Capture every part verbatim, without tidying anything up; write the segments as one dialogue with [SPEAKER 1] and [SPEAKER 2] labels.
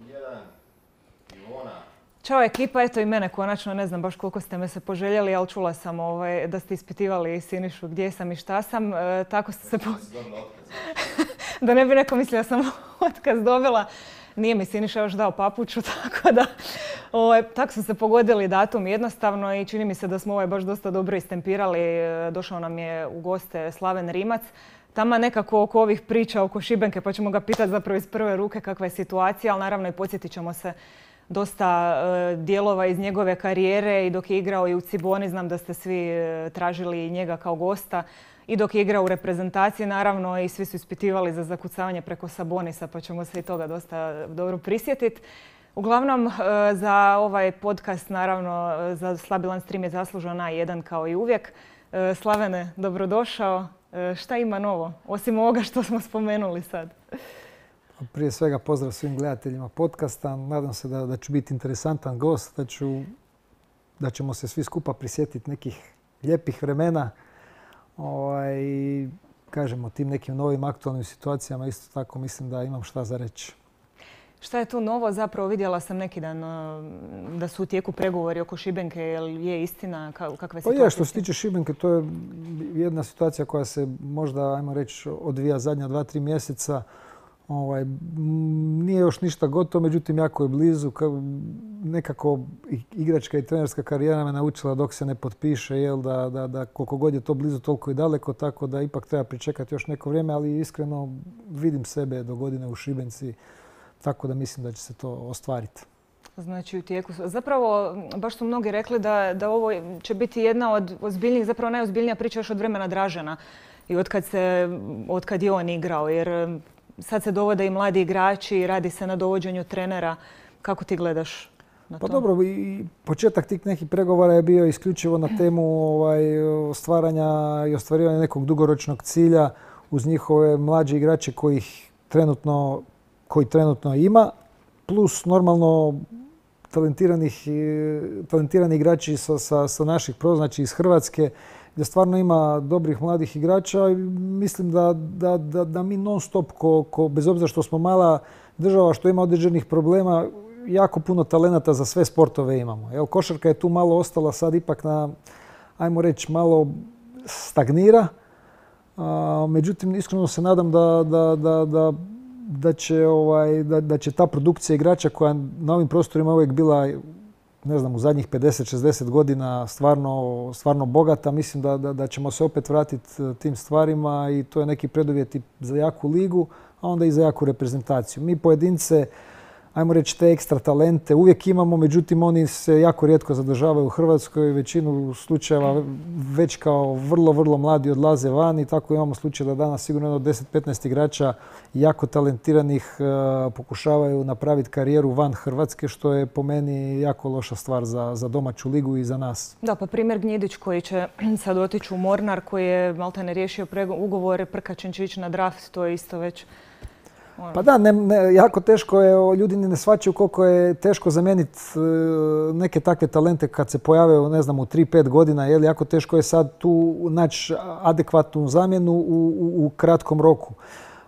[SPEAKER 1] jedan, Ivona.
[SPEAKER 2] Ćao ekipa, eto i mene konačno, ne znam baš koliko ste me se poželjeli, ali čula sam ovaj, da ste ispitivali Sinišu gdje sam i šta sam. E, tako ste se... Po... da ne bi neko mislio da sam otkaz dobila. Nije mi Siniša još dao papuču, tako da ovaj, tako su se pogodili datum jednostavno i čini mi se da smo ovaj baš dosta dobro istempirali. Došao nam je u goste Slaven Rimac. Tama nekako oko ovih priča oko Šibenke, pa ćemo ga pitati zapravo iz prve ruke kakva je situacija, ali naravno i podsjetit ćemo se dosta uh, dijelova iz njegove karijere i dok je igrao i u Ciboni, znam da ste svi uh, tražili njega kao gosta. I dok je igrao u reprezentaciji, naravno, i svi su ispitivali za zakucavanje preko Sabonisa, pa ćemo se i toga dosta dobro prisjetiti. Uglavnom, uh, za ovaj podcast, naravno, za Slabilan stream je zaslužan A jedan kao i uvijek. Uh, Slavene, dobrodošao. Uh, šta ima novo, osim ovoga što smo spomenuli sad?
[SPEAKER 3] Prije svega pozdrav svim gledateljima podcasta. Nadam se da, da ću biti interesantan gost, da, ću, da ćemo se svi skupa prisjetiti nekih lijepih vremena. Ovaj, kažemo, tim nekim novim aktualnim situacijama isto tako mislim da imam šta za reći.
[SPEAKER 2] Šta je tu novo? Zapravo vidjela sam neki dan da su u tijeku pregovori oko Šibenke. Jel je istina? Kakva je situacija?
[SPEAKER 3] Pa je, što se tiče Šibenke, to je jedna situacija koja se možda, ajmo reći, odvija zadnja dva, tri mjeseca. Ovaj, nije još ništa gotovo, međutim jako je blizu. Nekako igračka i trenerska karijera me naučila dok se ne potpiše, jel, da, da, da koliko god je to blizu, toliko i daleko, tako da ipak treba pričekati još neko vrijeme, ali iskreno vidim sebe do godine u Šibenci, tako da mislim da će se to ostvariti.
[SPEAKER 2] Znači u tijeku. Zapravo, baš su mnogi rekli da, da ovo će biti jedna od ozbiljnijih, zapravo najozbiljnija priča još od vremena Dražena i od kad, se, od kad je on igrao, jer sad se dovode i mladi igrači i radi se na dovođenju trenera. Kako ti gledaš na to?
[SPEAKER 3] Pa dobro, i početak tih nekih pregovora je bio isključivo na temu ovaj, stvaranja i ostvarivanja nekog dugoročnog cilja uz njihove mlađe igrače kojih trenutno, koji trenutno ima, plus normalno talentiranih, talentirani igrači sa, sa, sa naših pro, znači iz Hrvatske, gdje stvarno ima dobrih mladih igrača i mislim da, da, da, da mi non stop, ko, ko, bez obzira što smo mala država, što ima određenih problema, jako puno talenata za sve sportove imamo. Evo, košarka je tu malo ostala sad ipak na, ajmo reći, malo stagnira. A, međutim, iskreno se nadam da, da, da, da, da, će, ovaj, da, da će ta produkcija igrača koja na ovim prostorima uvijek bila, ne znam, u zadnjih pedeset šezdeset godina stvarno, stvarno bogata. Mislim da, da, da ćemo se opet vratiti tim stvarima i to je neki preduvjet za jaku ligu, a onda i za jaku reprezentaciju. Mi pojedince, ajmo reći, te ekstra talente uvijek imamo, međutim oni se jako rijetko zadržavaju u Hrvatskoj. Većinu slučajeva već kao vrlo, vrlo mladi odlaze van i tako imamo slučaj da danas sigurno jedno deset do petnaest igrača jako talentiranih uh, pokušavaju napraviti karijeru van Hrvatske, što je po meni jako loša stvar za, za domaću ligu i za nas.
[SPEAKER 2] Da, pa primjer Gnjidić koji će sad otići u Mornar, koji je maltene riješio ugovore, Prkačin će ići na draft, to je isto već...
[SPEAKER 3] Pa da, ne, ne, jako teško je, ljudi ne shvaćaju koliko je teško zamijeniti neke takve talente kad se pojave, ne znam, u tri pet godina, jer jako teško je sad tu naći adekvatnu zamjenu u, u, u kratkom roku.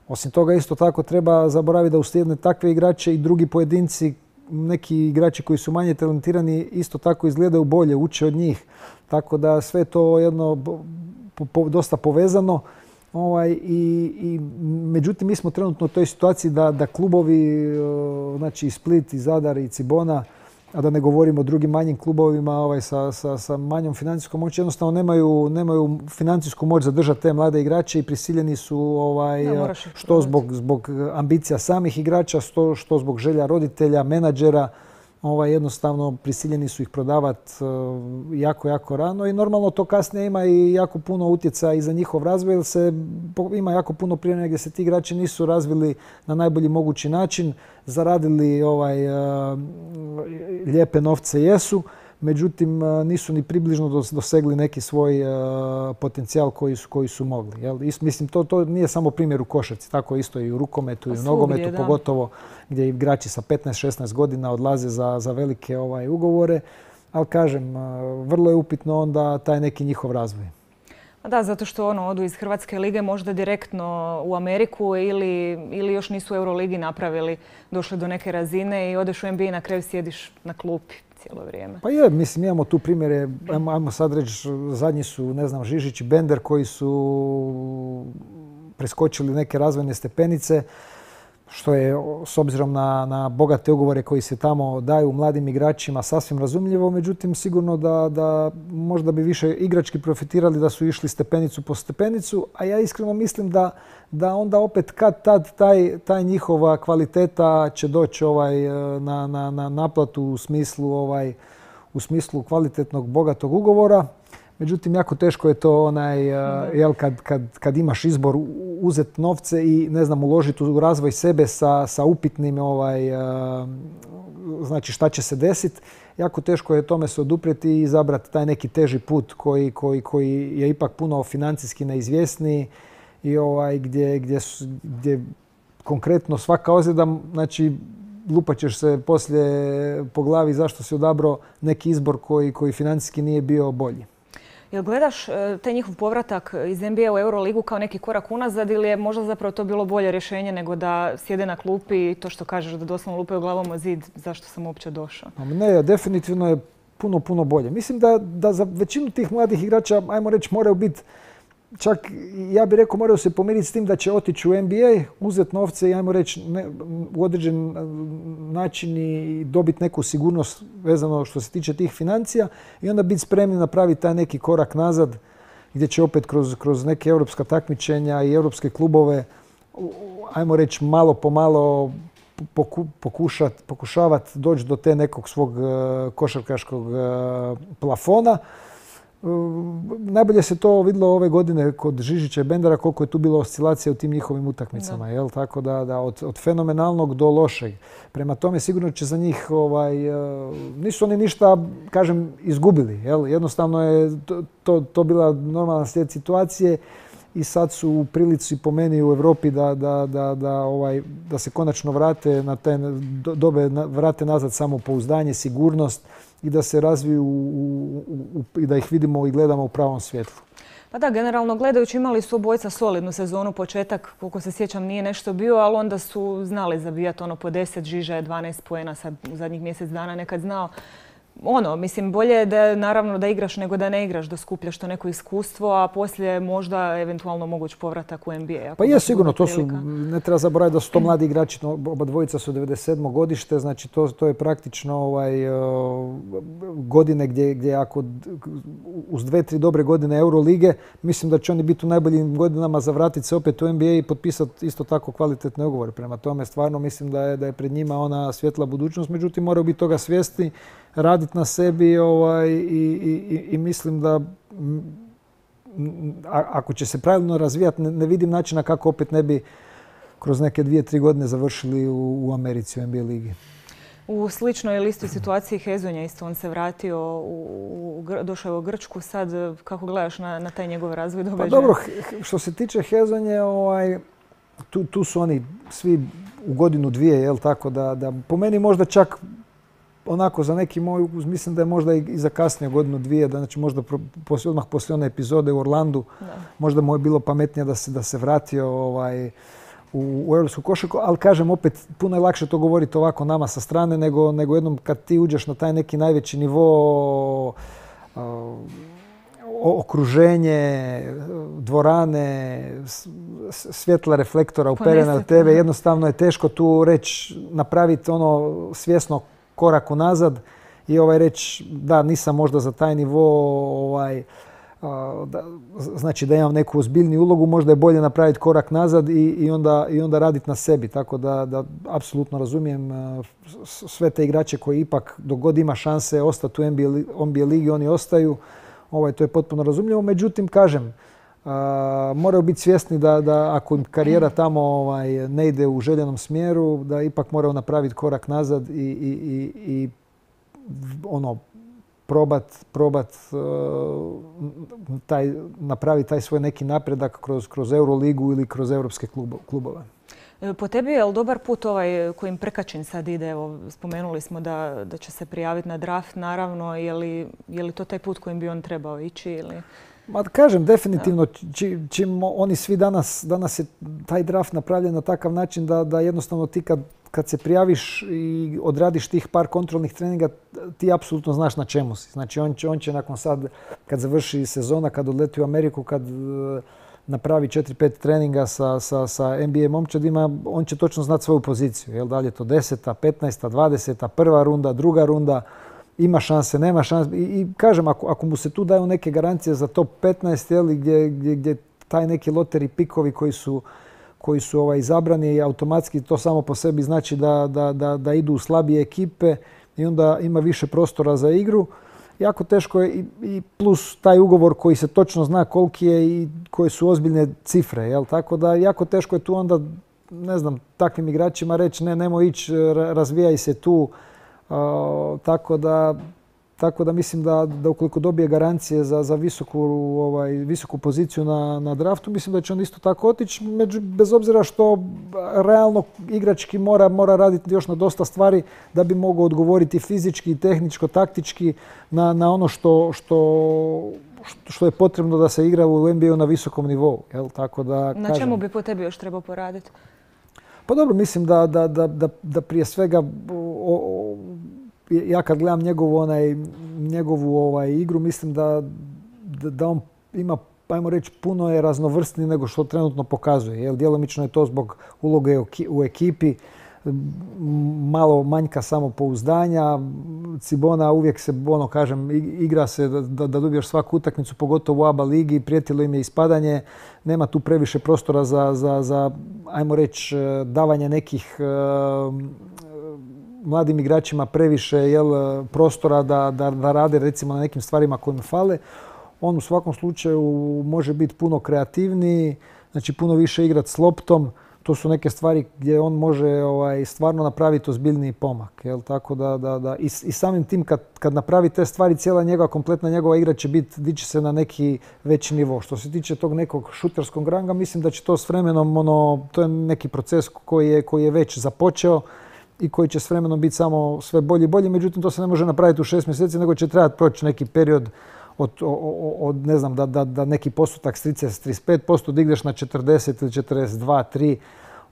[SPEAKER 3] Osim toga, isto tako treba zaboraviti da uslijede takve igrače i drugi pojedinci, neki igrači koji su manje talentirani, isto tako izgledaju bolje, uče od njih. Tako da sve to jedno po, po, dosta povezano. Ovaj, i, i, međutim, mi smo trenutno u toj situaciji da, da klubovi, znači i Split, i Zadar, i Cibona, a da ne govorimo o drugim manjim klubovima ovaj, sa, sa, sa manjom financijskom moći, jednostavno nemaju, nemaju financijsku moć zadržati te mlade igrače i prisiljeni su ovaj, da, što zbog, zbog ambicija samih igrača, što, što zbog želja roditelja, menadžera, ovaj, jednostavno prisiljeni su ih prodavati jako, jako rano i normalno to kasnije ima i jako puno utjecaja i za njihov razvoj jer se ima jako puno primjera gdje se ti igrači nisu razvili na najbolji mogući način, zaradili ovaj, lijepe novce jesu, međutim nisu ni približno dosegli neki svoj potencijal koji su, koji su mogli. Jel? Mislim, to, to nije samo primjer u košarci, tako isto i u rukometu i u nogometu, da. Pogotovo gdje igrači sa petnaest šesnaest godina odlaze za, za velike ovaj, ugovore. Ali kažem, vrlo je upitno onda taj neki njihov razvoj.
[SPEAKER 2] Da, zato što ono, odu iz Hrvatske lige možda direktno u Ameriku ili, ili još nisu u Euroligi napravili, došli do neke razine i odeš u N B A i na kraju sjediš na klupi cijelo vrijeme.
[SPEAKER 3] Pa je, mislim, imamo tu primjere, ajmo, ajmo sad reći, zadnji su, ne znam, Žižić i Bender koji su preskočili neke razvojne stepenice, što je s obzirom na, na bogate ugovore koji se tamo daju mladim igračima sasvim razumljivo. Međutim, sigurno da, da možda bi više igrački profitirali da su išli stepenicu po stepenicu, a ja iskreno mislim da, da onda opet kad tad taj, taj njihova kvaliteta će doći ovaj, na, na, na naplatu u smislu, ovaj, u smislu kvalitetnog bogatog ugovora. Međutim, jako teško je to onaj, jel, kad, kad, kad imaš izbor uzeti novce i ne znam, uložiti u razvoj sebe sa, sa upitnim ovaj, znači šta će se desiti. Jako teško je tome se oduprijeti i izabrati taj neki teži put koji, koji, koji je ipak puno financijski neizvjesniji i ovaj, gdje, gdje, gdje konkretno svaka ozljeda, znači lupat ćeš se poslije po glavi zašto si odabrao neki izbor koji, koji financijski nije bio bolji.
[SPEAKER 2] Jel gledaš taj njihov povratak iz N B A u Euroligu kao neki korak unazad ili je možda zapravo to bilo bolje rješenje nego da sjede na klupi i to što kažeš da doslovno lupaju glavom o zid, zašto sam uopće došao?
[SPEAKER 3] Ne, definitivno je puno, puno bolje. Mislim da, da za većinu tih mladih igrača, ajmo reći, moraju biti, čak ja bih rekao, moraju se pomiriti s tim da će otići u N B A, uzeti novce i ajmo reći ne, u određen način i dobiti neku sigurnost vezano što se tiče tih financija i onda biti spremni napraviti taj neki korak nazad gdje će opet kroz, kroz neke europska takmičenja i europske klubove, ajmo reći, malo po malo poku, pokušat, pokušavati doći do te nekog svog košarkaškog plafona. Najbolje se to vidjelo ove godine kod Žižića i Bendera, koliko je tu bilo oscilacija u tim njihovim utakmicama. Jel? Tako da, da od, od fenomenalnog do lošeg. Prema tome sigurno će za njih, ovaj, nisu oni ništa, kažem, izgubili. Jel? Jednostavno je to, to, to bila normalna slijed situacije i sad su u prilici po meni u Europi da, da, da, da, ovaj, da se konačno vrate na te dobe, vrate nazad samopouzdanje, sigurnost i da se razviju u, u, i da ih vidimo i gledamo u pravom svjetlu.
[SPEAKER 2] Pa da, generalno gledajući imali su obojca solidnu sezonu, početak, koliko se sjećam, nije nešto bio, ali onda su znali zabijati ono po deset, Žiža je dvanaest poena sad u zadnjih mjesec dana nekad znao. Ono, mislim, bolje je da, naravno da igraš nego da ne igraš, da skupljaš to neko iskustvo, a poslije možda eventualno moguć povratak u N B A.
[SPEAKER 3] Pa je sigurno, to su, ne treba zaboraviti da su to mladi igrači, oba dvojica su devedeset sedmo godište, znači to, to je praktično ovaj, godine gdje, gdje ako uz dve, tri dobre godine Eurolige, mislim da će oni biti u najboljim godinama za vratiti se opet u N B A i potpisati isto tako kvalitetne ugovore. Prema tome, stvarno mislim da je, da je pred njima ona svjetla budućnost, međutim moraju biti toga svjesni, raditi na sebi ovaj, i, i, i mislim da a, ako će se pravilno razvijati, ne, ne vidim načina kako opet ne bi kroz neke dvije, tri godine završili u, u Americi, u N B A ligi.
[SPEAKER 2] U sličnoj listi situaciji Hezonja isto, on se vratio, u, u, došao je u Grčku. Sad kako gledaš na, na taj njegov razvoj događaja?
[SPEAKER 3] Pa dobro, što se tiče Hezonje, ovaj, tu, tu su oni svi u godinu dvije, jel tako, da, da po meni možda čak onako za neki moj, mislim da je možda i za kasnije godinu dvije, da znači možda poslije, odmah poslije one epizode u Orlandu, da. Možda mu je bilo pametnije da se, da se vratio ovaj, u, u europsku košarku, ali kažem opet puno je lakše to govoriti ovako nama sa strane nego, nego jednom kad ti uđeš na taj neki najveći nivo, uh, okruženje, dvorane, svjetla reflektora uperena na tebe, jednostavno je teško tu reći, napraviti ono svjesno korak unazad i ovaj reći da nisam možda za taj nivo, ovaj, da, znači da imam neku ozbiljniju ulogu, možda je bolje napraviti korak nazad i, i, onda, i onda raditi na sebi. Tako da, da apsolutno razumijem sve te igrače koji ipak dok god ima šanse ostati u N B A ligi, oni ostaju. Ovaj, to je potpuno razumljivo. Međutim, kažem, a, moraju biti svjesni da, da ako im karijera tamo ovaj, ne ide u željenom smjeru, da ipak moraju napraviti korak nazad i, i, i, i ono, probat, probat uh, taj, napraviti taj svoj neki napredak kroz, kroz Euroligu ili kroz europske klubove.
[SPEAKER 2] Po tebi je li dobar put ovaj kojim Prkačin sad ide? Evo, spomenuli smo da, da će se prijaviti na draft, naravno. Je li, je li to taj put kojim bi on trebao ići? Ili?
[SPEAKER 3] Ma kažem, definitivno, či, čim oni svi danas, danas je taj draft napravljen na takav način da, da jednostavno ti kad, kad se prijaviš i odradiš tih par kontrolnih treninga, ti apsolutno znaš na čemu si. Znači on će, on će nakon sad, kad završi sezona, kad odleti u Ameriku, kad uh, napravi četiri pet treninga sa, sa, sa N B A momčadima, on će točno znati svoju poziciju. Jel, da li je to deseta, petnaesta, dvadeseta, prva runda, druga runda, ima šanse, nema šanse. I, i kažem, ako, ako mu se tu daju neke garancije za top petnaest, jel, gdje, gdje, gdje taj neki loteri pikovi koji su, koji su ovaj, izabrani, automatski to samo po sebi znači da, da, da, da idu u slabije ekipe i onda ima više prostora za igru. Jako teško je i, i plus taj ugovor koji se točno zna koliki je i koje su ozbiljne cifre. Jel? Tako da jako teško je tu onda, ne znam, takvim igračima reći ne, nemoj ići, razvijaj se tu. Uh, tako da, tako da mislim da, da ukoliko dobije garancije za, za visoku, ovaj, visoku poziciju na, na draftu, mislim da će on isto tako otići, među, bez obzira što realno igrački mora, mora raditi još na dosta stvari da bi mogao odgovoriti fizički, tehničko, taktički na, na ono što, što, što je potrebno da se igra u N B A-u na visokom nivou. Jel? Tako da,
[SPEAKER 2] na
[SPEAKER 3] kažem,
[SPEAKER 2] čemu bi po tebi još trebao poraditi?
[SPEAKER 3] Pa dobro, mislim da, da, da, da, da prije svega o, o, ja kad gledam njegovu, onaj, njegovu ovaj, igru, mislim da, da, da on ima, ajmo reći, puno je raznovrsniji nego što trenutno pokazuje. Jel, djelomično je to zbog uloge u ekipi, malo manjka samopouzdanja. Cibona uvijek se, ono kažem, igra se da, da dobiješ svaku utakmicu, pogotovo u A B A ligi, prijetilo im je ispadanje. Nema tu previše prostora za, za, za ajmo reći, davanje nekih uh, mladim igračima previše jel, prostora da, da, da rade recimo na nekim stvarima koje im fale. On u svakom slučaju može biti puno kreativniji, znači puno više igrati s loptom. To su neke stvari gdje on može ovaj, stvarno napraviti ozbiljniji pomak. Jel? Tako da, da, da. I, i samim tim kad, kad napravi te stvari, cijela njegova, kompletna njegova igra će biti, dići se na neki veći nivo. Što se tiče tog nekog šuterskog ranga, mislim da će to s vremenom, ono, to je neki proces koji je, koji je već započeo i koji će s vremenom biti samo sve bolji i bolji. Međutim, to se ne može napraviti u šest mjeseci, nego će trebati proći neki period od, od ne znam, da, da, da neki postotak s trideset, trideset pet posto digneš na četrdeset ili četrdeset dva, tri.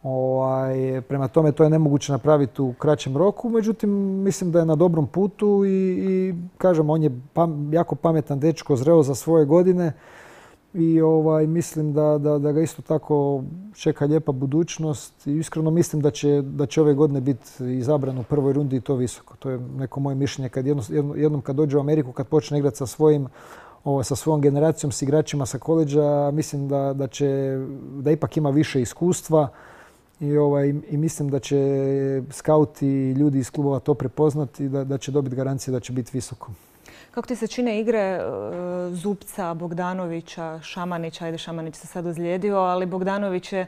[SPEAKER 3] Ovaj, prema tome, to je nemoguće napraviti u kraćem roku. Međutim, mislim da je na dobrom putu i, i kažem, on je pam, jako pametan dečko, zreo za svoje godine i ovaj, mislim da, da, da ga isto tako čeka lijepa budućnost i iskreno mislim da će, da će ove godine biti izabran u prvoj rundi i to visoko. To je neko moje mišljenje. Kad jedno, jednom kad dođe u Ameriku, kad počne igrati sa svojim Ovo, sa svojom generacijom, s igračima sa koleđa, mislim da, da, će, da ipak ima više iskustva i, ovaj, i mislim da će skauti i ljudi iz klubova to prepoznati i da, da će dobiti garancije da će biti visoko.
[SPEAKER 2] Kako ti se čine igre uh, Zupca, Bogdanovića, Šamanića? Ajde, Šamanić se sad ozlijedio, ali Bogdanović je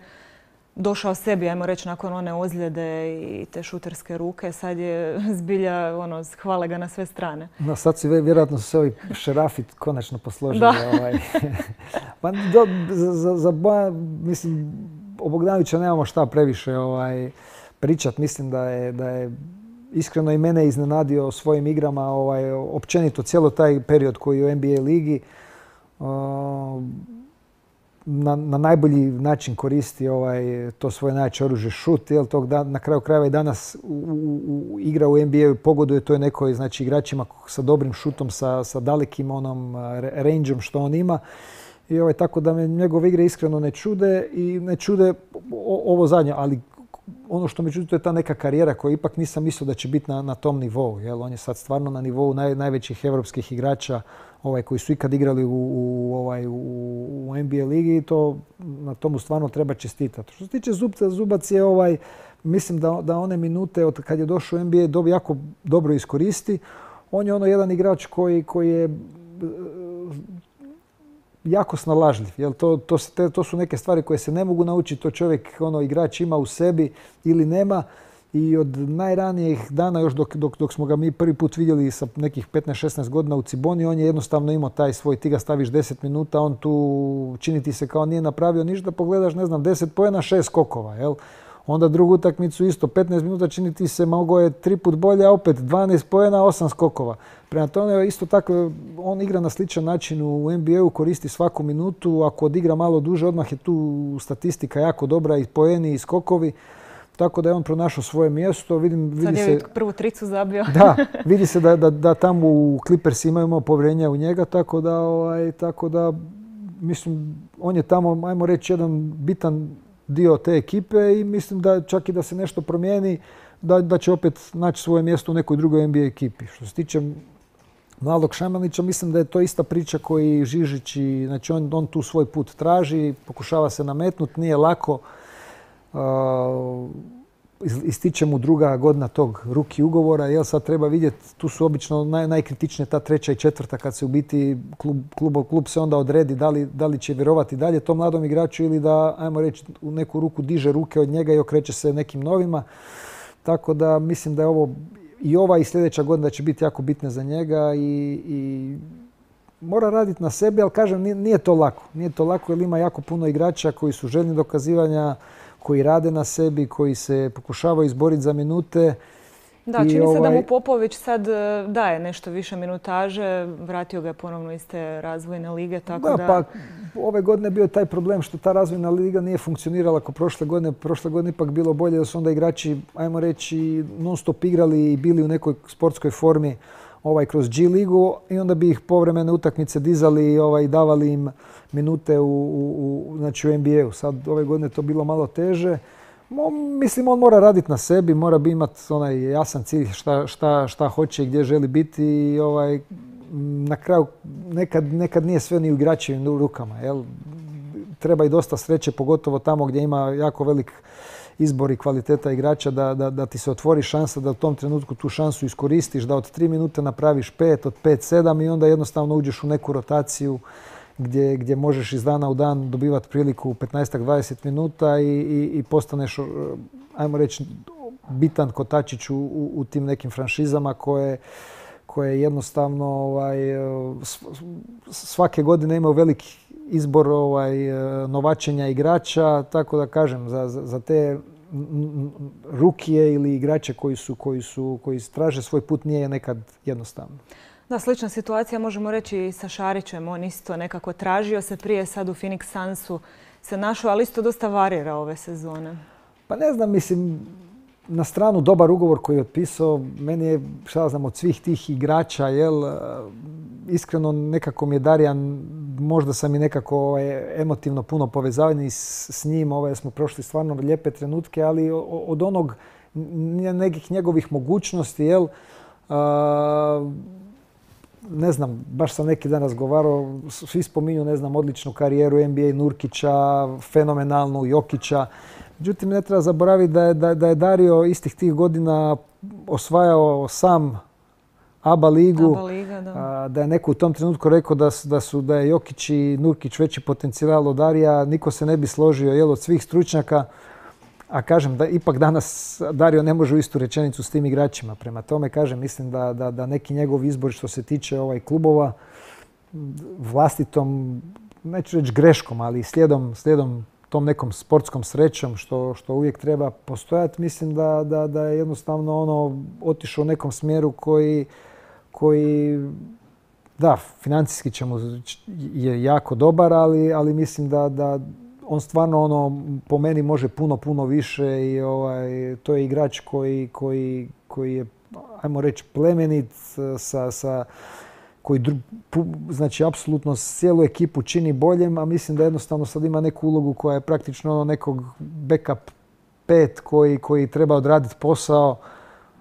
[SPEAKER 2] došao sebi, ajmo reći, nakon one ozljede i te šuterske ruke. Sad je zbilja, ono, hvale ga na sve strane. No,
[SPEAKER 3] sad si vjerojatno su se ovi šerafi konačno posložili. Ovaj. Pa, do, za, za, mislim, o Bogdanovića nemamo šta previše ovaj, pričat. Mislim da je, da je iskreno i mene iznenadio svojim igrama, ovaj, općenito cijelo taj period koji je u N B A ligi. Uh, Na, na najbolji način koristi ovaj, to svoje najjače oružje šut. Jel, tog da, na kraju krajeva i danas u, u, u igra u N B A-u pogoduje to je nekoj, znači, igračima sa dobrim šutom, sa, sa dalekim onom rangeom što on ima. I ovaj, tako da me njegove igre iskreno ne čude i ne čude o, ovo zadnje, ali ono što me čudi to je ta neka karijera koju ipak nisam mislio da će biti na, na tom nivou. Jel? On je sad stvarno na nivou naj, najvećih europskih igrača ovaj, koji su ikad igrali u, u, ovaj, u, u N B A ligi i to, na tomu stvarno treba čestitati. Što se tiče Zubca, Zubac je, ovaj, mislim da, da one minute od kad je došao u N B A do, jako dobro iskoristi. On je ono jedan igrač koji, koji je jako snalažljiv. Jel? To, to, te, to su neke stvari koje se ne mogu naučiti. To čovjek, ono, igrač ima u sebi ili nema. I od najranijih dana, još dok, dok, dok smo ga mi prvi put vidjeli sa nekih petnaest šesnaest godina u Ciboni, on je jednostavno imao taj svoj, ti ga staviš deset minuta, on tu čini ti se kao nije napravio ništa, pogledaš, ne znam, deset poena, šest skokova. Jel? Onda drugu utakmicu isto, petnaest minuta čini ti se mogao je tri put bolje, a opet dvanaest poena, osam skokova. Prema tome isto tako, on igra na sličan način u N B A-u, koristi svaku minutu, ako odigra malo duže, odmah je tu statistika jako dobra, i poeni i skokovi. Tako da je on pronašao svoje mjesto. Vidim, vidi
[SPEAKER 2] Sad je
[SPEAKER 3] se,
[SPEAKER 2] prvu tricu zabio.
[SPEAKER 3] Da, vidi se da, da, da tamo u Clippers imamo povjerenja u njega, tako da, ovaj, tako da mislim, on je tamo, ajmo reći, jedan bitan dio te ekipe i mislim da čak i da se nešto promijeni, da, da će opet naći svoje mjesto u nekoj drugoj N B A ekipi. Što se tiče mladog Šamanića, mislim da je to ista priča koji Žižić i, znači on, on tu svoj put traži, pokušava se nametnuti, nije lako. Uh, ističe mu druga godina tog ruki ugovora, jel sad treba vidjeti, tu su obično naj, najkritičnije ta treća i četvrta kad se u biti klub, klub, klub se onda odredi da li, da li će vjerovati dalje tom mladom igraču ili da, ajmo reći, u neku ruku diže ruke od njega i okreće se nekim novima. Tako da mislim da je ovo i ova i sljedeća godina će biti jako bitne za njega i, i mora raditi na sebi, ali kažem, nije, nije to lako. Nije to lako jer ima jako puno igrača koji su željni dokazivanja, koji rade na sebi, koji se pokušavaju izboriti za minute.
[SPEAKER 2] Da, čini
[SPEAKER 3] I
[SPEAKER 2] se da
[SPEAKER 3] ovaj...
[SPEAKER 2] mu Popović sad daje nešto više minutaže, vratio ga je ponovno iz te razvojne lige, tako da...
[SPEAKER 3] Da, pa ove godine bio je taj problem što ta razvojna liga nije funkcionirala kao prošle godine. Prošle godine ipak bilo bolje da su onda igrači, ajmo reći, non stop igrali i bili u nekoj sportskoj formi ovaj, kroz G ligu i onda bi ih povremene utakmice dizali i ovaj, davali im minute u, u, u, znači u N B A-u. Sad ove godine to bilo malo teže. Mo, mislim, on mora raditi na sebi, mora bi imati onaj jasan cilj šta, šta, šta hoće i gdje želi biti i ovaj, na kraju nekad, nekad nije sve ni u igračevim rukama. Jel? Treba i dosta sreće, pogotovo tamo gdje ima jako velik izbor i kvaliteta igrača da, da, da ti se otvori šansa da u tom trenutku tu šansu iskoristiš, da od tri minute napraviš pet, od pet sedam i onda jednostavno uđeš u neku rotaciju gdje, gdje možeš iz dana u dan dobivati priliku petnaest do dvadeset minuta i, i, i postaneš, ajmo reći, bitan kotačić u, u, u tim nekim franšizama koje, koje jednostavno ovaj, svake godine imaju veliki izbor ovaj, novačenja igrača, tako da kažem, za, za, za te rukije ili igrače koji su, koji su, koji traže svoj put nije nekad jednostavno.
[SPEAKER 2] Da, slična situacija možemo reći i sa Šarićem. On isto nekako tražio se prije, sad u Phoenix Sunsu se našao, ali isto dosta varira ove sezone.
[SPEAKER 3] Pa ne znam, mislim, na stranu dobar ugovor koji je otpisao, meni je, šta znam, od svih tih igrača, jel, iskreno nekako mi je Darijan, možda sam i nekako ovaj, emotivno puno povezavani s, s njim, ovaj, smo prošli stvarno lijepe trenutke, ali od onog nekih njegovih mogućnosti, jel, a, ne znam, baš sam neki dan razgovarao, svi spominju, ne znam, odličnu karijeru N B A Nurkića, fenomenalnu Jokića. Međutim, ne treba zaboraviti da je, da, da je Dario istih tih godina osvajao sam A B A ligu,
[SPEAKER 2] A B A liga, da.
[SPEAKER 3] da je neko u tom trenutku rekao da, da, su, da je Jokić i Nurkić veći potencijal od Darija, niko se ne bi složio, jel, od svih stručnjaka. A kažem da ipak danas Dario ne može u istu rečenicu s tim igračima. Prema tome, kažem, mislim da, da, da neki njegov izbor što se tiče ovaj klubova vlastitom, neću reći greškom, ali slijedom, slijedom tom nekom sportskom srećom što, što uvijek treba postojati, mislim da, da, da je jednostavno ono otišao u nekom smjeru koji, koji da, financijski će mu je jako dobar, ali, ali mislim da, da on stvarno ono, po meni može puno, puno više i ovaj, to je igrač koji, koji, koji je, ajmo reći, plemenit, sa, sa, koji znači apsolutno cijelu ekipu čini boljem, a mislim da jednostavno sad ima neku ulogu koja je praktično ono nekog backup pet koji, koji treba odraditi posao,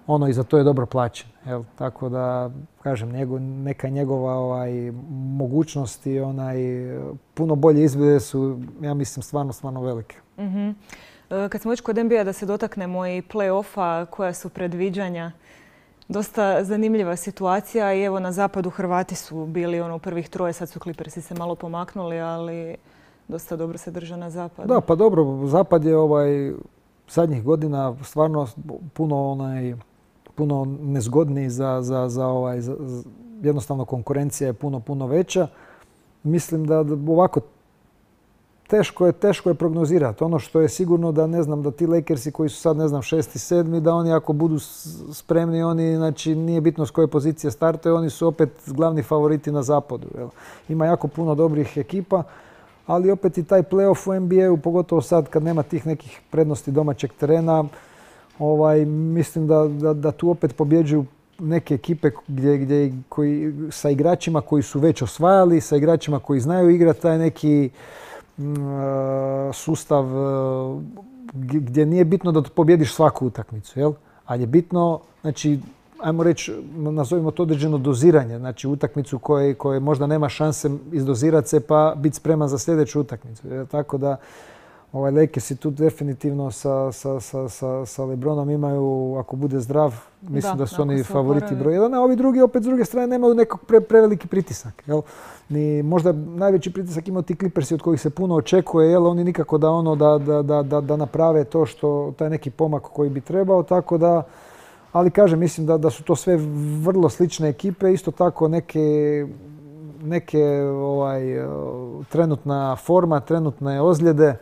[SPEAKER 3] ono i za to je dobro plaćen. Jel? Tako da, kažem, njegov, neka njegova ovaj, mogućnosti, onaj, puno bolje izglede su, ja mislim, stvarno, stvarno velike.
[SPEAKER 2] Mm-hmm. Kad smo već kod N B A, da se dotaknemo i play-offa, koja su predviđanja. Dosta zanimljiva situacija i evo na zapadu Hrvati su bili ono u prvih troje, sad su Clippersi se malo pomaknuli, ali dosta dobro se drže na zapadu.
[SPEAKER 3] Da, pa dobro, zapad je ovaj, zadnjih godina stvarno puno onaj, puno nezgodniji za, za, za ovaj, za, jednostavno konkurencija je puno, puno veća. Mislim da ovako teško je, teško je prognozirati. Ono što je sigurno da ne znam da ti Lakersi koji su sad ne znam šesti, sedmi, da oni ako budu spremni, oni znači nije bitno s koje pozicije startaju, oni su opet glavni favoriti na zapadu. Jel? Ima jako puno dobrih ekipa, ali opet i taj playoff u N B A-u, pogotovo sad kad nema tih nekih prednosti domaćeg terena, ovaj, mislim da, da, da tu opet pobjeđuju neke ekipe gdje, gdje koji, sa igračima koji su već osvajali, sa igračima koji znaju igrati taj neki uh, sustav uh, gdje nije bitno da pobjediš svaku utakmicu, jel? Ali je bitno, znači, ajmo reći, nazovimo to određeno doziranje, znači utakmicu koje, koje možda nema šanse izdozirati se pa biti spreman za sljedeću utakmicu. Jel? Tako da ovaj Lakersi tu definitivno sa, sa, sa, sa, sa LeBronom imaju, ako bude zdrav, mislim da, da su oni favoriti broj jedan, a ovi drugi opet s druge strane nemaju nekog pre, preveliki pritisak. Jel? Ni, možda najveći pritisak imaju ti Clippersi od kojih se puno očekuje, jel? Oni nikako da, ono, da, da, da, da, da naprave to što, taj neki pomak koji bi trebao, tako da, ali kažem, mislim da, da su to sve vrlo slične ekipe, isto tako neke, neke ovaj, trenutna forma, trenutne ozljede.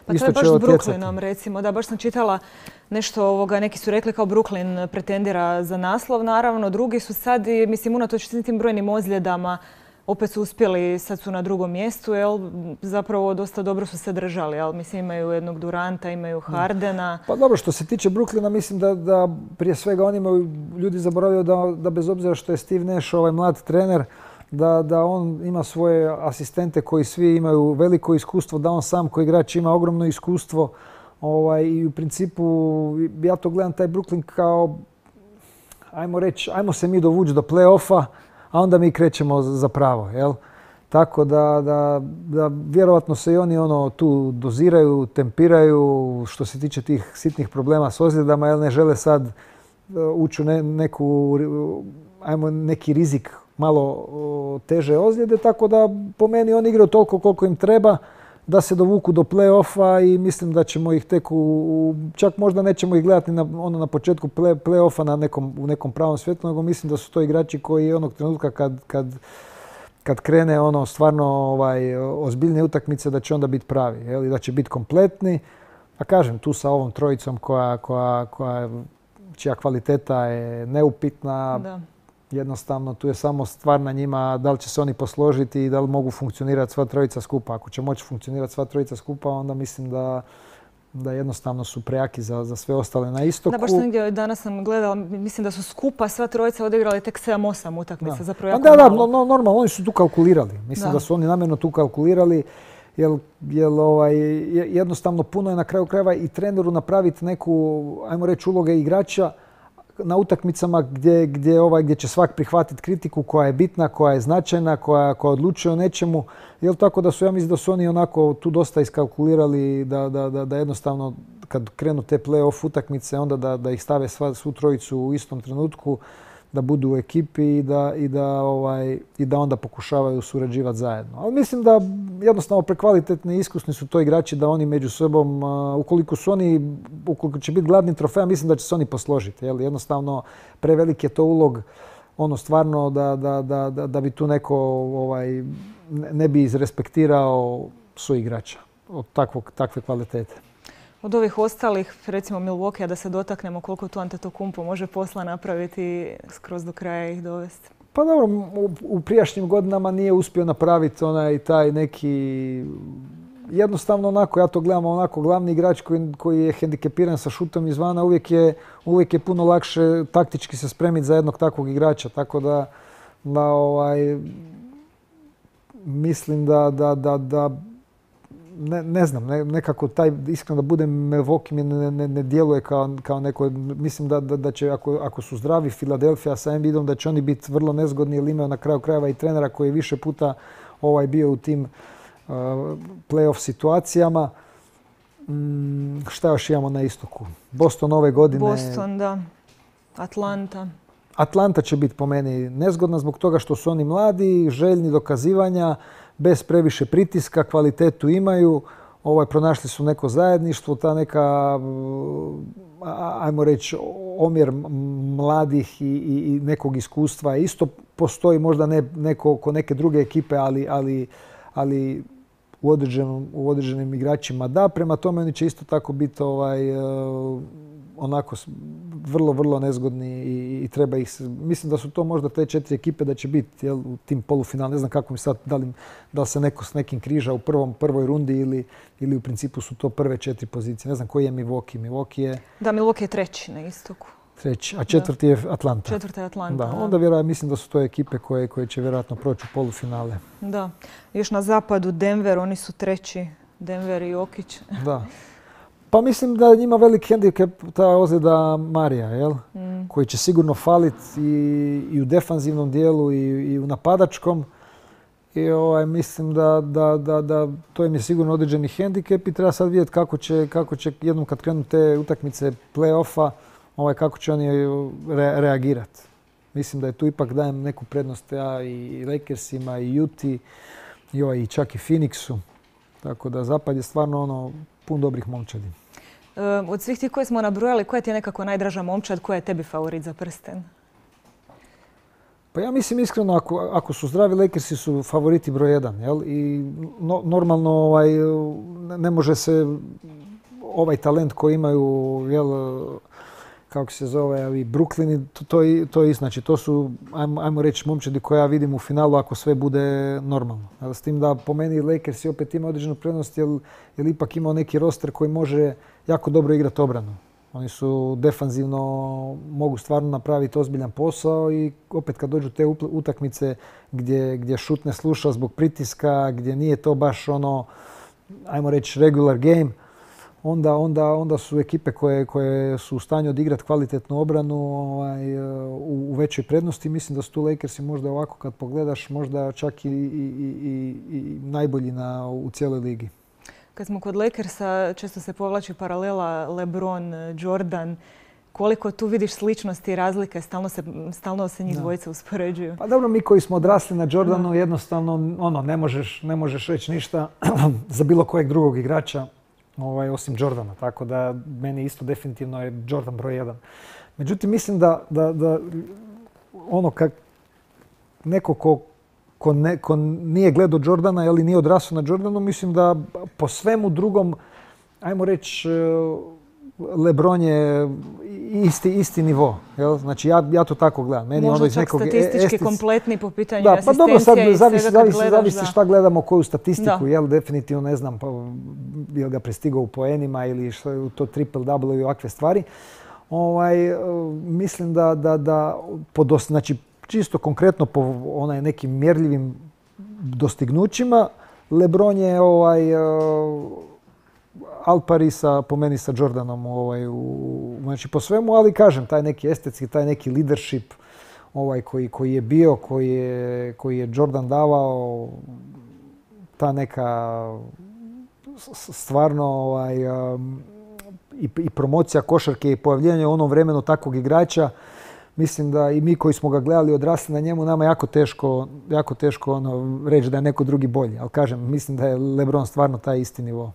[SPEAKER 2] Pa to je baš s Brooklynom, recimo. Da, baš sam čitala nešto ovoga, neki su rekli kao Brooklyn pretendira za naslov, naravno. Drugi su sad, mislim, unatoč tim brojnim ozljedama, opet su uspjeli, sad su na drugom mjestu, jel? Zapravo dosta dobro su se držali, jel? Mislim, imaju jednog Duranta, imaju Hardena.
[SPEAKER 3] Pa dobro, što se tiče Brooklyna, mislim da, da prije svega oni imaju, ljudi zaboravljaju da, da bez obzira što je Steve Nash ovaj mlad trener, Da, da on ima svoje asistente koji svi imaju veliko iskustvo, da on sam koji igrač ima ogromno iskustvo. Ovaj, i u principu ja to gledam taj Brooklyn kao, ajmo reći, ajmo se mi dovući do play-offa, a onda mi krećemo za pravo. Jel? Tako da, da, da vjerovatno se i oni ono tu doziraju, tempiraju što se tiče tih sitnih problema s ozljedama, jer ne žele sad ući u ne, neku, ajmo neki rizik malo teže ozljede, tako da po meni oni igraju toliko koliko im treba da se dovuku do play-offa i mislim da ćemo ih tek u, čak možda nećemo ih gledati na, ono, na početku play, play-offa na nekom, u nekom pravom svijetu, nego mislim da su to igrači koji onog trenutka kad, kad, kad krene ono stvarno ovaj, ozbiljne utakmice da će onda biti pravi, jel? I da će biti kompletni. A kažem, tu sa ovom trojicom koja, koja, koja, čija kvaliteta je neupitna, da. Jednostavno, tu je samo stvar na njima da li će se oni posložiti i da li mogu funkcionirati sva trojica skupa. Ako će moći funkcionirati sva trojica skupa, onda mislim da, da jednostavno su prejaki za, za sve ostale na istoku.
[SPEAKER 2] Da, baš sam negdje danas sam gledala, mislim da su skupa sva trojica odigrali tek sedam osam utakmica. Da, zapravo jako
[SPEAKER 3] da, da,
[SPEAKER 2] malo.
[SPEAKER 3] no, normalno, oni su tu kalkulirali. Mislim da, da su oni namjerno tu kalkulirali. Jer, jer ovaj, jednostavno puno je na kraju krajeva i treneru napraviti neku, ajmo reći, uloge igrača na utakmicama gdje, gdje, ovaj, gdje će svak prihvatiti kritiku koja je bitna, koja je značajna, koja, koja odlučuje o nečemu. Jel tako da su, ja mislim da su oni onako tu dosta iskalkulirali da, da, da, da jednostavno kad krenu te play-off utakmice onda da, da ih stave sva, svu trojicu u istom trenutku, da budu u ekipi i da, i da, ovaj, i da onda pokušavaju surađivati zajedno. Ali mislim da jednostavno prekvalitetni i iskusni su to igrači da oni među sobom, ukoliko su oni, ukoliko će biti gladni trofeja, mislim da će se oni posložiti. Jel? Jednostavno prevelik je to ulog ono stvarno da, da, da, da, da bi tu neko ovaj, ne bi izrespektirao suigrača od takvog, takve kvalitete.
[SPEAKER 2] Od ovih ostalih, recimo Milwaukee, da se dotaknemo koliko tu Antetokounmpo može posla napraviti skroz do kraja ih dovesti.
[SPEAKER 3] Pa dobro, u, u prijašnjim godinama nije uspio napraviti onaj taj neki, jednostavno onako, ja to gledam onako, glavni igrač koji, koji je hendikepiran sa šutom izvana, uvijek je, uvijek je puno lakše taktički se spremiti za jednog takvog igrača, tako da, da ovaj, mislim da, da, da, da Ne, ne znam, ne, nekako taj, iskreno da budem, Milwaukee mi ne, ne, ne djeluje kao, kao neko, mislim da, da, da će, ako, ako su zdravi Philadelphia sa Embiidom, da će oni biti vrlo nezgodni jer imaju na kraju krajeva i trenera koji je više puta ovaj, bio u tim uh, play-off situacijama. Mm, šta još imamo na istoku? Boston ove godine.
[SPEAKER 2] Boston, da. Atlanta.
[SPEAKER 3] Atlanta će biti po meni nezgodna zbog toga što su oni mladi, željni dokazivanja, bez previše pritiska, kvalitetu imaju, ovaj, pronašli su neko zajedništvo, ta neka, ajmo reći, omjer mladih i, i, i nekog iskustva isto postoji, možda ne neko oko neke druge ekipe, ali, ali, ali u, određenom, u određenim igračima da. Prema tome oni će isto tako biti ovaj, onako vrlo, vrlo nezgodni i, i treba ih... Mislim da su to možda te četiri ekipe da će biti jel, u tim polufinalima. Ne znam kako mi sad, da li, da li se neko s nekim križa u prvom, prvoj rundi ili, ili u principu su to prve četiri pozicije. Ne znam koji je Milwaukee. Milwaukee je...
[SPEAKER 2] Da, Milwaukee je treći na istoku.
[SPEAKER 3] Treći, a četvrti je Atlanta.
[SPEAKER 2] Četvrta je Atlanta.
[SPEAKER 3] Da, onda vjerojatno mislim da su to ekipe koje, koje će vjerojatno proći u polufinale.
[SPEAKER 2] Da. Još na zapadu Denver, oni su treći. Denver i Jokić.
[SPEAKER 3] Da. Pa mislim da njima velik hendikep ta ozljeda Marija, jel? Mm. Koji će sigurno faliti i, i u defanzivnom dijelu i, i u napadačkom. I ovaj, mislim da, da, da, da to im je sigurno određeni hendikep i treba sad vidjeti kako će, kako će jednom kad krenu te utakmice play-offa, ovaj, kako će oni re, reagirati. Mislim da je tu ipak dajem neku prednost ja i Lakersima i Uti i, ovaj, i čak i Phoenixu. Tako da zapad je stvarno ono pun dobrih momčadi.
[SPEAKER 2] E, od svih tih koje smo nabrojali, koja ti je nekako najdraža momčad, koja je tebi favorit za prsten?
[SPEAKER 3] Pa ja mislim iskreno, ako, ako su zdravi, Lakersi su favoriti broj jedan. Jel? I no, normalno ovaj, ne može se ovaj talent koji imaju, jel, kako se zove, i Brooklyni, to, to, to je znači, to su, ajmo, ajmo reći, momčadi koje ja vidim u finalu ako sve bude normalno. Jel? S tim da po meni Lakersi opet ima određenu prednost jer, jer ipak imao neki roster koji može jako dobro igrati obranu. Oni su defanzivno, mogu stvarno napraviti ozbiljan posao i opet kad dođu te utakmice gdje, gdje šut ne sluša zbog pritiska, gdje nije to baš ono, ajmo reći, regular game, onda, onda, onda su ekipe koje, koje su u stanju odigrati kvalitetnu obranu ovaj, u, u većoj prednosti. Mislim da su tu Lakersi možda ovako kad pogledaš, možda čak i, i, i, i najbolji na, u cijeloj ligi.
[SPEAKER 2] Kad smo kod Lakersa, često se povlači paralela LeBron, Jordan. Koliko tu vidiš sličnosti i razlike? Stalno se, stalno se njih dvojica uspoređuju.
[SPEAKER 3] Pa dobro, mi koji smo odrasli na Jordanu, no. jednostavno ono, ne, možeš, ne možeš reći ništa za bilo kojeg drugog igrača ovaj, osim Jordana. Tako da meni isto definitivno je Jordan broj jedan. Međutim, mislim da, da, da ono kak neko ko Ko, ne, ko nije gledao Jordana ili nije odrasao na Jordanu, mislim da po svemu drugom, ajmo reći, LeBron je isti, isti nivo. Jel? Znači ja, ja to tako gledam. Meni
[SPEAKER 2] možda
[SPEAKER 3] ono iz
[SPEAKER 2] čak
[SPEAKER 3] nekog
[SPEAKER 2] statistički
[SPEAKER 3] estic...
[SPEAKER 2] kompletni po pitanju
[SPEAKER 3] da,
[SPEAKER 2] asistencija
[SPEAKER 3] pa dobro, sad
[SPEAKER 2] i
[SPEAKER 3] zavisi,
[SPEAKER 2] svega kad
[SPEAKER 3] zavisi,
[SPEAKER 2] gledaš.
[SPEAKER 3] zavisi
[SPEAKER 2] da.
[SPEAKER 3] šta gledamo, koju statistiku.
[SPEAKER 2] Da.
[SPEAKER 3] Jel? Definitivno ne znam, pa, je li ga prestigao u poenima ili što je to triple-double i ovakve stvari. Ovaj, mislim da, da, da podos, znači, čisto konkretno po onaj nekim mjerljivim dostignućima, LeBron je ovaj, uh, al pari sa, po meni sa Jordanom ovaj, u, znači po svemu, ali kažem, taj neki estetski, taj neki leadership ovaj, koji, koji je bio, koji je, koji je Jordan davao, ta neka stvarno ovaj, um, i, i promocija košarke i pojavljivanje u onom vremenu takvog igrača. Mislim da i mi koji smo ga gledali odrasli na njemu, nama jako teško, jako teško ono, reći da je neko drugi bolji. Ali kažem, mislim da je LeBron stvarno taj isti nivo.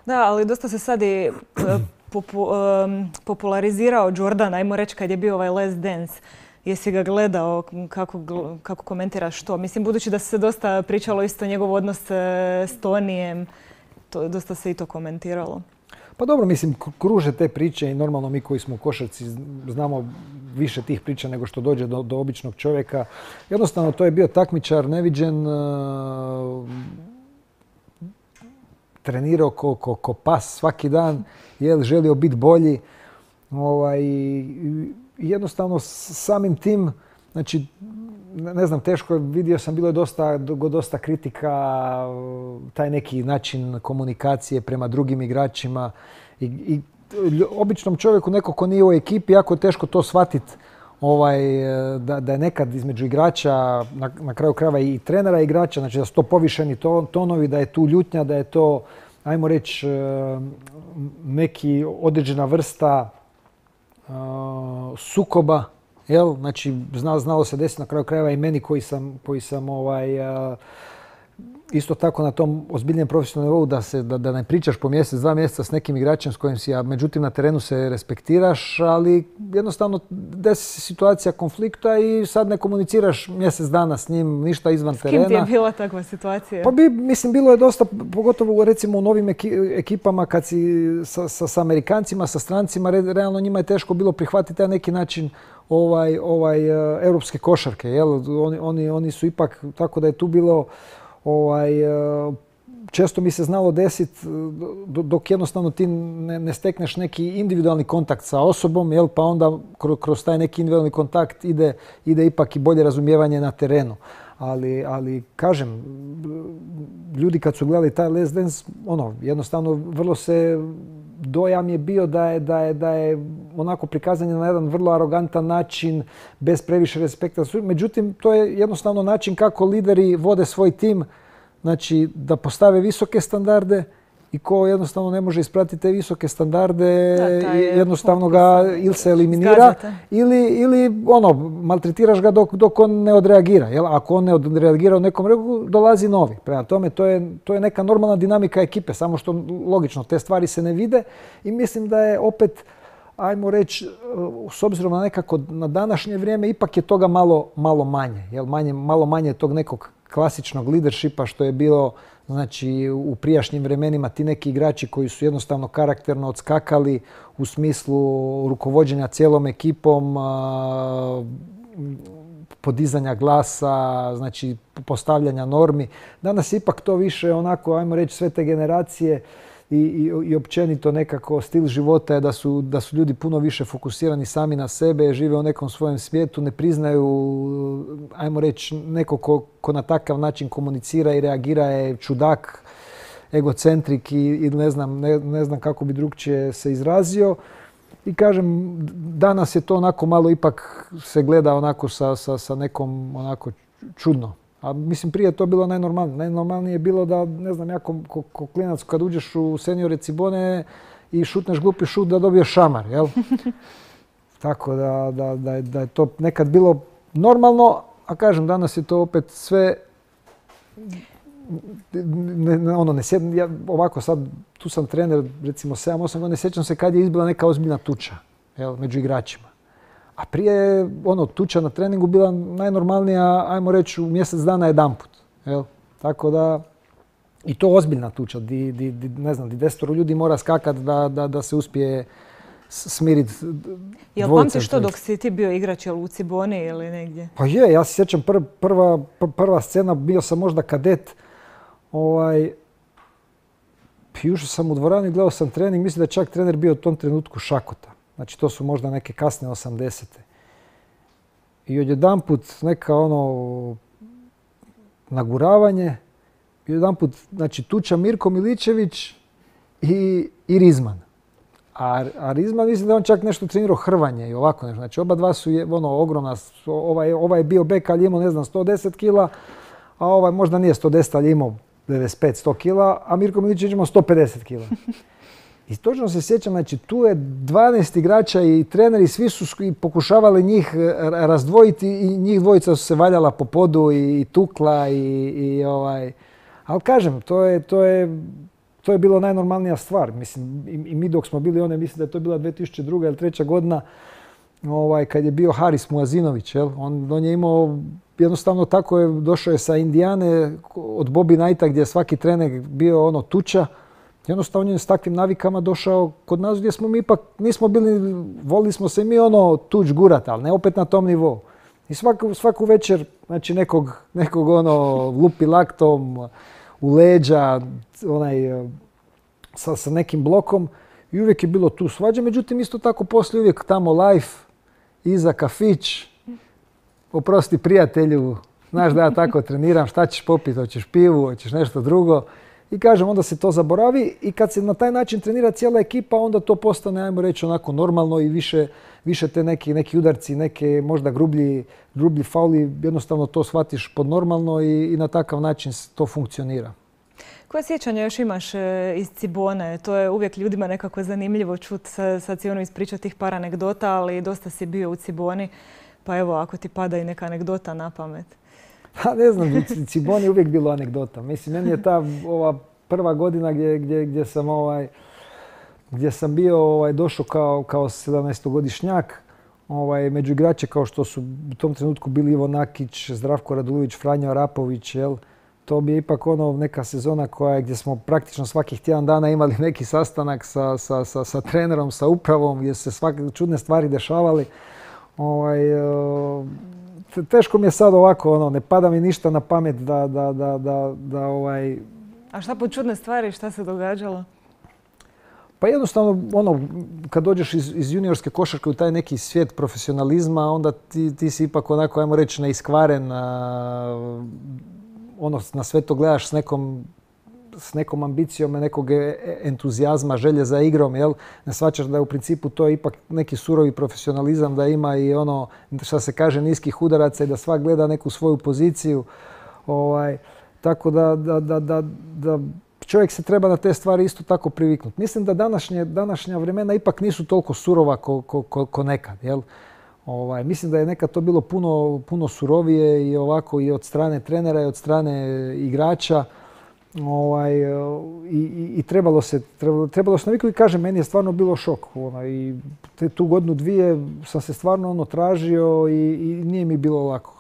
[SPEAKER 2] Da, ali dosta se sad i popu, um, popularizirao Jordan, ajmo reći kad je bio ovaj Last Dance. Jesi ga gledao, kako, kako komentiraš to? Mislim, budući da se dosta pričalo isto njegov odnos s Tonijem, to, dosta se i to komentiralo.
[SPEAKER 3] Pa dobro, mislim, kruže te priče i normalno mi koji smo u košarci znamo više tih priča nego što dođe do, do običnog čovjeka. Jednostavno, to je bio takmičar neviđen, uh, trenirao ko, ko, ko pas svaki dan, je želio biti bolji. Ovaj, jednostavno, samim tim, znači, ne znam, teško, vidio sam, bilo je dosta, dosta kritika, taj neki način komunikacije prema drugim igračima i, i običnom čovjeku, neko ko nije u ekipi, jako je teško to shvatiti ovaj, da, da je nekad između igrača, na, na kraju krajeva i trenera i igrača, znači da su to povišeni to, tonovi, da je tu ljutnja, da je to, ajmo reći, neki određena vrsta uh, sukoba. Jel? Znači, znalo, znalo se desiti na kraju krajeva i meni koji sam, koji sam ovaj, uh, isto tako na tom ozbiljnijem profesionalnom nivou da, se, da, da ne pričaš po mjesec, dva mjeseca s nekim igračem s kojim si, a međutim na terenu se respektiraš, ali jednostavno desi se situacija konflikta i sad ne komuniciraš mjesec dana s njim, ništa izvan terena.
[SPEAKER 2] S kim ti je bila takva situacija?
[SPEAKER 3] Pa bi, mislim, bilo je dosta, pogotovo recimo u novim ekipama kad si sa, sa, sa Amerikancima, sa strancima, realno njima je teško bilo prihvatiti taj neki način ovaj, ovaj, europske košarke. Jel? Oni, oni, oni su ipak, tako da je tu bilo ovaj, često mi se znalo desiti dok jednostavno ti ne, ne stekneš neki individualni kontakt sa osobom, jel, pa onda kroz taj neki individualni kontakt ide, ide ipak i bolje razumijevanje na terenu. Ali, ali kažem, ljudi kad su gledali taj Last Dance, ono, jednostavno vrlo se, dojam je bio da je, da je, da je onako prikazan na jedan vrlo arogantan način, bez previše respekta. Međutim, to je jednostavno način kako lideri vode svoj tim, znači da postave visoke standarde i ko jednostavno ne može ispratiti te visoke standarde, da, jednostavno ga ili se eliminira ili, ili ono, maltretiraš ga dok, dok on ne odreagira. Jel? Ako on ne odreagira u nekom regu, dolazi novi. Prema tome, to je, to je neka normalna dinamika ekipe, samo što logično te stvari se ne vide i mislim da je opet, ajmo reći, s obzirom na nekako na današnje vrijeme, ipak je toga malo, malo manje. Jel? Manje, malo manje tog nekog klasičnog leadershipa što je bilo, znači, u prijašnjim vremenima, ti neki igrači koji su jednostavno karakterno odskakali u smislu rukovođenja cijelom ekipom, podizanja glasa, znači postavljanja normi. Danas je ipak to više onako, ajmo reći, sve te generacije i, i, i općenito nekako stil života je da su, da su ljudi puno više fokusirani sami na sebe, žive u nekom svojem svijetu, ne priznaju, ajmo reći, neko ko, ko na takav način komunicira i reagira je čudak, egocentrik i, i ne znam, ne, ne znam kako bi drugčije se izrazio. I kažem, danas je to onako malo ipak se gleda onako sa, sa, sa nekom onako čudno. A mislim, prije to bilo najnormalnije. Najnormalnije je bilo da, ne znam, ja ko, ko, ko klinac kad uđeš u seniore Cibone i šutneš glupi šut da dobiješ šamar, jel? Tako da, da, da, je, da je to nekad bilo normalno, a kažem, danas je to opet sve, ne, ne, ono, ne sjedim, ja ovako sad, tu sam trener, recimo sedam osam godina, ne sjećam se kad je izbila neka ozbiljna tuča, jel, među igračima. A prije je ono, tuča na treningu bila najnormalnija, ajmo reći, u mjesec dana jedanput. Jel? Tako da, i to ozbiljna tuča, di, di, di, ne znam, di desetoro ljudi mora skakati da, da, da se uspije smiriti dvojica.
[SPEAKER 2] Jel pamtiš to dok si ti bio igrač, jel u Ciboni ili negdje? Pa
[SPEAKER 3] je, ja se sjećam pr, prva, pr, prva scena, bio sam možda kadet, ovaj, ušao sam u dvoranu i gledao sam trening, mislim da je čak trener bio u tom trenutku Šakota. Znači, to su možda neke kasne osamdesete. I odjedanput neka ono naguravanje, i odjedanput, znači, tuča Mirko Miličević i, i Rizman. A, a Rizman, mislim da on čak nešto trenirao hrvanje i ovako nešto. Znači, oba dva su je, ono, ogromna, ovaj, ovaj je bio bek, ali imao, ne znam, sto deset kila, a ovaj možda nije sto deset, ali imao devedeset pet do sto kila, a Mirko Miličević imao sto pedeset kila. I točno se sjećam, znači tu je dvanaest igrača i treneri, svi su pokušavali njih razdvojiti i njih dvojica su se valjala po podu i tukla i, i ovaj... Ali kažem, to je, to je, to je bilo najnormalnija stvar. Mislim, i, i mi dok smo bili one, mislim da je to bila dvije tisuće druga ili treća godina, ovaj, kad je bio Haris Muazinović, jel? On, on je imao, jednostavno tako je, došao je sa Indijane od Bobby Knighta gdje je svaki trener bio ono tuča. Jednostavno on je s takvim navikama došao kod nas gdje smo mi ipak, nismo bili, volili smo se mi ono tuč gurat, ali ne opet na tom nivou. I svaku, svaku večer, znači nekog, nekog ono lupi laktom u leđa, onaj, sa, sa nekim blokom i uvijek je bilo tu svađa. Međutim, isto tako poslije uvijek tamo life, iza kafić, oprosti prijatelju, znaš da ja tako treniram, šta ćeš popiti, hoćeš pivu, hoćeš nešto drugo. I kažem, onda se to zaboravi i kad se na taj način trenira cijela ekipa, onda to postane, ajmo reći, onako normalno i više, više te neki, neki udarci, neke možda grublji, grublji fauli, jednostavno to shvatiš pod normalno i, i na takav način to funkcionira.
[SPEAKER 2] Koje sjećanje još imaš iz Cibone? To je uvijek ljudima nekako zanimljivo čuti, sad si ono ispričati tih par anegdota, ali dosta si bio u Ciboni, pa evo, ako ti pada i neka anegdota na pamet.
[SPEAKER 3] Pa ne znam, Ciboni je uvijek bilo anegdota. Mislim, meni je ta ova prva godina gdje, gdje, gdje sam ovaj, gdje sam bio ovaj, došao kao, kao sedamnaestogodišnjak, ovaj, među igrače kao što su u tom trenutku bili Ivo Nakić, Zdravko Radulović, Franjo Arapović, jel? To bi je ipak ono neka sezona koja je gdje smo praktično svakih tjedan dana imali neki sastanak sa, sa, sa, sa trenerom, sa upravom, gdje su se svake čudne stvari dešavali. Ovaj, teško mi je sad ovako, ono, ne pada mi ništa na pamet da, da, da, da, da ovaj...
[SPEAKER 2] A šta po čudne stvari, šta se događalo?
[SPEAKER 3] Pa jednostavno, ono, kad dođeš iz, iz juniorske košarke u taj neki svijet profesionalizma, onda ti, ti si ipak onako, ajmo reći, neiskvaren, a, ono, na sve to gledaš s nekom, s nekom ambicijom, nekog entuzijazma, želje za igrom, jel? Ne shvaćaš da je u principu to ipak neki surovi profesionalizam, da ima i ono, šta se kaže, niskih udaraca i da svak gleda neku svoju poziciju. Ovaj, tako da, da, da, da, da čovjek se treba na te stvari isto tako priviknuti. Mislim da današnje, današnja vremena ipak nisu toliko surova ko, ko, ko, ko nekad, jel? Ovaj, mislim da je nekad to bilo puno, puno surovije i ovako i od strane trenera i od strane igrača. Ovaj, i, i, i trebalo se, trebalo, trebalo se naviknuti i kažem, meni je stvarno bilo šok. Onaj, i te, tu godinu dvije sam se stvarno ono tražio i, i nije mi bilo lako.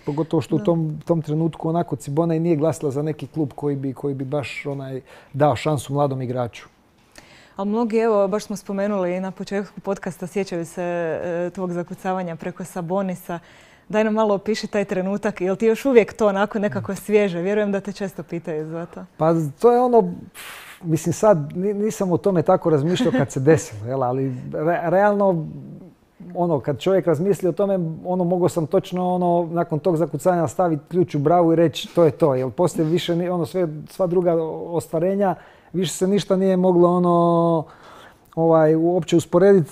[SPEAKER 3] Pogotovo što da. u tom, tom trenutku onako Cibona i nije glasila za neki klub koji bi, koji bi baš onaj, dao šansu mladom igraču.
[SPEAKER 2] Ali mnogi, evo, baš smo spomenuli na početku podcasta, sjećaju se e, tvog zakucavanja preko Sabonisa. Daj nam malo opiši taj trenutak, jel ti još uvijek to onako nekako svježe? Vjerujem da te često pitaju za to.
[SPEAKER 3] Pa to je ono, mislim sad nisam o tome tako razmišljao kad se desilo, jel? Ali re, realno ono, kad čovjek razmisli o tome, ono, mogao sam točno ono, nakon tog zakucanja staviti ključ u bravu i reći to je to. Jer poslije više, ono, sve, sva druga ostvarenja, više se ništa nije moglo ono, ovaj, uopće usporediti.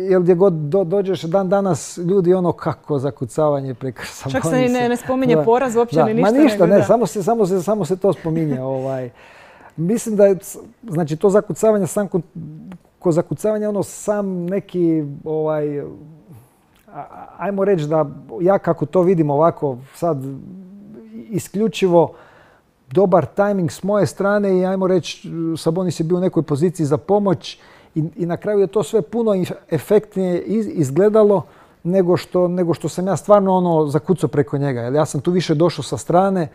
[SPEAKER 3] Jer gdje god do, dođeš dan danas, ljudi ono kako zakucavanje preko Sabonisa.
[SPEAKER 2] Čak se ni ne, ne spominje
[SPEAKER 3] da,
[SPEAKER 2] poraz, uopće
[SPEAKER 3] da,
[SPEAKER 2] ni ništa.
[SPEAKER 3] Ma ništa,
[SPEAKER 2] nego,
[SPEAKER 3] ne,
[SPEAKER 2] da.
[SPEAKER 3] samo se, samo, se, samo se to spominje. Ovaj. Mislim da je, znači, to zakucavanje sam kod ko zakucavanje, ono sam neki, ovaj, ajmo reći da ja kako to vidim ovako sad isključivo dobar tajming s moje strane i ajmo reći Sabonis je bio u nekoj poziciji za pomoć i, i na kraju je to sve puno efektnije izgledalo nego što, nego što sam ja stvarno ono zakucao preko njega. Jer ja sam tu više došao sa strane,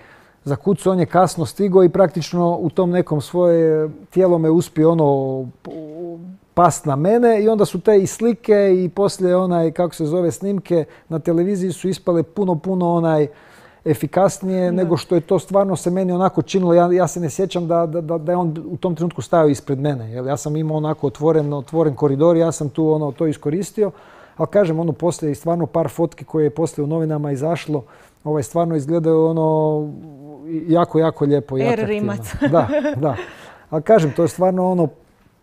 [SPEAKER 3] zakucao, on je kasno stigao i praktično u tom nekom svoje tijelo me uspio ono past na mene i onda su te i slike i poslije onaj, kako se zove, snimke na televiziji su ispale puno, puno onaj efikasnije da. nego što je to stvarno se meni onako činilo. Ja, ja se ne sjećam da, da, da je on u tom trenutku stajao ispred mene. Jer ja sam imao onako otvoren, otvoren koridor, ja sam tu ono, to iskoristio. Ali kažem, ono poslije i stvarno par fotki koje je poslije u novinama izašlo, ovaj, stvarno izgledaju ono jako, jako lijepo i atraktivno.
[SPEAKER 2] Rimac.
[SPEAKER 3] Da, da. Ali kažem, to je stvarno ono,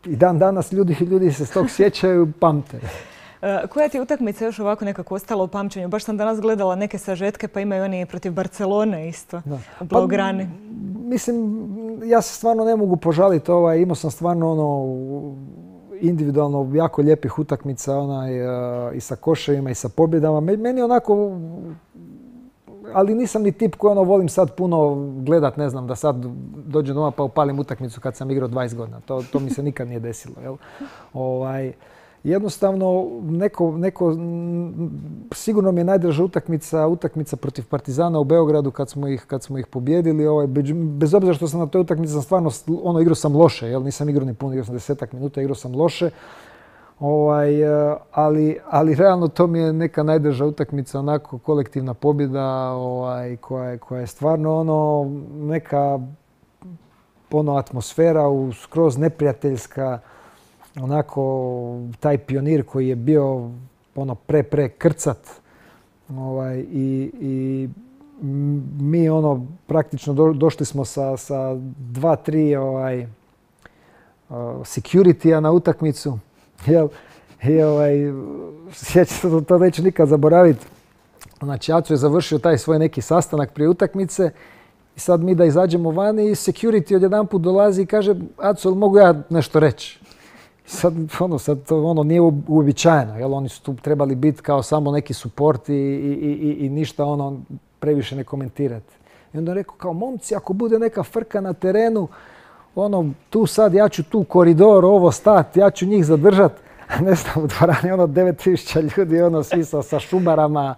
[SPEAKER 3] i dan danas ljudi, ljudi se s tog sjećaju, pamte.
[SPEAKER 2] Uh, koja ti je utakmica još ovako nekako ostala u pamćenju? Baš sam danas gledala neke sažetke, pa imaju oni protiv Barcelone isto, da. u Blaugrani. Pa, mislim, ja se stvarno ne mogu požaliti. Ovaj, imao sam stvarno ono, individualno jako lijepih utakmica onaj, uh, i sa koševima i sa pobjedama. Meni onako, ali nisam ni tip koji ono volim sad puno gledat, ne znam, da sad dođem doma pa upalim utakmicu kad sam igrao dvadeset godina. To, to mi se nikad nije desilo. Jel? Ovaj, jednostavno, neko, neko, sigurno mi je najdraža utakmica, utakmica protiv Partizana u Beogradu kad smo ih, kad smo ih pobjedili. Ovaj, bez obzira što sam na toj utakmici sam stvarno, ono, igrao sam loše, jel? Nisam igrao ni puno, igrao sam desetak minuta, igrao sam loše. Ovaj, ali, ali realno to mi je neka najdraža utakmica, onako kolektivna pobjeda ovaj, koja, je, koja je stvarno ono, neka ono, atmosfera u skroz neprijateljska, onako taj pionir koji je bio ono, pre, pre krcat ovaj, i, i mi ono praktično do, došli smo sa, sa dva, tri ovaj, uh, security-a na utakmicu. Jel, i ovaj, sjećam se, to neću nikad zaboraviti. Znači, Aco je završio taj svoj neki sastanak prije utakmice i sad mi da izađemo vani i security odjedanput dolazi i kaže Aco, mogu ja nešto reći? Sad, ono, sad to ono, nije uobičajeno, jel? Oni su tu trebali biti kao samo neki suport i, i, i, i ništa ono,
[SPEAKER 3] previše ne komentirati. I onda je rekao kao momci, ako bude neka frka na terenu, ono, tu sad ja ću tu koridor, ovo stati, ja ću njih zadržat. Ne znam, u dvorani ono devet tisuća ljudi, ono svi sa, sa šumarama,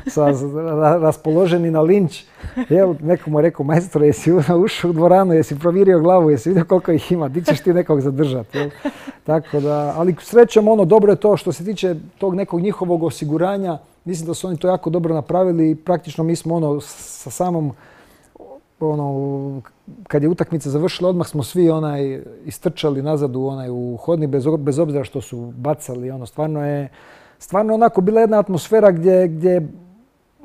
[SPEAKER 3] sa, ra, raspoloženi na linč. Jel, neko mu je rekao, majstore, jesi ušao u dvoranu, jesi provjerio glavu, jesi vidio koliko ih ima, ti ćeš ti nekog zadržati. Jel? Tako da, ali srećom, ono, dobro je to što se tiče tog nekog njihovog osiguranja. Mislim da su oni to jako dobro napravili i praktično mi smo ono sa samom ono, kad je utakmica završila, odmah smo svi onaj istrčali nazad u onaj u hodnik bez, bez obzira što su bacali. Ono, stvarno je stvarno onako bila jedna atmosfera gdje, gdje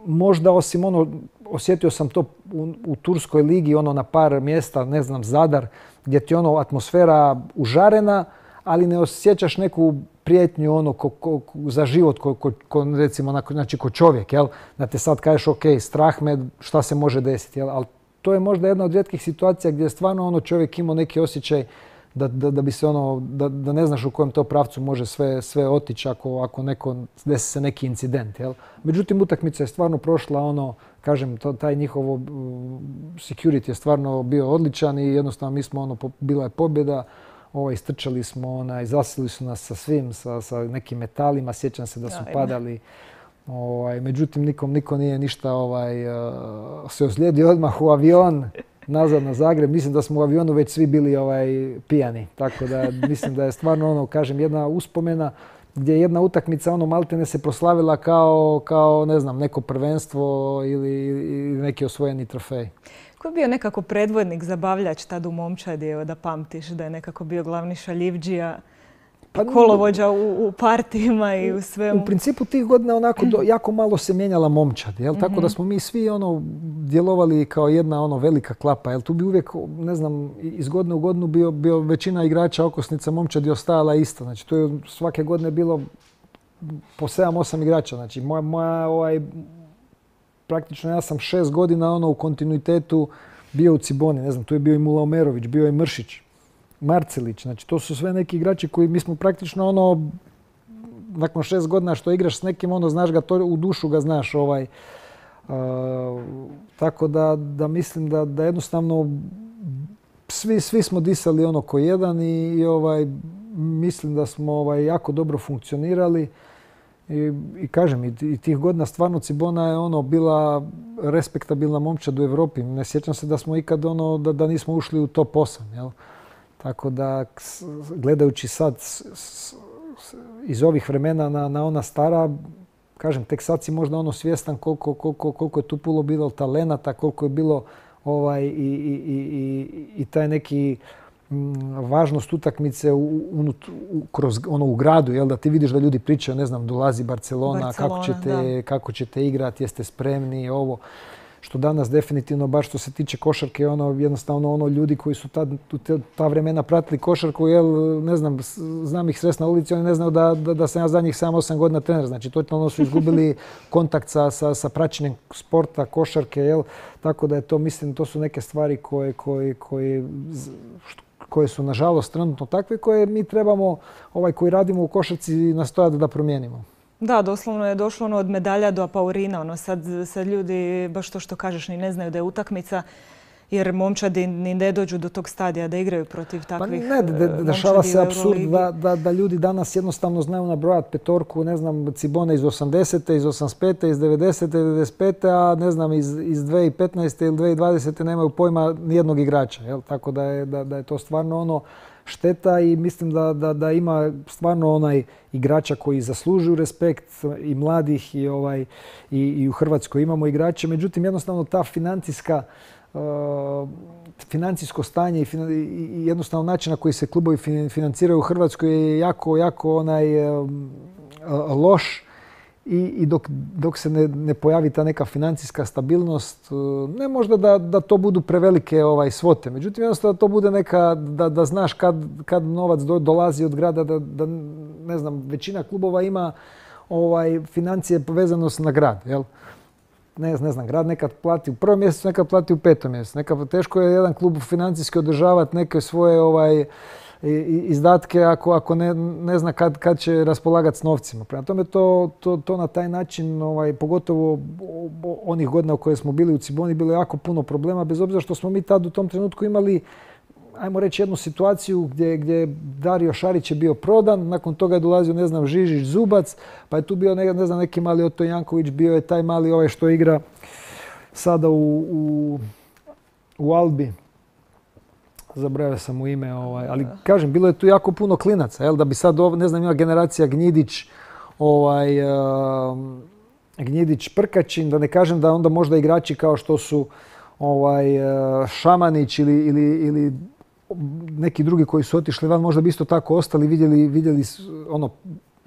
[SPEAKER 3] možda osim ono, osjetio sam to u, u Turskoj ligi, ono na par mjesta, ne znam, Zadar, gdje ti ono atmosfera užarena, ali ne osjećaš neku prijetnju ono ko, ko, za život, ko, ko, ko, recimo, znači ko čovjek, jel? Da te sad kažeš, ok, strah me, šta se može desiti, jel? Ali to je možda jedna od rijetkih situacija gdje stvarno ono čovjek ima neki osjećaj da, da, da bi se ono, da, da ne znaš u kojem to pravcu može sve, sve otići ako, ako neko, desi se neki incident, jel? Međutim, utakmica je stvarno prošla ono, kažem, to, taj njihov uh, security je stvarno bio odličan i jednostavno mi smo ono, bila je pobjeda. Ovo, istrčali smo, onaj, zasili su nas sa svim, sa, sa nekim metalima, sjećam se da su padali. Ovaj, međutim, nikom niko nije ništa ovaj, uh, se ozlijedio odmah u avion, nazad na Zagreb. Mislim da smo u avionu već svi bili ovaj, pijani. Tako da mislim da je stvarno ono, kažem, jedna uspomena gdje jedna utakmica ono maltene se proslavila kao, kao ne znam, neko prvenstvo ili, ili neki osvojeni trofej.
[SPEAKER 2] Ko je bio nekako predvodnik, zabavljač tad u momčadi, evo da pamtiš da je nekako bio glavni šaljivdžija, pa, kolovođa u, u partijima i u svemu?
[SPEAKER 3] U principu tih godina onako do, jako malo se mijenjala momčad, jel? Tako da smo mi svi ono djelovali kao jedna ono velika klapa, jel? Tu bi uvijek, ne znam, iz godine u godinu bio, bio većina igrača okosnica momčadi ostajala ista. Znači to je svake godine bilo po sedam osam igrača. Znači moja, moja ovaj, praktično ja sam šest godina ono u kontinuitetu bio u Ciboni, ne znam, tu je bio i Mula Omerović, bio je Mršić, Marcelić, znači to su sve neki igrači koji mi smo praktično ono, nakon šest godina što igraš s nekim, ono, znaš ga, to u dušu ga znaš, ovaj, uh, tako da, da mislim da, da jednostavno svi, svi smo disali ono ko jedan i, i ovaj, mislim da smo ovaj, jako dobro funkcionirali. I, i kažem, i, i tih godina stvarno Cibona je ono bila respektabilna momčad u Europi. Ne sjećam se da smo ikad ono, da, da nismo ušli u top osam, jel? Tako da, gledajući sad s, s, iz ovih vremena na, na ona stara, kažem, tek sad si možda ono svjestan koliko, koliko, koliko je tu puno bilo talenata, koliko je bilo ovaj, i, i, i, i taj neki važnost utakmice u, u, u, kroz ono u gradu, jel, da ti vidiš da ljudi pričaju, ne znam, dolazi Barcelona, Barcelona kako ćete, kako ćete igrati, jeste spremni, ovo. Što danas definitivno, baš što se tiče košarke, ono, jednostavno ono ljudi koji su tad, ta vremena pratili košarku, jel, ne znam, znam ih srest na ulici, oni ne znaju da, da, da sam ja zadnjih sedam osam godina trener. Znači, totalno su izgubili kontakt sa, sa, sa praćenjem sporta, košarke, jel, tako da je to, mislim, to su neke stvari koje, koje, koje, koje su, nažalost, trenutno takve, koje mi trebamo, ovaj, koji radimo u košarci, nastojati da promijenimo.
[SPEAKER 2] Da, doslovno je došlo ono od medalja do apaurina. Ono, sad, sad ljudi, baš to što kažeš, ni ne znaju da je utakmica, jer momčadi ni ne dođu do tog stadija da igraju protiv takvih
[SPEAKER 3] pa ne, de, de, dešava se apsurd da, da, da ljudi danas jednostavno znaju nabrojati petorku, ne znam, Cibone iz osamdesete, iz osamdeset pete, iz devedesete, devedeset pete, a ne znam, iz, iz dvije tisuće petnaeste ili dvije tisuće dvadesete nemaju pojma nijednog igrača. Jel? Tako da je, da, da je to stvarno ono šteta i mislim da, da, da ima stvarno onaj igrača koji zaslužuju respekt i mladih i, ovaj, i, i u Hrvatskoj imamo igrače. Međutim, jednostavno ta financijska, uh, financijsko stanje i, fin, i jednostavno način na koji se klubovi financiraju u Hrvatskoj je jako, jako onaj uh, loš. I, i dok, dok se ne, ne pojavi ta neka financijska stabilnost, ne možda da, da to budu prevelike ovaj, svote. Međutim, jednostavno da to bude neka, da, da znaš kad, kad novac do, dolazi od grada, da, da ne znam, većina klubova ima ovaj, financije povezano na grad, jel? Ne, ne znam, grad nekad plati u prvom mjesecu, nekad plati u petom mjesecu. Nekad teško je jedan klub financijski održavati neke svoje ovaj, izdatke ako, ako ne, ne zna kad, kad će raspolagati s novcima. Prema tome to, to, to na taj način, ovaj, pogotovo onih godina u koje smo bili u Ciboni, bilo jako puno problema, bez obzira što smo mi tad u tom trenutku imali, ajmo reći, jednu situaciju gdje, gdje Dario Šarić je bio prodan, nakon toga je dolazio, ne znam, Žižić, Zubac, pa je tu bio, ne, ne znam, neki mali Oto Janković, bio je taj mali ovaj što igra sada u, u, u Albi. Zaboravio sam mu ime, ovaj, ali kažem, bilo je tu jako puno klinaca, jel, da bi sad, ne znam, ima generacija Gnjidić, ovaj, uh, Gnjidić, Prkačin, da ne kažem da onda možda igrači kao što su ovaj, uh, Šamanić ili, ili, ili neki drugi koji su otišli van, možda bi isto tako ostali, vidjeli, vidjeli ono,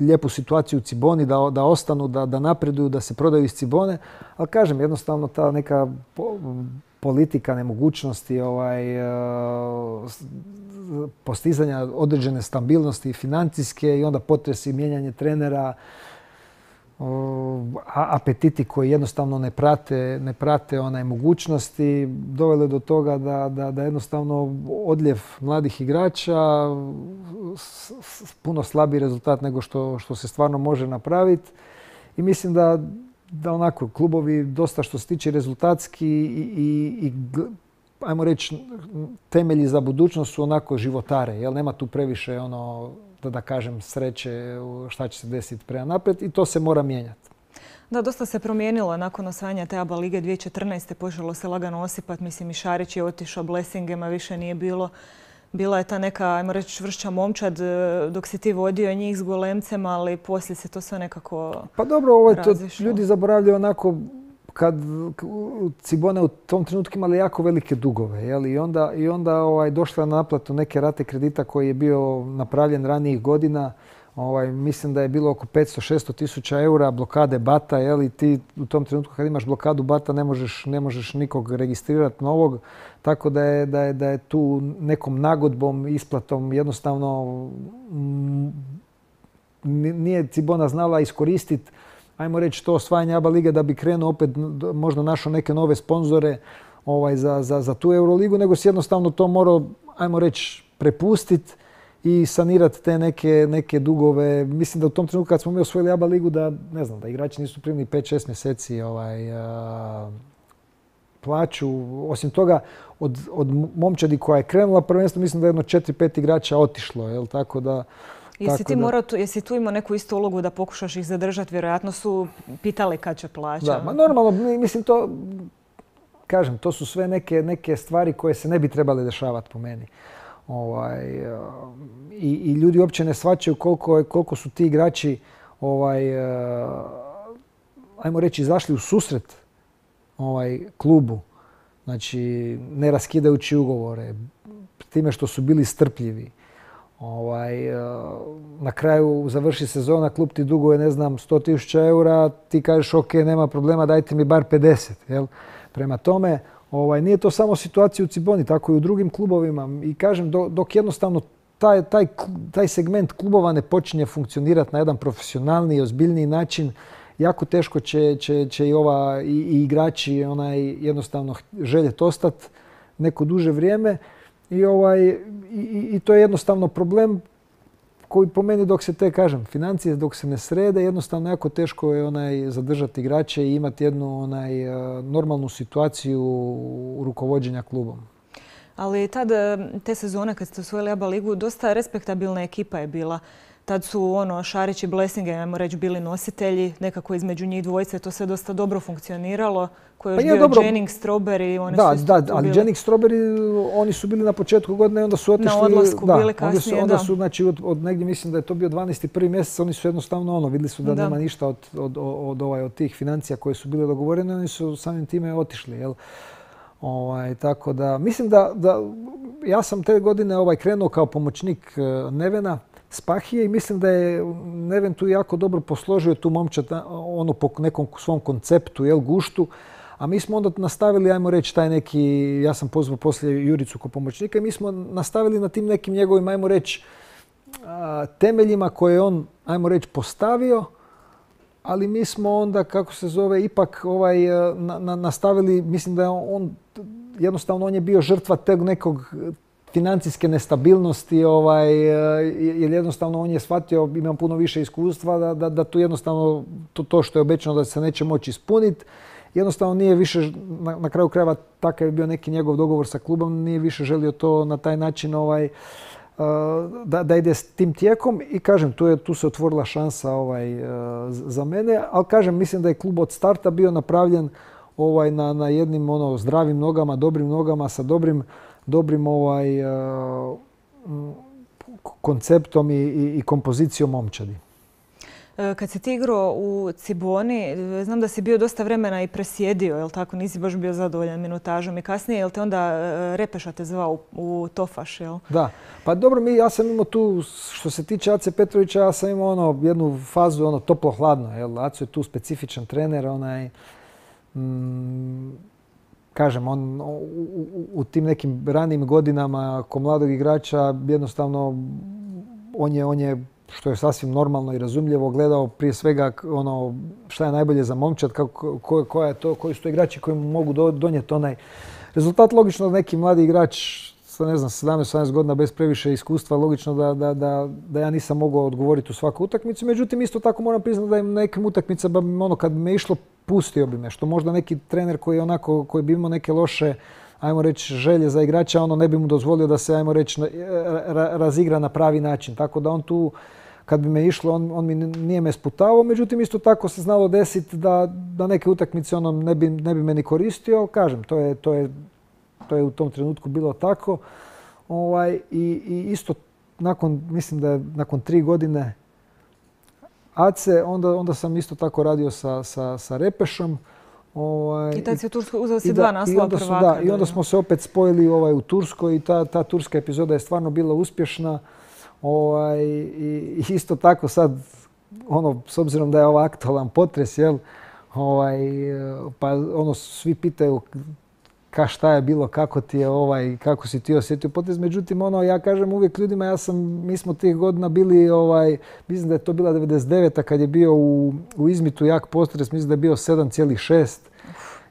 [SPEAKER 3] lijepu situaciju u Ciboni, da, da ostanu, da, da napreduju, da se prodaju iz Cibone, ali kažem, jednostavno ta neka politika nemogućnosti ovaj, postizanja određene stabilnosti financijske i onda potresi mijenjanje trenera, apetiti koji jednostavno ne prate, ne prate onaj mogućnosti, dovele do toga da, da, da jednostavno odljev mladih igrača, puno slabiji rezultat nego što, što se stvarno može napraviti. I mislim da da onako klubovi dosta što se tiče rezultatski i, i, i ajmo reći temelji za budućnost su onako životare, jel nema tu previše ono da da kažem sreće šta će se desiti prema naprijed i to se mora mijenjati.
[SPEAKER 2] Da, dosta se promijenilo nakon osvajanja te A B A lige dvije tisuće četrnaeste. Počelo se lagano osipati, mislim i Šarić je otišao, Blessingema više nije bilo. Bila je ta neka, ajmo reći, čvršća momčad dok si ti vodio njih s golemcem, ali poslije se to sve nekako
[SPEAKER 3] Pa dobro, ovo je to, ljudi zaboravljaju onako kad Cibona u tom trenutku imali jako velike dugove. Jel? I onda, i onda ovaj, došla na naplatu neke rate kredita koji je bio napravljen ranijih godina. Ovaj, mislim da je bilo oko petsto do šesto tisuća eura blokade bata. Jel? I ti u tom trenutku kad imaš blokadu bata ne možeš, ne možeš nikog registrirati novog. Tako da je, da, je, da je tu nekom nagodbom, isplatom jednostavno m, nije Cibona znala iskoristiti, ajmo reći, to osvajanje A B A lige da bi krenuo opet, možda našao neke nove sponzore ovaj, za, za, za tu Euroligu, nego si jednostavno to morao, ajmo reći, prepustiti i sanirati te neke, neke dugove. Mislim da u tom trenutku kad smo mi osvojili A B A ligu da, ne znam, da igrači nisu primili pet šest mjeseci ovaj, a, plaću. Osim toga, od, od momčadi koja je krenula prvenstvo, mislim da je jedno četiri pet igrača otišlo. Jel? Tako da,
[SPEAKER 2] Jesi ti
[SPEAKER 3] da...
[SPEAKER 2] morao tu, jesi tu imao neku istu ulogu da pokušaš ih zadržati? Vjerojatno su pitali kad će plaća.
[SPEAKER 3] Da, ma normalno, mislim to, kažem, to su sve neke, neke stvari koje se ne bi trebale dešavati po meni. Ovaj, i, i ljudi uopće ne shvaćaju koliko, koliko su ti igrači, ovaj, ajmo reći, izašli u susret ovaj, klubu. Znači, ne raskidajući ugovore, time što su bili strpljivi. Ovaj, na kraju završi sezona, klub ti duguje, ne znam, sto tisuća eura, ti kažeš ok, nema problema, dajte mi bar pedeset. Jel? Prema tome, ovaj, nije to samo situacija u Ciboni, tako i u drugim klubovima. I kažem, dok jednostavno taj, taj, taj segment klubova ne počinje funkcionirati na jedan profesionalni i ozbiljniji način, jako teško će, će, će i, ova, i, i igrači onaj, jednostavno željeti ostati neko duže vrijeme. I, ovaj, i, i to je jednostavno problem koji po meni dok se te, kažem, financije dok se ne srede, jednostavno jako teško je onaj, zadržati igrače i imati jednu onaj, normalnu situaciju rukovođenja klubom.
[SPEAKER 2] Ali tad, te sezone kad ste osvojili A B A ligu, dosta respektabilna ekipa je bila. Tad su ono, Šarić i Blessingen, ajmo reći, bili nositelji, nekako između njih dvojice to sve dosta dobro funkcioniralo. Koji je još pa bio dobro. Jennings, Strawberry, oni
[SPEAKER 3] da,
[SPEAKER 2] su
[SPEAKER 3] da, ali bili. Jennings, Strawberry, oni su bili na početku godine i onda su otišli.
[SPEAKER 2] Na odlasku
[SPEAKER 3] da,
[SPEAKER 2] bili kasnije,
[SPEAKER 3] onda su, onda su, znači, od, od negdje mislim da je to bio dvanaesti prvi mjesec, oni su jednostavno ono, vidjeli su da, da. nema ništa od, od, od, ovaj, od tih financija koje su bile dogovorene, oni su samim time otišli. Jel? Ovaj, tako da, mislim da, da ja sam te godine ovaj, krenuo kao pomoćnik Nevena Spahije i mislim da je Neven tu jako dobro posložio tu momčad ono po nekom svom konceptu, jel, guštu. A mi smo onda nastavili, ajmo reći, taj neki, ja sam pozvao poslije Juricu kao pomoćnika i mi smo nastavili na tim nekim njegovim, ajmo reći, temeljima koje je on, ajmo reći, postavio, ali mi smo onda, kako se zove, ipak ovaj, na, na, nastavili, mislim da je on, jednostavno on je bio žrtva teg nekog financijske nestabilnosti, ovaj, jer jednostavno on je shvatio, imam puno više iskustva, da, da, da tu jednostavno to, to što je obećano da se neće moći ispuniti, jednostavno nije više, na, na kraju krajeva takav je bio neki njegov dogovor sa klubom, nije više želio to na taj način ovaj, da, da ide s tim tijekom i kažem, tu, je, tu se otvorila šansa ovaj, za mene, ali kažem, mislim da je klub od starta bio napravljen ovaj, na, na jednim ono, zdravim nogama, dobrim nogama, sa dobrim, dobrim ovaj, konceptom i, i, i kompozicijom momčadi.
[SPEAKER 2] Kad si ti igrao u Ciboni, znam da si bio dosta vremena i presjedio, jel tako? Nisi baš bio zadovoljan minutažom i kasnije, jel te onda Repeša te zvao u, u Tofaš, jel?
[SPEAKER 3] Da, pa dobro, mi, ja sam imao tu, što se tiče Ace Petrovića, ja sam imao ono, jednu fazu ono, toplo-hladno, jel? Aco je tu specifičan trener, onaj, mm, kažem, on u, u, u tim nekim ranijim godinama ko mladog igrača jednostavno on je, on je što je sasvim normalno i razumljivo, gledao prije svega ono šta je najbolje za momčad, kako, ko, koja je to, koji su to igrači koji mu mogu do, donijeti onaj rezultat. Logično da neki mladi igrač sa ne znam sedamnaest osamnaest godina bez previše iskustva, logično da, da, da, da ja nisam mogao odgovoriti u svaku utakmicu. Međutim, isto tako moram priznati da je na nekim utakmicama ono kad bi me išlo pustio bi me, što možda neki trener koji onako koji bi imao neke loše ajmo reći želje za igrača, ono ne bi mu dozvolio da se ajmo reći razigra na pravi način. Tako da on tu kad bi me išlo, on, on mi nije me sputavao, međutim isto tako se znalo desiti da, da neke utakmice ono ne bi, ne bi me ni koristio. Kažem, to je, to je, to je u tom trenutku bilo tako. Ovaj, i, i isto nakon, mislim da je nakon tri godine Ace, onda, onda sam isto tako radio sa, sa, sa Repešom. Ovaj,
[SPEAKER 2] I tad si u Turskoj uzeo si dva naslova prvaka.
[SPEAKER 3] Da, i onda smo se opet spojili ovaj, u Turskoj i ta, ta turska epizoda je stvarno bila uspješna. Ovaj, i isto tako sad, ono, s obzirom da je ovo aktualan potres, jel, ovaj, pa ono, svi pitaju ka šta je bilo, kako ti je ovaj, kako si ti osjetio potres. Međutim, ono, ja kažem uvijek ljudima, ja sam, mi smo tih godina bili, ovaj, mislim da je to bila devedeset deveta kad je bio u, u Izmitu jak potres, mislim da je bio sedam zarez šest,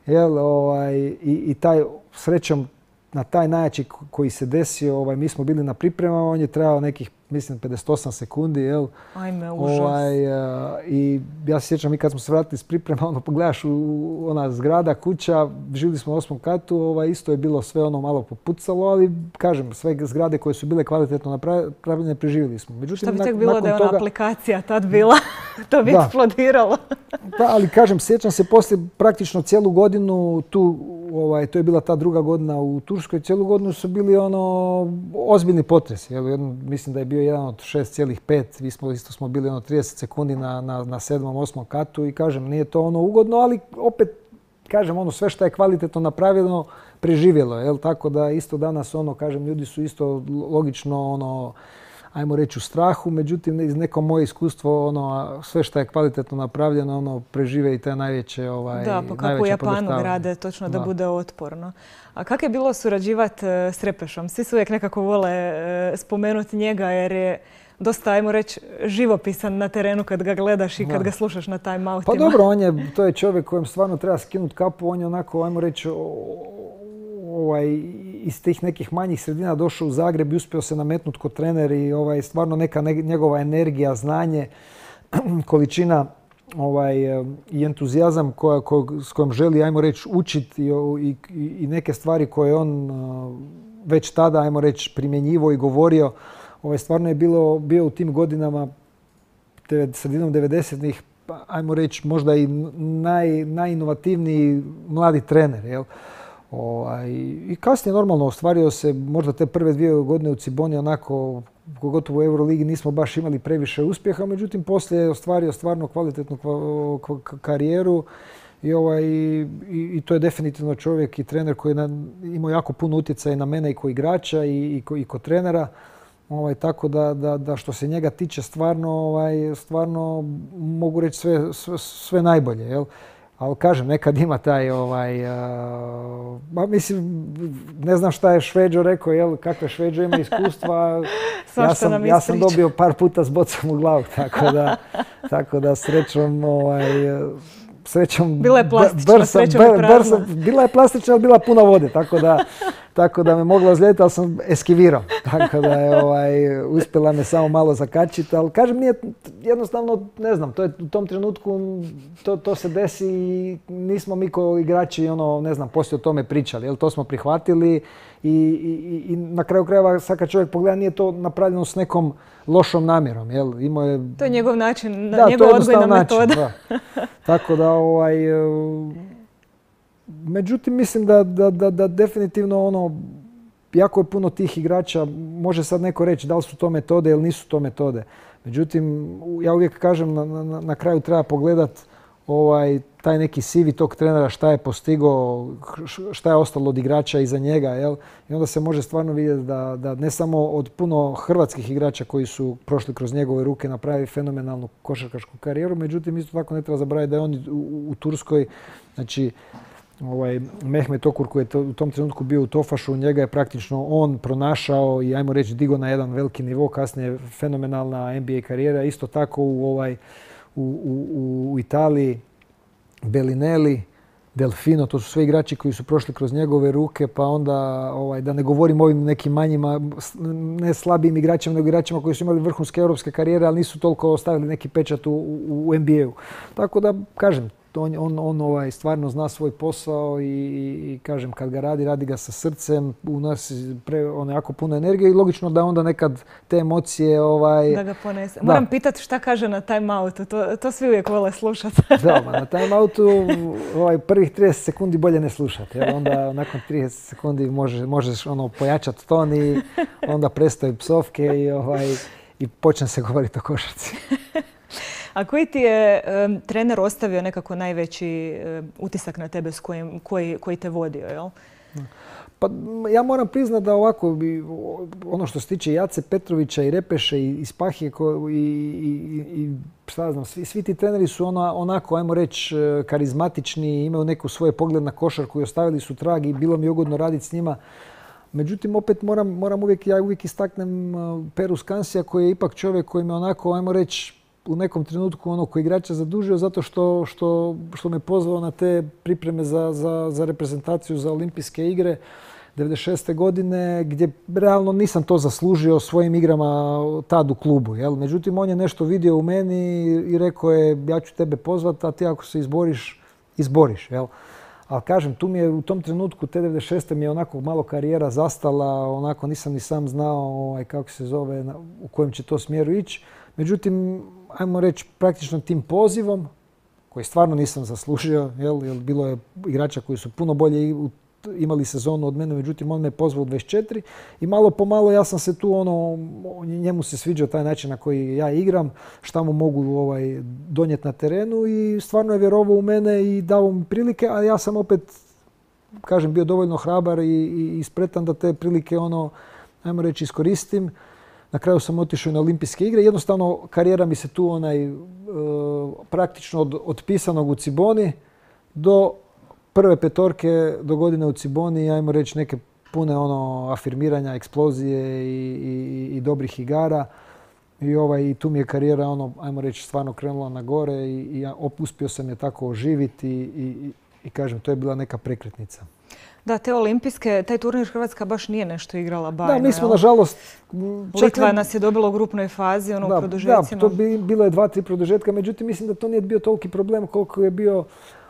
[SPEAKER 3] jel, ovaj, i, i taj, srećom, na taj najjači koji se desio, ovaj, mi smo bili na pripremama, on je trajao nekih, mislim, pedeset osam sekundi, jel?
[SPEAKER 2] Ajme, užas.
[SPEAKER 3] Ovaj, I ja se sjećam, mi kad smo se vratili s priprema, ono, pogledaš u ona zgrada, kuća, živjeli smo u osmom katu, ovaj, isto je bilo sve ono malo popucalo, ali kažem, sve zgrade koje su bile kvalitetno napravljene, preživjeli smo. Međutim,
[SPEAKER 2] šta bi tek bilo da je ona
[SPEAKER 3] toga,
[SPEAKER 2] aplikacija tad bila? To bi
[SPEAKER 3] da,
[SPEAKER 2] eksplodiralo.
[SPEAKER 3] Da, ali kažem, sjećam se poslije praktično cijelu godinu tu, ovaj, to je bila ta druga godina u Turskoj, cijelu godinu su bili ono ozbiljni potresi. Jel, jedno, mislim da je bio jedan od šest zarez pet, mi smo isto smo bili ono trideset sekundi na, na, na sedmom, osmom katu i kažem, nije to ono ugodno, ali opet kažem, ono sve što je kvalitetno napravljeno preživjelo, jel, tako da isto danas ono, kažem, ljudi su isto logično ono, ajmo reći u strahu, međutim iz neko moje iskustvo ono sve što je kvalitetno napravljeno ono prežive i te najveće ovaj
[SPEAKER 2] da, pa kako u Japanu grade točno da, da bude otporno. A kako je bilo surađivati s Repešom? Svi su uvijek nekako vole spomenuti njega jer je dosta, ajmo reći, živopisan na terenu kad ga gledaš i kad da. ga slušaš na time-outima.
[SPEAKER 3] Pa dobro, on je, to je čovjek kojem stvarno treba skinuti kapu, on je onako, ajmo reći, ovaj, iz tih nekih manjih sredina došao u Zagreb i uspio se nametnuti kod trener i ovaj, stvarno neka ne, njegova energija, znanje, količina ovaj, i entuzijazam koja, ko, s kojom želi, ajmo reći, učiti i, i, i neke stvari koje on već tada, ajmo reći, primjenjivo i govorio. Ovaj, stvarno je bilo, bio u tim godinama, sredinom devedesetih, ajmo reći, možda i naj, najinovativniji mladi trener, jel? Ovaj, I kasnije normalno ostvario se, možda te prve dvije godine u Ciboni, onako, pogotovo u Euroligi nismo baš imali previše uspjeha, međutim poslije je ostvario stvarno kvalitetnu karijeru i, ovaj, i, i to je definitivno čovjek i trener koji je imao jako puno utjecaja na mene i kao igrača i, i, i kao trenera. Ovaj, tako da, da, da što se njega tiče stvarno, ovaj, stvarno mogu reći sve, sve, sve najbolje. Jel? Ali kažem, nekad ima taj, ovaj, uh, ba, mislim, ne znam šta je Šveđo rekao, jel, kakve Šveđo ima iskustva. ja, sam, ja sam dobio par puta s bocom u glavu, tako da, tako da srećom, ovaj, srećom...
[SPEAKER 2] Bila je plastična,
[SPEAKER 3] brsa,
[SPEAKER 2] srećom je prazna.
[SPEAKER 3] Bila je plastična, ali bila puna vode, tako da, tako da me mogla ozlijediti, ali sam eskivirao. Tako da je ovaj, uspjela me samo malo zakačiti, ali kažem, nije jednostavno, ne znam, to je u tom trenutku, to, to se desi i nismo mi kao igrači, ono, ne znam, poslije o tome pričali, jel, to smo prihvatili i, i, i na kraju krajeva, sad kad čovjek pogleda, nije to napravljeno s nekom lošom namjerom, jel, imao je...
[SPEAKER 2] To je njegov način,
[SPEAKER 3] da,
[SPEAKER 2] njegov odgojna
[SPEAKER 3] način,
[SPEAKER 2] metoda.
[SPEAKER 3] Da. Tako da, ovaj, međutim, mislim da, da, da, da definitivno ono, jako je puno tih igrača, može sad neko reći da li su to metode ili nisu to metode. Međutim, ja uvijek kažem, na, na, na kraju treba pogledat ovaj, taj neki C V tog trenera, šta je postigao, šta je ostalo od igrača iza njega. Jel? I onda se može stvarno vidjeti da, da ne samo od puno hrvatskih igrača koji su prošli kroz njegove ruke napravili fenomenalnu košarkašku karijeru. Međutim, isto tako ne treba zaboraviti da je on u, u Turskoj, znači, ovaj, Mehmet Okur koji je to, u tom trenutku bio u Tofašu, njega je praktično on pronašao i ajmo reći digo na jedan veliki nivo, kasnije fenomenalna N B A karijera. Isto tako u, ovaj, u, u, u Italiji Bellinelli, Delfino, to su sve igrači koji su prošli kroz njegove ruke, pa onda ovaj, da ne govorim o ovim nekim manjima, ne slabijim igračima, nego igračima koji su imali vrhunske europske karijere, ali nisu toliko ostavili neki pečat u, u, u N B A-u. Tako da, kažem, on, on, on ovaj, stvarno zna svoj posao i, i, i kažem, kad ga radi, radi ga sa srcem, u nas pre, on jako puno energije i logično da onda nekad te emocije... Ovaj,
[SPEAKER 2] da ga ponese. Moram da. pitati šta kaže na time-outu, to, to svi uvijek vole slušati.
[SPEAKER 3] Da, ma na time-outu ovaj, prvih trideset sekundi bolje ne slušati, jer onda nakon trideset sekundi može, možeš ono, pojačati ton i onda prestaju psovke i, ovaj, i počne se govoriti o košarci.
[SPEAKER 2] A koji ti je um, trener ostavio nekako najveći um, utisak na tebe s kojim, koji, koji te vodio, jel?
[SPEAKER 3] Pa ja moram priznati da ovako, ono što se tiče Jace Petrovića i Repeše i Spahije i, i, i šta znam, svi, svi ti treneri su ona, onako, ajmo reći, karizmatični, imaju neku svoje pogled na košarku i ostavili su trag i bilo mi je ugodno raditi s njima. Međutim, opet moram, moram uvijek, ja uvijek istaknem Peru Skansija koji je ipak čovjek koji me onako, ajmo reći, u nekom trenutku ono koji igrača zadužio zato što, što, što me pozvao na te pripreme za, za, za reprezentaciju za olimpijske igre devedeset šeste godine gdje realno nisam to zaslužio svojim igrama tad u klubu. Jel? Međutim, on je nešto vidio u meni i rekao je ja ću tebe pozvati, a ti ako se izboriš, izboriš. Jel? Ali kažem, tu mi je u tom trenutku, te devedeset šeste mi je onako malo karijera zastala, onako nisam ni sam znao ovaj, kako se zove, u kojem će to smjeru ići. Međutim, ajmo reći, praktično tim pozivom, koji stvarno nisam zaslužio, jel, jer bilo je igrača koji su puno bolje imali sezonu od mene, međutim on me pozvao u dvadeset četiri i malo po malo ja sam se tu, ono, njemu se sviđao taj način na koji ja igram, šta mu mogu ovaj, donijeti na terenu i stvarno je vjerovao u mene i dao mi prilike, a ja sam opet, kažem, bio dovoljno hrabar i, i, i spretan da te prilike, ono, ajmo reći, iskoristim. Na kraju sam otišao na olimpijske igre. Jednostavno, karijera mi se tu onaj, e, praktično od, od pisanog u Ciboni do prve petorke do godine u Ciboni, ajmo reći neke pune ono, afirmiranja, eksplozije i, i, i dobrih igara. I, ovaj, i tu mi je karijera, ono, ajmo reći, stvarno krenula na gore i, i ja uspio sam je tako oživiti i, i, i kažem, to je bila neka prekretnica.
[SPEAKER 2] Da, te olimpijske, taj turnir Hrvatska baš nije nešto igrala bajno.
[SPEAKER 3] Da, mi smo nažalost...
[SPEAKER 2] Litva nas je dobila u grupnoj fazi, ono
[SPEAKER 3] da,
[SPEAKER 2] u produžecima.
[SPEAKER 3] Da, to bi, bilo je dva, tri produžetka, međutim mislim da to nije bio toliki problem koliko je bio...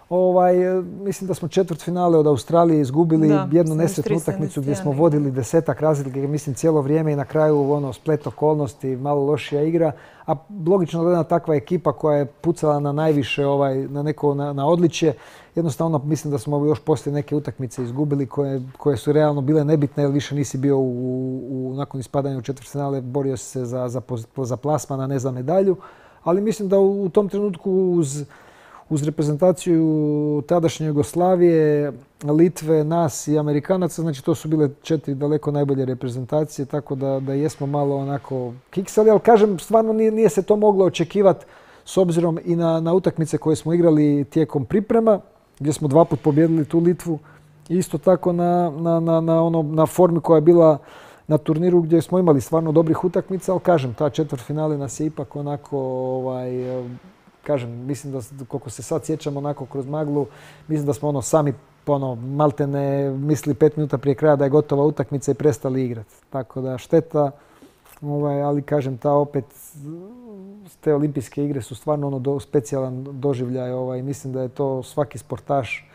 [SPEAKER 3] Ovaj, mislim da smo četvrt finale od Australije izgubili, da, jednu nesretnu utakmicu gdje smo vodili desetak razlike, mislim cijelo vrijeme i na kraju ono, splet okolnosti, malo lošija igra. A logično da jedna takva ekipa koja je pucala na najviše, ovaj, na neko na, na odličje, jednostavno mislim da smo još poslije neke utakmice izgubili koje, koje su realno bile nebitne jer više nisi bio u, u, nakon ispadanja u četvrtfinale, borio se za, za, za plasman, a ne za medalju. Ali mislim da u, u tom trenutku uz uz reprezentaciju tadašnje Jugoslavije, Litve, nas i Amerikanaca, znači to su bile četiri daleko najbolje reprezentacije, tako da, da jesmo malo onako kiksali, ali kažem, stvarno nije, nije se to moglo očekivati s obzirom i na, na utakmice koje smo igrali tijekom priprema, gdje smo dva put pobjedili tu Litvu, isto tako na, na, na, na, ono, na formi koja je bila na turniru gdje smo imali stvarno dobrih utakmica, ali kažem, ta četvrtfinale nas je ipak onako... Ovaj, kažem, mislim da koliko se sad sjećam onako kroz maglu, mislim da smo ono sami ono, malte ne misli pet minuta prije kraja da je gotova utakmica i prestali igrati. Tako da šteta, ovaj, ali kažem, ta opet, te olimpijske igre su stvarno ono do, specijalan doživljaj. Ovaj, mislim da je to svaki sportaš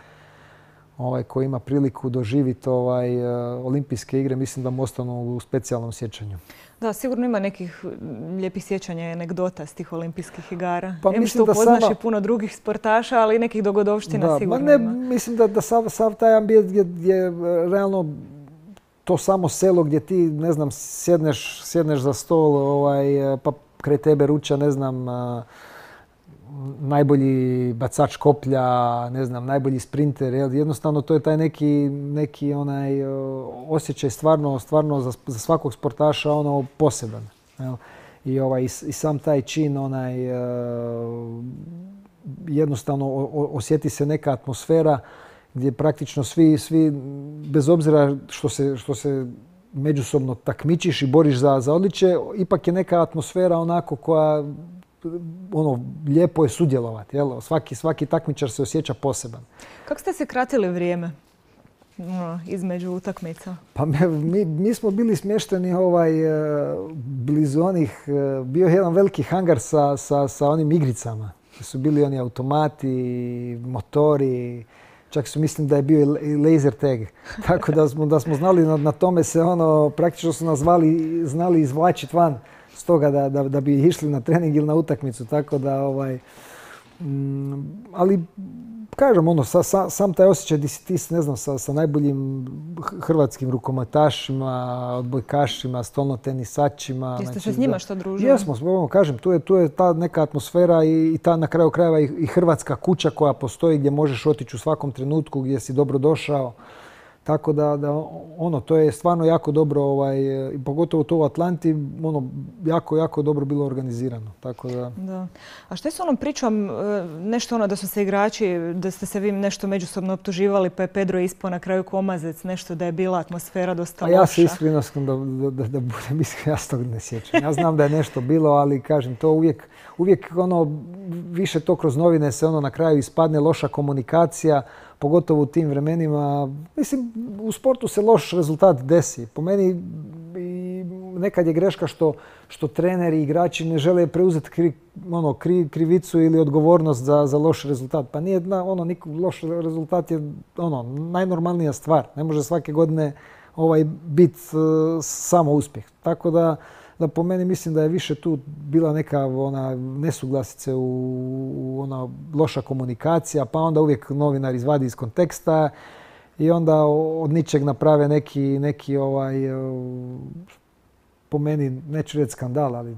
[SPEAKER 3] ovaj, koji ima priliku doživjeti ovaj, olimpijske igre, mislim da mu ostanu u specijalnom sjećanju. Da,
[SPEAKER 2] sigurno ima nekih lijepih sjećanja i anegdota s tih olimpijskih igara.
[SPEAKER 3] Pa
[SPEAKER 2] Em što upoznaš sama... i puno drugih sportaša, ali i nekih dogodovština
[SPEAKER 3] da,
[SPEAKER 2] sigurno
[SPEAKER 3] ne,
[SPEAKER 2] ima.
[SPEAKER 3] Mislim da, da sav, sav taj ambijent gdje, gdje realno to samo selo gdje ti, ne znam, sjedneš, sjedneš za stol, ovaj, pa kraj tebe ruča, ne znam, najbolji bacač koplja, ne znam, najbolji sprinter. Jel? Jednostavno to je taj neki, neki onaj osjećaj stvarno, stvarno za, za svakog sportaša ono poseban. Jel? I, ovaj, i, i sam taj čin, onaj, jednostavno osjeti se neka atmosfera gdje praktično svi, svi bez obzira što se, što se međusobno takmičiš i boriš za, za odličje, ipak je neka atmosfera onako koja ono, lijepo je sudjelovati. Jel? Svaki, svaki takmičar se osjeća poseban.
[SPEAKER 2] Kako ste se kratili vrijeme no, između utakmica?
[SPEAKER 3] Pa mi, mi smo bili smješteni ovaj, blizu onih, bio je jedan veliki hangar sa, sa, sa onim igricama. Su bili oni automati, motori, čak su mislim da je bio i laser tag. Tako da smo, da smo znali na, na tome se ono, praktično su nas zvali, znali izvlačiti van stoga da, da, da bi išli na trening ili na utakmicu. Tako da, ovaj, mm, ali kažem, ono, sa, sa, sam taj osjećaj di si ti, ne znam, sa, sa najboljim hrvatskim rukometašima, odbojkašima, stolnotenisačima.
[SPEAKER 2] Jeste se s njima što družili?
[SPEAKER 3] Jesmo, ono, kažem, tu je, tu je ta neka atmosfera i, i ta na kraju krajeva i, i hrvatska kuća koja postoji gdje možeš otići u svakom trenutku gdje si dobro došao. Tako da, da ono, to je stvarno jako dobro, ovaj, pogotovo to u Atlanti, ono, jako, jako dobro bilo organizirano. Tako da...
[SPEAKER 2] Da. A što je s onom pričom, nešto ono da su se igrači, da ste se vi nešto međusobno optuživali, pa je Pedro ispao na kraju komazec, nešto da je bila atmosfera dosta loša?
[SPEAKER 3] A ja se iskreno, da, da, da, da budem iskren, ja se toga ne sjećam. Ja znam da je nešto bilo, ali kažem, to uvijek, uvijek ono, više to kroz novine se ono na kraju ispadne loša komunikacija, pogotovo u tim vremenima. Mislim, u sportu se loš rezultat desi. Po meni i nekad je greška što, što treneri i igrači ne žele preuzeti kri, ono, kri, krivicu ili odgovornost za, za loš rezultat. Pa nije, ono, loš rezultat je ono, najnormalnija stvar. Ne može svake godine ovaj, biti uh, samo uspjeh. Tako da, da po meni mislim da je više tu bila neka ona nesuglasice, u, u ona loša komunikacija, pa onda uvijek novinar izvadi iz konteksta i onda od ničeg naprave neki, neki ovaj, po meni, neću reći skandal, ali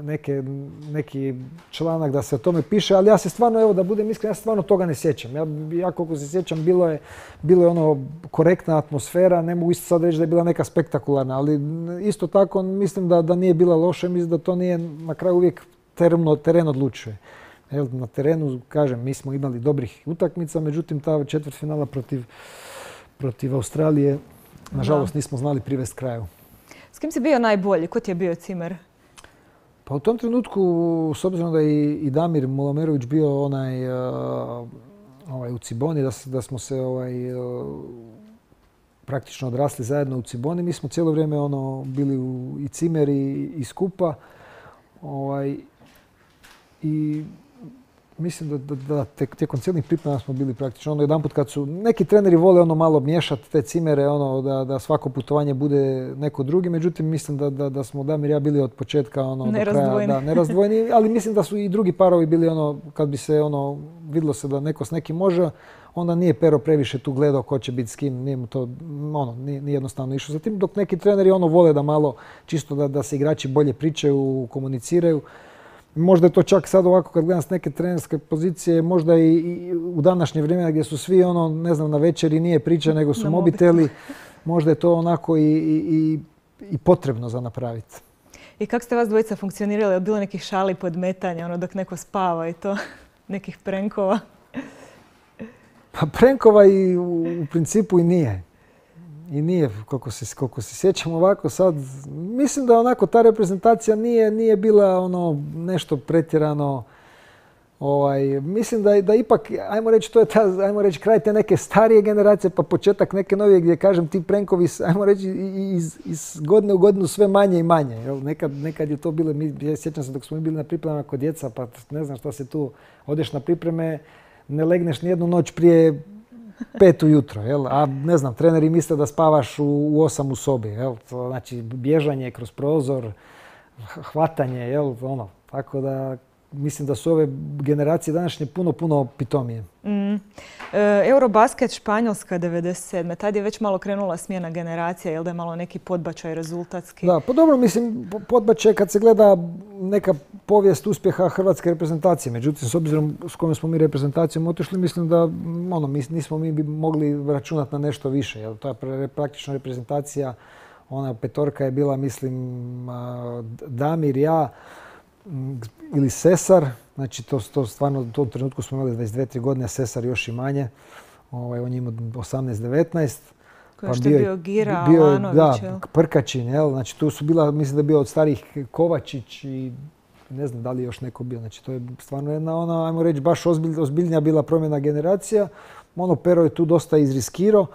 [SPEAKER 3] neke, neki članak da se o tome piše, ali ja se stvarno, evo da budem iskren, ja se stvarno toga ne sjećam. Ja, ja koliko se sjećam, bilo je, bilo je ono korektna atmosfera, ne mogu isto sad reći da je bila neka spektakularna, ali isto tako mislim da, da nije bila loša, mislim da to nije na kraju uvijek tereno, teren odlučuje. Evo, na terenu, kažem, mi smo imali dobrih utakmica, međutim ta četvrtfinala protiv, protiv Australije, nažalost, nismo znali privesti kraju.
[SPEAKER 2] S kim si bio najbolji? Ko ti je bio cimer?
[SPEAKER 3] Pa u tom trenutku, s obzirom da je i Damir Mulamerović bio onaj, uh, ovaj, u Ciboni, da, da smo se ovaj, uh, praktično odrasli zajedno u Ciboni, mi smo cijelo vrijeme ono, bili u, i cimer i, i skupa. Ovaj, I mislim da, da, da tijekom cijelih priprema smo bili praktično ono jedanput kad su neki treneri vole ono malo miješati te cimere, ono da, da svako putovanje bude neko drugi, međutim mislim da, da, da smo Damir i ja bili od početka ono do kraja da, nerazdvojni, ali mislim da su i drugi parovi bili ono kad bi se ono vidjelo se da neko s nekim može, onda nije Pero previše tu gledao ko će biti s kim, nije mu to ono nije, nije jednostavno išlo za tim, dok neki treneri ono vole da malo čisto da, da se igrači bolje pričaju, komuniciraju. Možda je to čak sad ovako kad gledam s neke trenerske pozicije, možda i, i u današnje vrijeme gdje su svi ono, ne znam, na večeri nije priča nego su mobiteli, možda je to onako i, i, i potrebno za napraviti.
[SPEAKER 2] I kako ste vas dvojica funkcionirali? Je bilo nekih šali podmetanja, ono dok neko spava i to? Nekih prenkova?
[SPEAKER 3] Pa prenkova i u, u principu i nije. I nije, koliko se, koliko se sjećam ovako sad, mislim da onako ta reprezentacija nije, nije bila ono nešto pretjerano Ovaj, mislim da, da ipak, ajmo reći, to je ta, ajmo reći, kraj te neke starije generacije pa početak neke novije gdje, kažem, ti prankovi, ajmo reći, iz, iz godine u godinu sve manje i manje. Jel? Nekad, nekad je to bilo, mi, ja sjećam se dok smo mi bili na pripremama kod djeca, pa ne znam šta se tu, odeš na pripreme, ne legneš nijednu noć prije pet ujutro, jel? A ne znam, treneri misle da spavaš u, u osam u sobi, jel? To znači bježanje kroz prozor, hvatanje, jel? Ono, tako da mislim da su ove generacije današnje puno, puno pitomije.
[SPEAKER 2] Mm. E, Eurobasket Španjolska devedeset sedme. Tad je već malo krenula smjena generacija, jel da je malo neki podbačaj rezultatski?
[SPEAKER 3] Da, pa dobro, mislim, podbačaj kad se gleda neka povijest uspjeha hrvatske reprezentacije. Međutim, s obzirom s kojom smo mi reprezentacijom otišli, mislim da ono, mi, nismo mi bi mogli računati na nešto više. Jel? To je praktično reprezentacija, ona petorka je bila, mislim, Damir, ja, ili Sesar, znači to, to stvarno u tom trenutku smo imali dvadeset dvije tri godine, Sesar još i manje, ovaj, on je imao osamnaest devetnaest.
[SPEAKER 2] Koji pa je bio Gira,
[SPEAKER 3] bio,
[SPEAKER 2] Alanović,
[SPEAKER 3] da,
[SPEAKER 2] jel?
[SPEAKER 3] Prkačin, jel? Znači tu su bila, mislim da je bio od starih Kovačić i ne znam da li je još neko bio. Znači to je stvarno jedna ona, ajmo reći, baš ozbilj, ozbiljnija bila promjena generacija. Ono Pero je tu dosta izriskirao.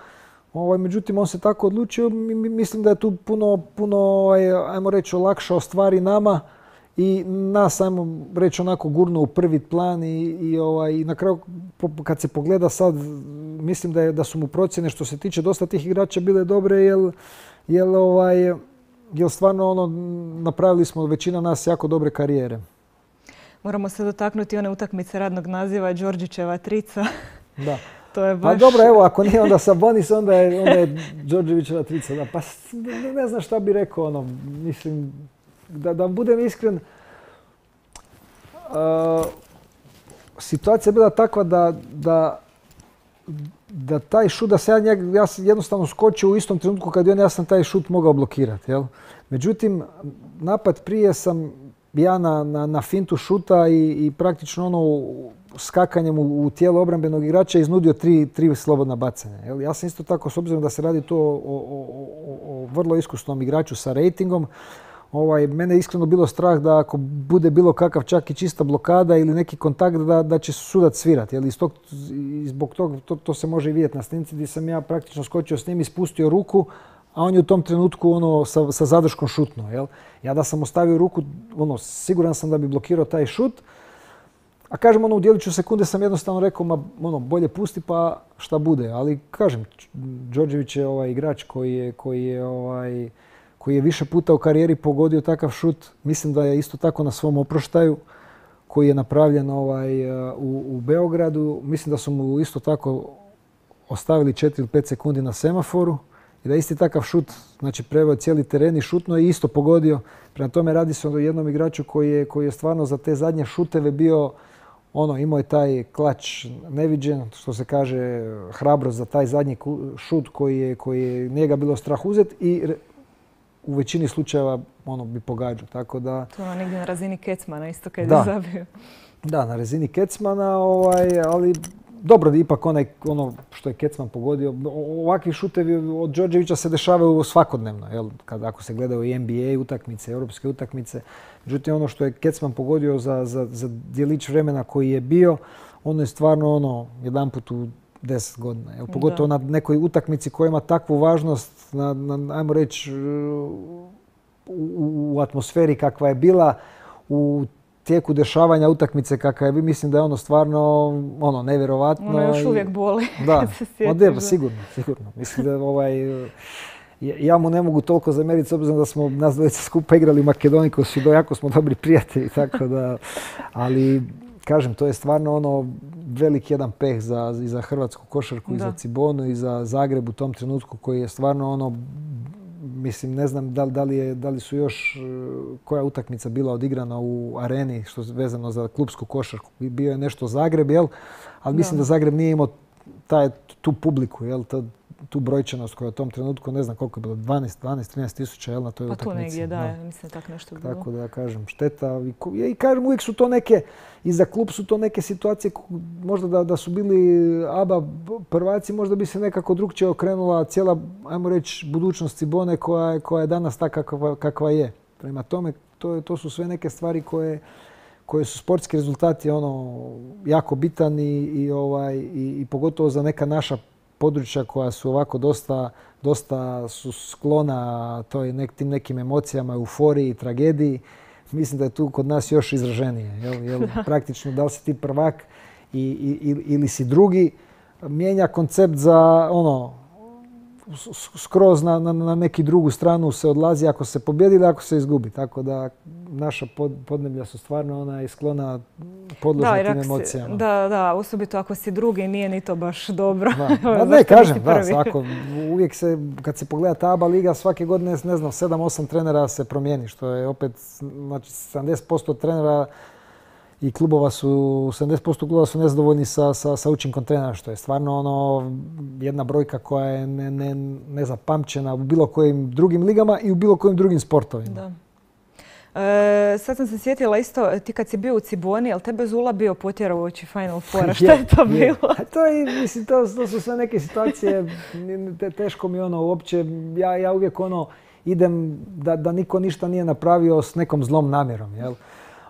[SPEAKER 3] Ovaj, međutim, on se tako odlučio. Mislim da je tu puno, puno ajmo reći, olakšao stvari nama i nas, ajmo reći, onako gurno u prvi plan i, i, ovaj, i na kraju kad se pogleda sad, mislim da, je, da su mu procjene što se tiče dosta tih igrača bile dobre, jer, jer, ovaj, jer stvarno ono, napravili smo većina nas jako dobre karijere.
[SPEAKER 2] Moramo se dotaknuti one utakmice radnog naziva Đorđićeva trica.
[SPEAKER 3] Da.
[SPEAKER 2] To je baš...
[SPEAKER 3] Pa dobro, evo, ako nije onda Sabonis, onda je, onda je Đorđevićeva trica. Da, pa ne, ne znam šta bi rekao, ono, mislim, da, da budem iskren, uh, situacija je bila takva da, da, da taj šut, da se ja, njeg, ja sam jednostavno skočio u istom trenutku kad je on, ja sam taj šut mogao blokirati. Jel? Međutim, napad prije sam ja na, na, na fintu šuta i, i praktično ono skakanjem u, u tijelo obrambenog igrača iznudio tri, tri slobodna bacanja. Jel? Ja sam isto tako, s obzirom da se radi to o, o, o, o vrlo iskusnom igraču sa rejtingom, ovaj, mene je iskreno bilo strah da ako bude bilo kakav čak i čista blokada ili neki kontakt da, da će sudac svirati. Jel? Iz tog, zbog toga to, to se može i vidjeti na snimci gdje sam ja praktično skočio s njim i spustio ruku, a on je u tom trenutku ono, sa, sa zadrškom šutnuo. Jel? Ja da sam ostavio ruku, ono, siguran sam da bi blokirao taj šut. A kažem, ono, u djeliću sekunde sam jednostavno rekao, ma, ono, bolje pusti pa šta bude. Ali kažem, Đorđević je ovaj igrač koji je, koji je, ovaj, koji je više puta u karijeri pogodio takav šut. Mislim da je isto tako na svom oproštaju koji je napravljen ovaj, u, u Beogradu. Mislim da su mu isto tako ostavili četiri ili pet sekundi na semaforu. I da isti takav šut, znači preveo cijeli teren i šutno i isto pogodio. Prema tome radi se o jednom igraču koji je, koji je stvarno za te zadnje šuteve bio, ono, imao je taj klač neviđen, što se kaže, hrabrost za taj zadnji šut koji je, koji je njega bilo strah uzeti i u većini slučajeva ono bi pogađao. Tako da,
[SPEAKER 2] to je negdje na razini Kecmana isto kad
[SPEAKER 3] da,
[SPEAKER 2] je zabio.
[SPEAKER 3] Da, na razini Kecmana, ovaj, ali dobro, ipak onaj, ono što je Kecman pogodio, ovakvi šutevi od Đorđevića se dešavaju svakodnevno, jel? Kad, ako se gledaju i N B A utakmice, europske utakmice. Međutim, ono što je Kecman pogodio za, za, za djelić vremena koji je bio, ono je stvarno ono jedanput u deset godina. Jel? Pogotovo da. Na nekoj utakmici koja ima takvu važnost, na, na, ajmo reći, u, u atmosferi kakva je bila, u tijeku dešavanja utakmice kakva je, mislim da je ono stvarno ono nevjerovatno.
[SPEAKER 2] Ono još uvijek boli.
[SPEAKER 3] Da,
[SPEAKER 2] kad se sjetiš,
[SPEAKER 3] da. Da, sigurno, sigurno. Mislim da ovaj, ja mu ne mogu toliko zamjeriti s obzirom da smo nas dvojica skupa igrali u Makedoniji, koji su jako smo dobri prijatelji, tako da, ali kažem, to je stvarno ono velik jedan peh za, i za hrvatsku košarku, da. I za Cibonu, i za Zagreb u tom trenutku koji je stvarno ono, mislim, ne znam da, da, li je, da li su još koja utakmica bila odigrana u areni što je vezano za klupsku košarku. Bio je nešto Zagreb, jel? Ali mislim da, da Zagreb nije imao taj, tu publiku, jel? Ta, tu brojčanost koja je u tom trenutku, ne znam koliko je bilo, dvanaest, trinaest tisuća, jel, na toj
[SPEAKER 2] pa
[SPEAKER 3] utakmici.
[SPEAKER 2] Pa tu negdje, da, no. Mislim tako nešto bilo.
[SPEAKER 3] Tako da kažem, šteta. I, i kažem, uvijek su to neke, i za klub su to neke situacije, možda da, da su bili A B A prvaci, možda bi se nekako drugčije okrenula cijela, ajmo reći, budućnost Cibone koja, koja je danas takva kakva, kakva je. Prema tome, to, to su sve neke stvari koje, koje su sportski rezultati ono jako bitan i, i, ovaj, i, i pogotovo za neka naša područja koja su ovako dosta, dosta su sklona toj nek, tim nekim emocijama, euforiji, tragediji. Mislim da je tu kod nas još izraženije. Jel, jel, praktično da li si ti prvak i, i, ili si drugi, mijenja koncept za ono skroz na, na, na neki drugu stranu se odlazi ako se pobjedi ili ako se izgubi. Tako da naša pod, podneblja su stvarno ona sklona podložna tim emocijama.
[SPEAKER 2] Da, da, osobito ako si drugi nije ni to baš dobro.
[SPEAKER 3] Da. Ne, kažem, da, svako, uvijek se, kad se pogleda ta A B A liga, svake godine, ne znam, sedam osam trenera se promijeni, što je opet, znači, sedamdeset posto trenera i klubova su, sedamdeset posto klubova su nezadovoljni sa, sa, sa učinkom trenera, što je stvarno ono jedna brojka koja je ne, ne, nezapamćena u bilo kojim drugim ligama i u bilo kojim drugim sportovima.
[SPEAKER 2] Da. E, sad sam se sjetila isto, ti kad si bio u Ciboni, jel tebe Zula bio potjerao uoči Final Fora? Šta je to bilo?
[SPEAKER 3] Je. To, je, mislim, to, to su sve neke situacije, te, teško mi ono uopće, ja, ja uvijek ono idem da, da niko ništa nije napravio s nekom zlom namjerom, jel?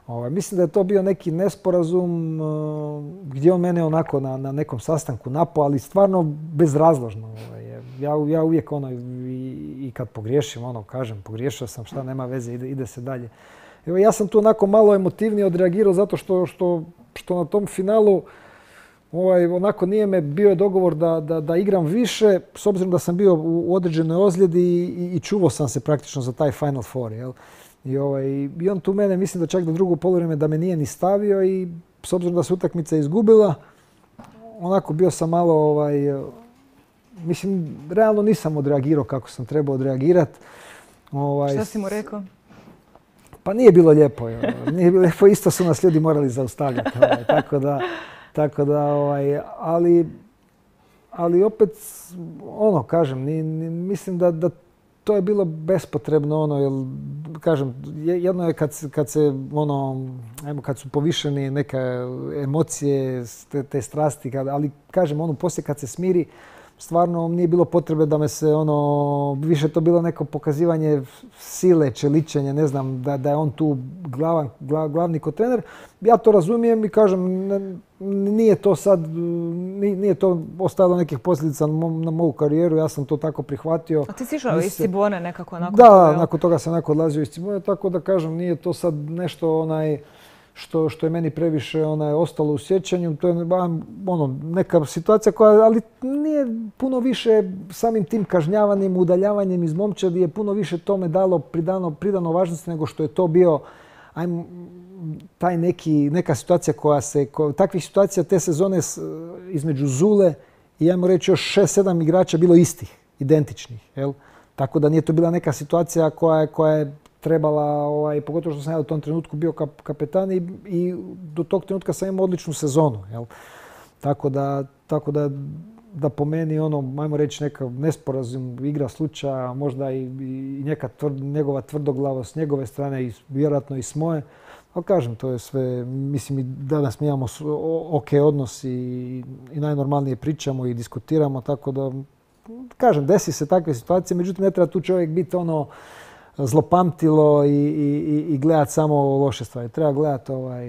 [SPEAKER 3] Ovaj, mislim da je to bio neki nesporazum uh, gdje on mene onako na, na nekom sastanku napao, ali stvarno bezrazložno. Ovaj, ja, ja uvijek ono i, i kad pogriješim, ono kažem, pogriješio sam, šta nema veze, ide, ide se dalje. Evo, ja sam tu onako malo emotivnije odreagirao zato što, što, što na tom finalu ovaj, onako nije me bio dogovor da, da, da igram više, s obzirom da sam bio u određenoj ozljedi i, i čuvao sam se praktično za taj Final Four. Jel? I, ovaj, I on tu mene, mislim da čak do drugo poluvreme da me nije ni stavio i s obzirom da se utakmica izgubila, onako bio sam malo, ovaj, mislim, realno nisam odreagirao kako sam trebao odreagirati. Ovaj,
[SPEAKER 2] Šta si mu rekao?
[SPEAKER 3] Pa nije bilo lijepo. Jo. Nije bilo lijepo, isto su nas ljudi morali zaustavljati. Ovaj, tako da, tako da ovaj, ali, ali opet, ono, kažem, ni, ni, mislim da, da to je bilo bespotrebno, ono, jer, kažem, jedno je kad, kad se, ono, ajmo, kad su povišeni neke emocije, te, te strasti, kad, ali, kažem, ono, poslije kad se smiri, stvarno nije bilo potrebe da me se, ono, više to bilo neko pokazivanje sile, čeličenje, ne znam, da, da je on tu glavan, glav, glavni ko trener. Ja to razumijem i kažem, ne, nije to sad, nije to ostavilo nekih posljedica na, mo, na moju karijeru, ja sam to tako prihvatio.
[SPEAKER 2] A ti si išao iz Cibone nekako nakon
[SPEAKER 3] da,
[SPEAKER 2] toga?
[SPEAKER 3] Da, nakon toga sam onako odlazio iz Cibone, tako da kažem, nije to sad nešto onaj, Što, što je meni previše onaj, ostalo u sjećanju. To je ono, neka situacija koja, ali nije puno više samim tim kažnjavanjem, udaljavanjem iz momčadi je puno više tome dalo pridano, pridano važnosti nego što je to bio ajmo, taj neki, neka situacija koja se, koja, takvih situacija te sezone između Zule i ajmo reći još šest sedam igrača bilo istih, identičnih. Jel? Tako da nije to bila neka situacija koja je, koja je trebala, ovaj, pogotovo što sam ja u tom trenutku bio kap, kapetan i, i do tog trenutka sam imao odličnu sezonu. Jel? Tako da, tako da, da po meni ono, ajmo reći neka nesporazum, igra slučaja, možda i, i neka tvrd, njegova tvrdoglavost s njegove strane i vjerojatno i s moje. Ali kažem, to je sve, mislim i danas mi imamo ok odnos i, i najnormalnije pričamo i diskutiramo, tako da, kažem, desi se takve situacije, međutim ne treba tu čovjek biti ono, zlopamtilo i, i, i gledati samo loše stvari. Treba gledati ovaj,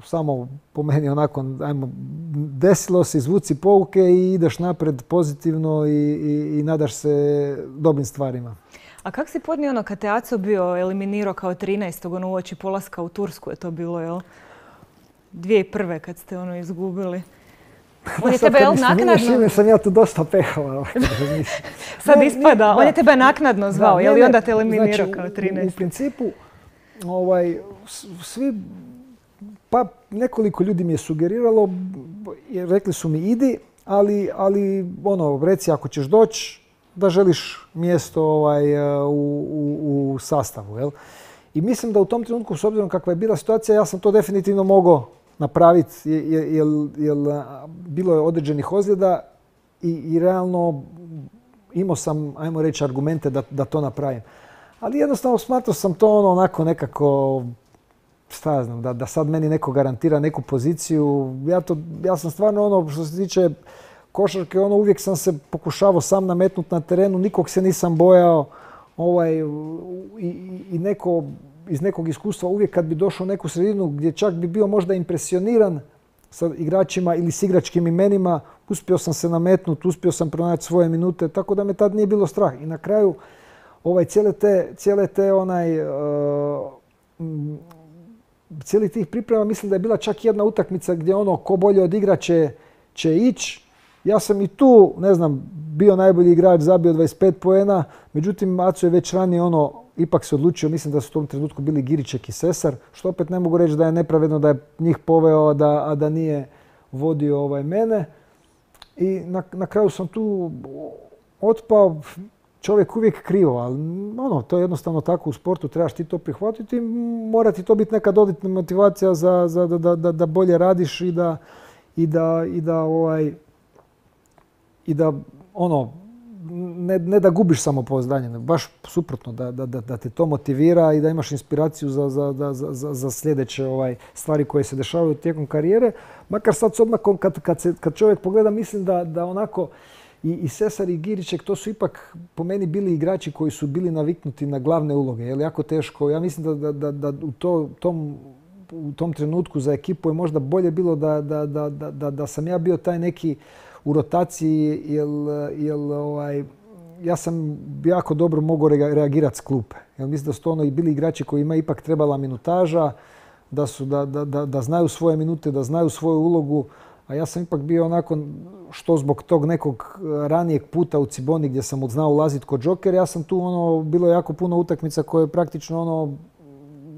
[SPEAKER 3] samo po meni onako, ajmo, desilo se, izvuci pouke i ideš naprijed pozitivno i, i, i nadaš se dobrim stvarima.
[SPEAKER 2] A kako si podnio ono kad te Aco bio eliminirao kao trinaestog ono uoči polaska u Tursku je to bilo, jel? dvije tisuće prve kad ste ono izgubili. On je tebe, jel, naknadno...
[SPEAKER 3] sam ja tu dosta pehao.
[SPEAKER 2] Sad ne, ispada, ne, on je tebe naknadno zvao, je li onda te eliminirao znači, kao trinaest?
[SPEAKER 3] U, u principu, ovaj, svi, pa nekoliko ljudi mi je sugeriralo, rekli su mi idi, ali, ali ono, reci ako ćeš doći, da želiš mjesto ovaj, u, u, u sastavu. Jel? I mislim da u tom trenutku, s obzirom kakva je bila situacija, ja sam to definitivno mogao napraviti, jer bilo je određenih ozljeda i, i realno imao sam, ajmo reći, argumente da, da to napravim. Ali jednostavno smatrao sam to ono onako nekako, šta ja znam, da, da sad meni neko garantira neku poziciju. Ja, to, ja sam stvarno ono, što se tiče košarke, ono uvijek sam se pokušavao sam nametnuti na terenu, nikog se nisam bojao ovaj, i, i neko iz nekog iskustva uvijek kad bi došao u neku sredinu gdje čak bi bio možda impresioniran sa igračima ili s igračkim imenima, uspio sam se nametnuti, uspio sam pronaći svoje minute, tako da me tad nije bilo strah. I na kraju ovaj, cijele te, cijele te onaj, uh, cijeli tih priprema mislim da je bila čak jedna utakmica gdje ono ko bolje odigra će, će ići. Ja sam i tu, ne znam, bio najbolji igrač, zabio dvadeset pet poena, međutim Aco je već ranije ono, ipak se odlučio, mislim da su u tom trenutku bili Giriček i Sesar, što opet ne mogu reći da je nepravedno da je njih poveo, a da, a da nije vodio ovaj mene. I na, na kraju sam tu otpao, čovjek uvijek krivo, ali ono, to je jednostavno tako u sportu, trebaš ti to prihvatiti i mora ti to biti neka dodatna motivacija za, za, da, da, da bolje radiš i da, i da, i da, ovaj, i da ono, ne, ne da gubiš samopouzdanje, nego baš suprotno, da, da, da te to motivira i da imaš inspiraciju za, za, za, za sljedeće ovaj, stvari koje se dešavaju tijekom karijere. Makar sad s odmakom kad, kad, se, kad čovjek pogleda, mislim da, da onako i, i Sesar i Giriček, to su ipak po meni bili igrači koji su bili naviknuti na glavne uloge. Je li jako teško? Ja mislim da, da, da, da u to, tom, u tom trenutku za ekipu je možda bolje bilo da, da, da, da, da sam ja bio taj neki u rotaciji, jer, jer ovaj, ja sam jako dobro mogao reagirati s klupe. Jer mislim da su to ono i bili igrači koji ima ipak trebala minutaža, da, su, da, da, da, da znaju svoje minute, da znaju svoju ulogu. A ja sam ipak bio onako, što zbog tog nekog ranijeg puta u Ciboni gdje sam znao ulaziti kod Joker, ja sam tu ono, bilo jako puno utakmica koje praktično ono,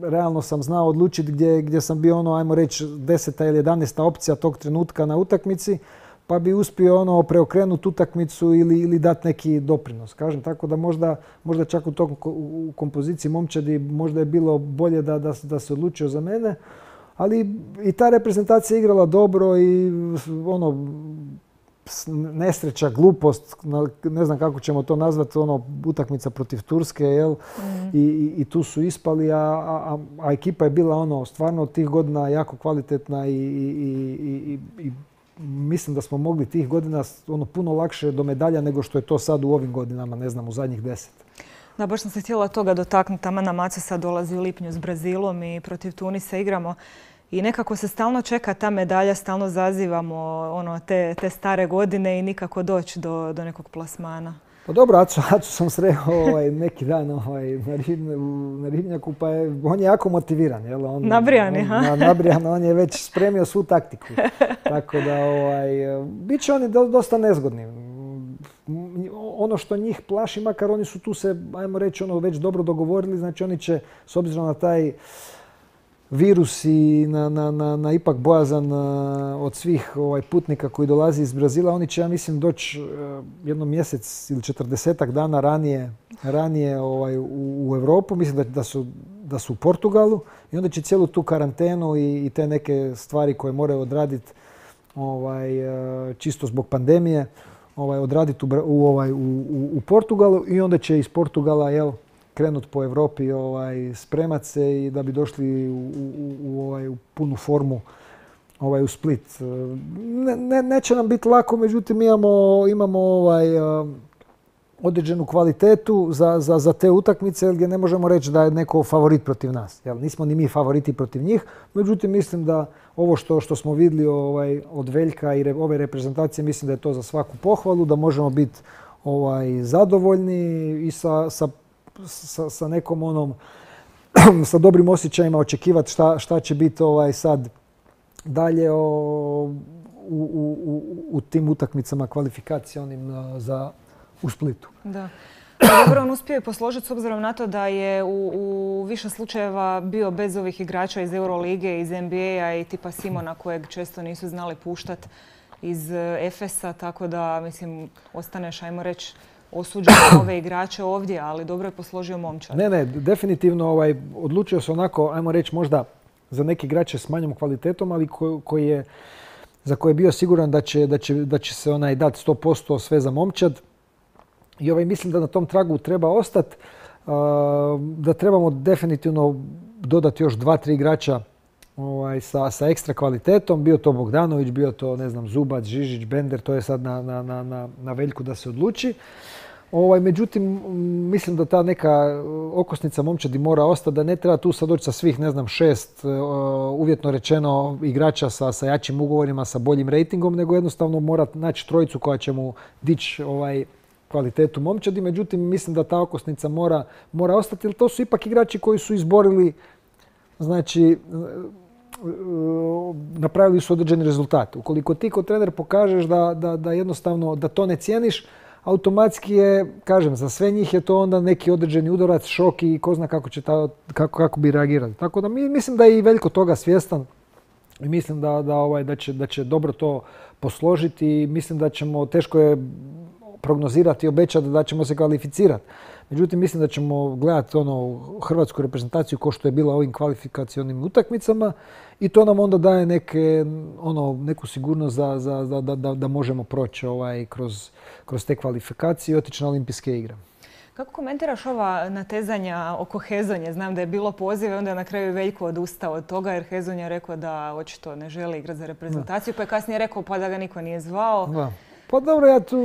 [SPEAKER 3] realno sam znao odlučiti gdje, gdje sam bio ono, ajmo reći, deseta ili jedanaesta opcija tog trenutka na utakmici, pa bi uspio ono preokrenuti utakmicu ili, ili dati neki doprinos. Kažem, tako da možda, možda čak u, tom, u kompoziciji momčadi možda je bilo bolje da, da, da se odlučio za mene, ali i ta reprezentacija je igrala dobro i ono, nesreća, glupost, ne znam kako ćemo to nazvati, ono, utakmica protiv Turske, jel? Mm. I, i, i tu su ispali, a, a, a ekipa je bila ono, stvarno tih godina jako kvalitetna i, i, i, i, i mislim da smo mogli tih godina ono, puno lakše do medalja nego što je to sad u ovim godinama, ne znam, u zadnjih deset.
[SPEAKER 2] Da, baš sam se htjela toga dotaknuti. Taman nam Aco sad dolazi u lipnju s Brazilom i protiv Tunisa igramo. I nekako se stalno čeka ta medalja, stalno zazivamo ono, te, te stare godine i nikako doći do, do nekog plasmana.
[SPEAKER 3] Pa dobro, Aco, Aco sam sreo ovaj, neki dan ovaj, na, ribne, na ribnjaku, pa je, on je jako motiviran. Jel? On,
[SPEAKER 2] nabrijan je,
[SPEAKER 3] on,
[SPEAKER 2] ha?
[SPEAKER 3] Na, nabrijan, on je već spremio svu taktiku. Tako da, ovaj, bit će oni dosta nezgodni. Ono što njih plaši, makar oni su tu se, ajmo reći, ono, već dobro dogovorili, znači oni će, s obzirom na taj virus i na, na, na, na ipak bojazan od svih ovaj, putnika koji dolazi iz Brazila, oni će, ja mislim, doći jedno mjesec ili četrdesetak dana ranije, ranije ovaj, u, u Europu. Mislim da, da, su, da su u Portugalu i onda će cijelu tu karantenu i, i te neke stvari koje moraju odraditi ovaj, čisto zbog pandemije, ovaj, odraditi u, u, ovaj, u, u Portugalu i onda će iz Portugala, jel, krenut po Europi, ovaj, spremat se i da bi došli u, u, u, ovaj, u punu formu ovaj, u Split. Ne, ne, neće nam biti lako, međutim imamo, imamo ovaj, određenu kvalitetu za, za, za te utakmice gdje ne možemo reći da je neko favorit protiv nas. Jel, nismo ni mi favoriti protiv njih, međutim mislim da ovo što, što smo vidjeli ovaj, od Veljka i re, ove reprezentacije, mislim da je to za svaku pohvalu, da možemo biti ovaj, zadovoljni i sa, sa Sa, sa nekom onom, sa dobrim osjećajima očekivati šta, šta će biti ovaj sad dalje o, u, u, u, u tim utakmicama kvalifikacionim za u Splitu.
[SPEAKER 2] Da. Dobro, on uspio je posložiti s obzirom na to da je u, u više slučajeva bio bez ovih igrača iz Eurolige, iz N B A-a i tipa Simona kojeg često nisu znali puštati iz Efesa, tako da, mislim, ostaneš, ajmo reći, osuđen na ove igrače ovdje, ali dobro je posložio momčad.
[SPEAKER 3] Ne, ne, definitivno ovaj, odlučio se onako, ajmo reći, možda za neke igrače s manjom kvalitetom, ali ko, koji je, za koje je bio siguran da će, da će, da će se onaj dati sto posto sve za momčad. I ovaj, mislim da na tom tragu treba ostati, da trebamo definitivno dodati još dva, tri igrača ovaj, sa, sa ekstra kvalitetom. Bio to Bogdanović, bio to, ne znam, Zubac, Žižić, Bender, to je sad na, na, na, na Veljku da se odluči. Ovaj, međutim, mislim da ta neka okosnica momčadi mora ostati, da ne treba tu sad doći sa svih, ne znam, šest, uvjetno rečeno, igrača sa, sa jačim ugovorima, sa boljim rejtingom, nego jednostavno mora naći trojicu koja će mu dići ovaj, kvalitetu momčadi. Međutim, mislim da ta okosnica mora, mora ostati, jer to su ipak igrači koji su izborili, znači, napravili su određeni rezultat. Ukoliko ti kao trener pokažeš da, da, da jednostavno da to ne cijeniš, automatski je, kažem, za sve njih je to onda neki određeni udarac, šok i ko zna kako, će ta, kako, kako bi reagirali. Tako da mi, mislim da je i Veljko toga svjestan i mislim da, da, ovaj, da, će, da će dobro to posložiti i mislim da ćemo, teško je prognozirati i obećati da ćemo se kvalificirati. Međutim, mislim da ćemo gledati ono, hrvatsku reprezentaciju kao što je bila ovim kvalifikacionim utakmicama i to nam onda daje neke, ono, neku sigurnost za, za, za, da, da, da možemo proći ovaj, kroz, kroz te kvalifikacije i otići na olimpijske igre.
[SPEAKER 2] Kako komentiraš ova natezanja oko Hezonje? Znam da je bilo pozive, onda je na kraju Veljko odustao od toga jer Hezonja je rekao da očito ne želi igrati za reprezentaciju, pa je kasnije rekao pa da ga niko nije zvao. Da.
[SPEAKER 3] Pa dobro, ja tu,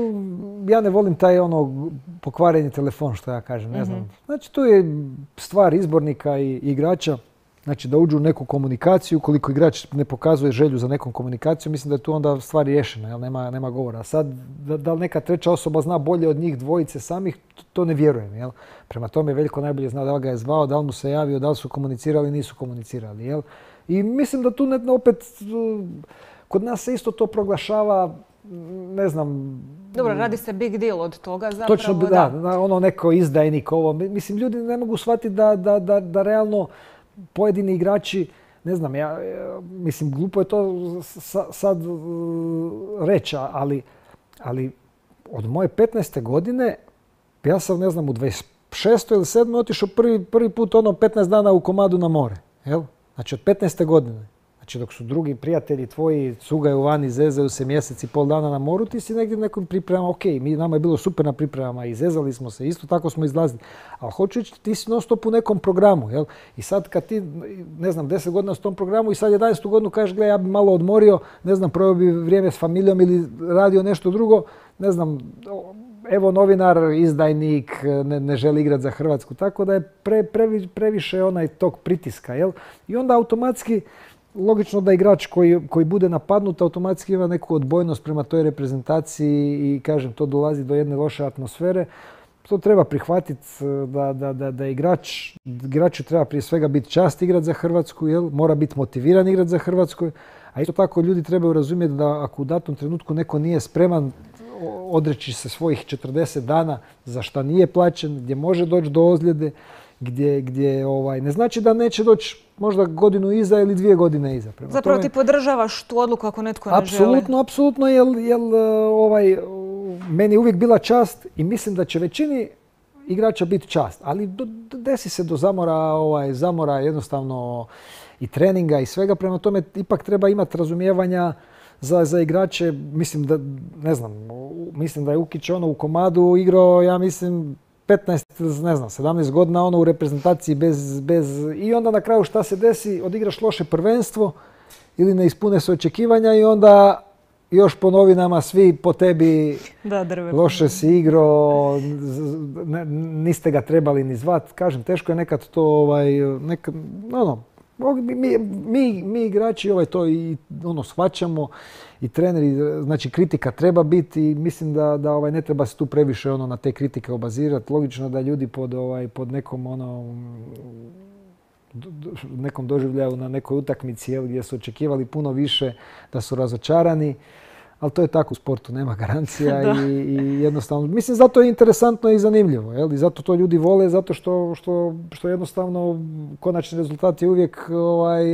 [SPEAKER 3] ja ne volim taj ono pokvareni telefon što ja kažem, ne znam. Znači tu je stvar izbornika i igrača, znači da uđu u neku komunikaciju, koliko igrač ne pokazuje želju za nekom komunikacijom, mislim da je tu onda stvar riješena, jel nema, nema govora. Sad, da, da li neka treća osoba zna bolje od njih dvojice samih, to ne vjerujem, jel. Prema tome Veljko najbolje zna da li ga je zvao, da li mu se javio, da li su komunicirali, nisu komunicirali, jel. I mislim da tu ne, opet, kod nas se isto to proglašava, ne znam...
[SPEAKER 2] Dobro, radi se big deal od toga zapravo.
[SPEAKER 3] Točno, da, da, ono neko izdajnik, ovo. Mislim, ljudi ne mogu shvatiti da, da, da, da realno pojedini igrači, ne znam, ja, mislim, glupo je to sad reći, ali, ali od moje petnaeste godine, ja sam, ne znam, u dvadeset šestoj ili sedmoj otišao prvi, prvi put ono petnaest dana u komadu na more, jel? Znači od petnaeste godine. Znači dok su drugi prijatelji tvoji cugaju vani, zezaju se mjesec i pol dana na moru, ti si negdje nekom pripremama, ok, mi, nama je bilo super na pripremama i zezali smo se, isto tako smo izlazili. Ali hoću ići, ti si non stop u nekom programu, jel? I sad kad ti, ne znam, deset godina s tom programu i sad jedanaestu godinu kažeš, gle, ja bi malo odmorio, ne znam, proveo bi vrijeme s familijom ili radio nešto drugo, ne znam, evo novinar, izdajnik, ne, ne želi igrati za Hrvatsku, tako da je pre, previ, previše onaj tog pritiska, jel? I onda automatski, logično da igrač koji, koji bude napadnut automatski ima neku odbojnost prema toj reprezentaciji i kažem to dolazi do jedne loše atmosfere. To treba prihvatiti da, da, da, da igrač, igraču treba prije svega biti čast igrati za Hrvatsku, jel? Mora biti motiviran igrati za Hrvatsku. A isto tako ljudi trebaju razumjeti da ako u datom trenutku neko nije spreman odreći se svojih četrdeset dana za šta nije plaćen, gdje može doći do ozljede, gdje, gdje ovaj, ne znači da neće doći možda godinu iza ili dvije godine iza. Prema
[SPEAKER 2] Zapravo
[SPEAKER 3] tome,
[SPEAKER 2] ti podržavaš tu odluku ako netko ne
[SPEAKER 3] apsolutno,
[SPEAKER 2] želi?
[SPEAKER 3] Apsolutno, jer, jer ovaj, meni je uvijek bila čast i mislim da će većini igrača biti čast. Ali do, desi se do zamora, ovaj, zamora jednostavno i treninga i svega. Prema tome ipak treba imati razumijevanja za, za igrače. Mislim da, ne znam, mislim da je Ukić ono u komadu igrao, ja mislim, petnaest, ne znam, sedamnaest godina ono u reprezentaciji bez, bez... I onda na kraju šta se desi? Odigraš loše prvenstvo ili ne ispune se očekivanja i onda još po novinama svi po tebi
[SPEAKER 2] da, drve. Loše
[SPEAKER 3] si igrao, niste ga trebali ni zvat. Kažem, teško je nekad to, ovaj, nekad, ono, mi, mi, mi igrači ovaj, to i ono, shvaćamo i treneri, znači kritika treba biti i mislim da, da ovaj, ne treba se tu previše ono, na te kritike obazirati. Logično da ljudi pod, ovaj, pod nekom ono, nekom doživljaju na nekoj utakmici jel, gdje su očekivali puno više da su razočarani, ali to je tako u sportu, nema garancija i, i jednostavno, mislim zato je interesantno i zanimljivo jel, i zato to ljudi vole, zato što, što, što jednostavno konačni rezultat je uvijek ovaj,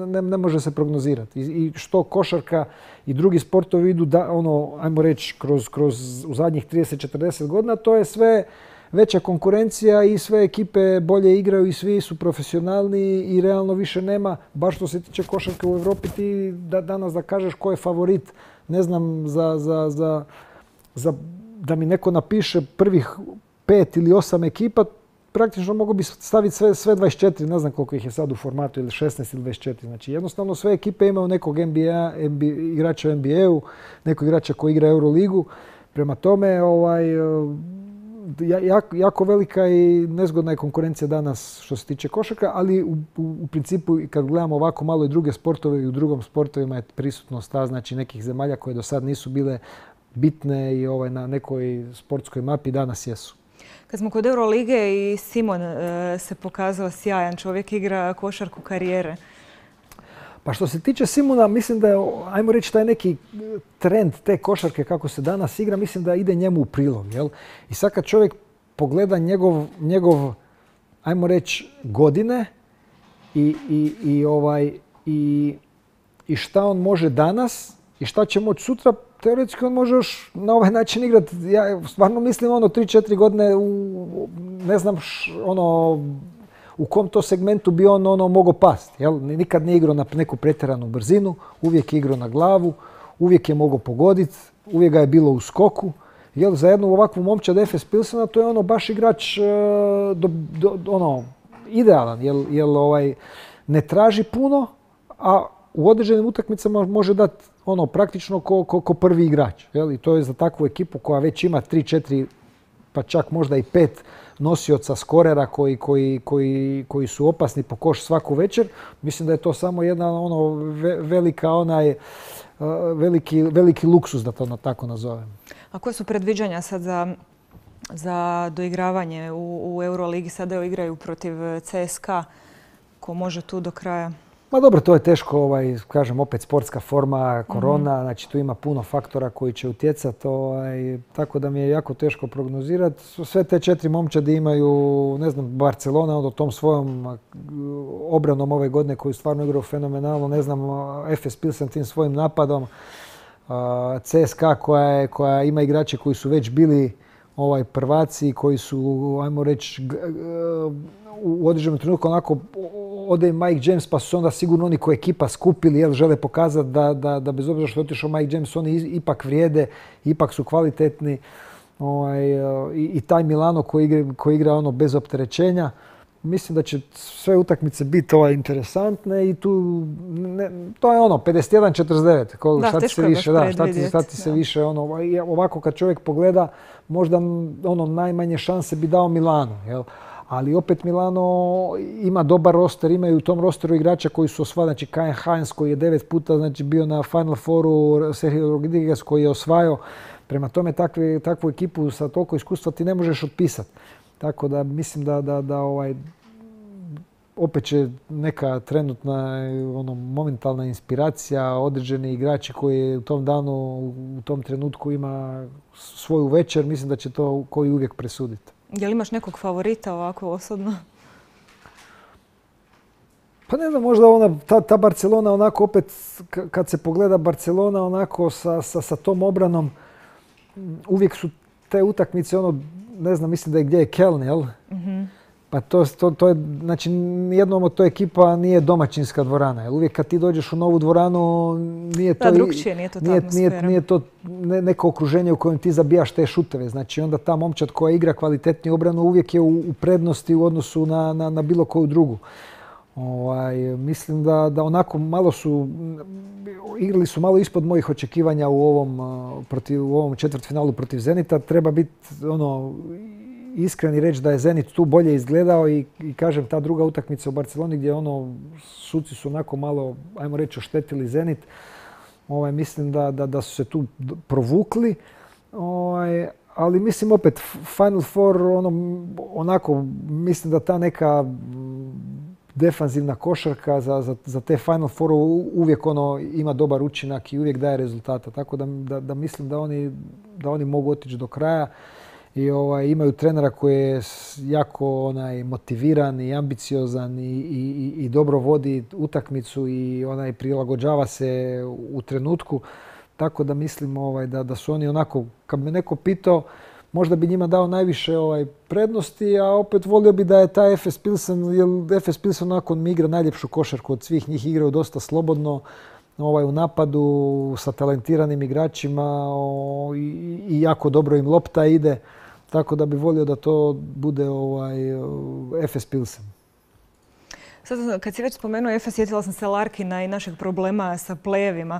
[SPEAKER 3] ne, ne može se prognozirati. I, i što košarka i drugi sportovi idu, da, ono, ajmo reći, kroz, kroz u zadnjih trideset do četrdeset godina, to je sve veća konkurencija i sve ekipe bolje igraju i svi su profesionalni i realno više nema, baš što se tiče košarke u Europi, ti da, danas da kažeš ko je favorit, ne znam, za, za, za, za, da mi neko napiše prvih pet ili osam ekipa, praktično mogu bi staviti sve, sve dvadeset četiri, ne znam koliko ih je sad u formatu, ili šesnaest ili dvadeset četiri. Znači jednostavno sve ekipe imaju nekog N B A, N B A igrača u N B A-u, nekog igrača koji igra Euroligu. Prema tome, ovaj, jako, jako velika i nezgodna je konkurencija danas što se tiče košarka, ali u, u, u principu kad gledamo ovako malo i druge sportove i u drugom sportovima je prisutnost ta, znači nekih zemalja koje do sad nisu bile bitne i ovaj, na nekoj sportskoj mapi danas jesu.
[SPEAKER 2] Kad smo kod Eurolige i Simon e, se pokazao sjajan, čovjek igra košarku karijere.
[SPEAKER 3] Pa što se tiče Simona, mislim da je, ajmo reći, taj neki trend te košarke kako se danas igra, mislim da ide njemu u prilog. Jel? I sad kad čovjek pogleda njegov, njegov ajmo reći, godine i, i, i, ovaj, i, i šta on može danas i šta će moći sutra, teoretski on može još na ovaj način igrati. Ja stvarno mislim ono tri četiri godine u, ne znam, š, ono, u kom to segmentu bi on ono mogao pasti. Jel? Nikad nije igrao na neku pretjeranu brzinu, uvijek je igrao na glavu, uvijek je mogao pogoditi, uvijek ga je bilo u skoku. Jel? Za jednu ovakvu momčad Efes Pilsena to je ono baš igrač do, do, ono, idealan, jel, jel ovaj, ne traži puno, a u određenim utakmicama može dati ono praktično ko, ko, ko prvi igrač. Jel? I to je za takvu ekipu koja već ima tri četiri pa čak možda i pet nosioca skorera koji, koji, koji, koji su opasni po koš svaku večer. Mislim da je to samo jedna ono velika onaj veliki, veliki luksuz, da to ono tako nazovem.
[SPEAKER 2] A koje su predviđanja sad za, za doigravanje u, u Euroligi? Sada evo igraju protiv C S K A. Ko može tu do kraja?
[SPEAKER 3] Ma dobro, to je teško, ovaj, kažem, opet sportska forma, korona, mm-hmm. znači tu ima puno faktora koji će utjecati, ovaj, tako da mi je jako teško prognozirati. Sve te četiri momčadi imaju, ne znam, Barcelona onda tom svojom obranom ove godine koju stvarno igrao fenomenalno, ne znam, Efes Pilsen tim svojim napadom, C S K A koja, je, koja ima igrače koji su već bili ovaj, prvaci, koji su, ajmo reći, u određenom trenutku onako ode Mike James, pa su onda sigurno oni koji ekipa skupili, jer žele pokazati da, da, da bez obzira što je otišao Mike James, oni ipak vrijede, ipak su kvalitetni. Ovaj, i, i taj Milano koji igra, koji igra ono bez opterećenja. Mislim da će sve utakmice biti ovaj, interesantne i tu, ne, to je ono, pedeset jedan četrdeset devet. Ko,
[SPEAKER 2] da,
[SPEAKER 3] šta ti se više, da, šta ti, šta ti se više, ono, ovako kad čovjek pogleda, možda ono, najmanje šanse bi dao Milano, jel? Ali opet Milano ima dobar roster, imaju u tom rosteru igrača koji su osvajali, znači Kai Hines koji je devet puta znači, bio na Final Fouru, Sergio Rodriguez koji je osvajao. Prema tome takve, takvu ekipu sa toliko iskustva ti ne možeš otpisati. Tako da mislim da, da, da ovaj, opet će neka trenutna ono, momentalna inspiracija, određeni igrači koji u tom danu, u tom trenutku ima svoju večer, mislim da će to koji uvijek presuditi.
[SPEAKER 2] Je li imaš nekog favorita ovako osobno?
[SPEAKER 3] Pa ne znam, možda ona, ta, ta Barcelona onako opet, kad se pogleda Barcelona onako sa, sa, sa tom obranom, uvijek su te utakmice, ono, ne znam, mislim da je gdje je Keln, jel? Mm-hmm. Pa to, to, to je, znači, nijednom od toj ekipa nije domaćinska dvorana. Jel? Uvijek kad ti dođeš u novu dvoranu, nije to,
[SPEAKER 2] da, drugčije, nije to ta
[SPEAKER 3] nije,
[SPEAKER 2] atmosfera.
[SPEAKER 3] Nije, nije to ne, neko okruženje u kojem ti zabijaš te šuteve. Znači, onda ta momčad koja igra kvalitetniju obranu uvijek je u, u prednosti u odnosu na, na, na bilo koju drugu. Ovaj, mislim da, da onako malo su, igrali su malo ispod mojih očekivanja u ovom, protiv, u ovom četvrtfinalu protiv Zenita. Treba biti ono, iskren i reći da je Zenit tu bolje izgledao i, i kažem ta druga utakmica u Barceloni gdje ono, suci su onako malo, ajmo reći, oštetili Zenit. Ovaj, mislim da, da, da su se tu provukli. Ovaj, ali mislim opet Final Four ono, onako mislim da ta neka defanzivna košarka za, za, za te Final Four uvijek ono ima dobar učinak i uvijek daje rezultata. Tako da, da, da mislim da oni, da oni mogu otići do kraja i ovaj, imaju trenera koji je jako onaj, motiviran i ambiciozan i, i, i dobro vodi utakmicu i onaj, prilagođava se u trenutku. Tako da mislim ovaj, da, da su oni onako, kad me neko pitao, možda bi njima dao najviše ovaj, prednosti, a opet volio bi da je taj Efes Pilsen, jer Efes Pilsen onako mi igra najljepšu košarku od svih njih, igraju dosta slobodno ovaj, u napadu sa talentiranim igračima o, i, i jako dobro im lopta ide, tako da bi volio da to bude ovaj, Efes Pilsen.
[SPEAKER 2] Sad, kad si već spomenuo Efes, sjetila sam se Larkina i našeg problema sa play-evima.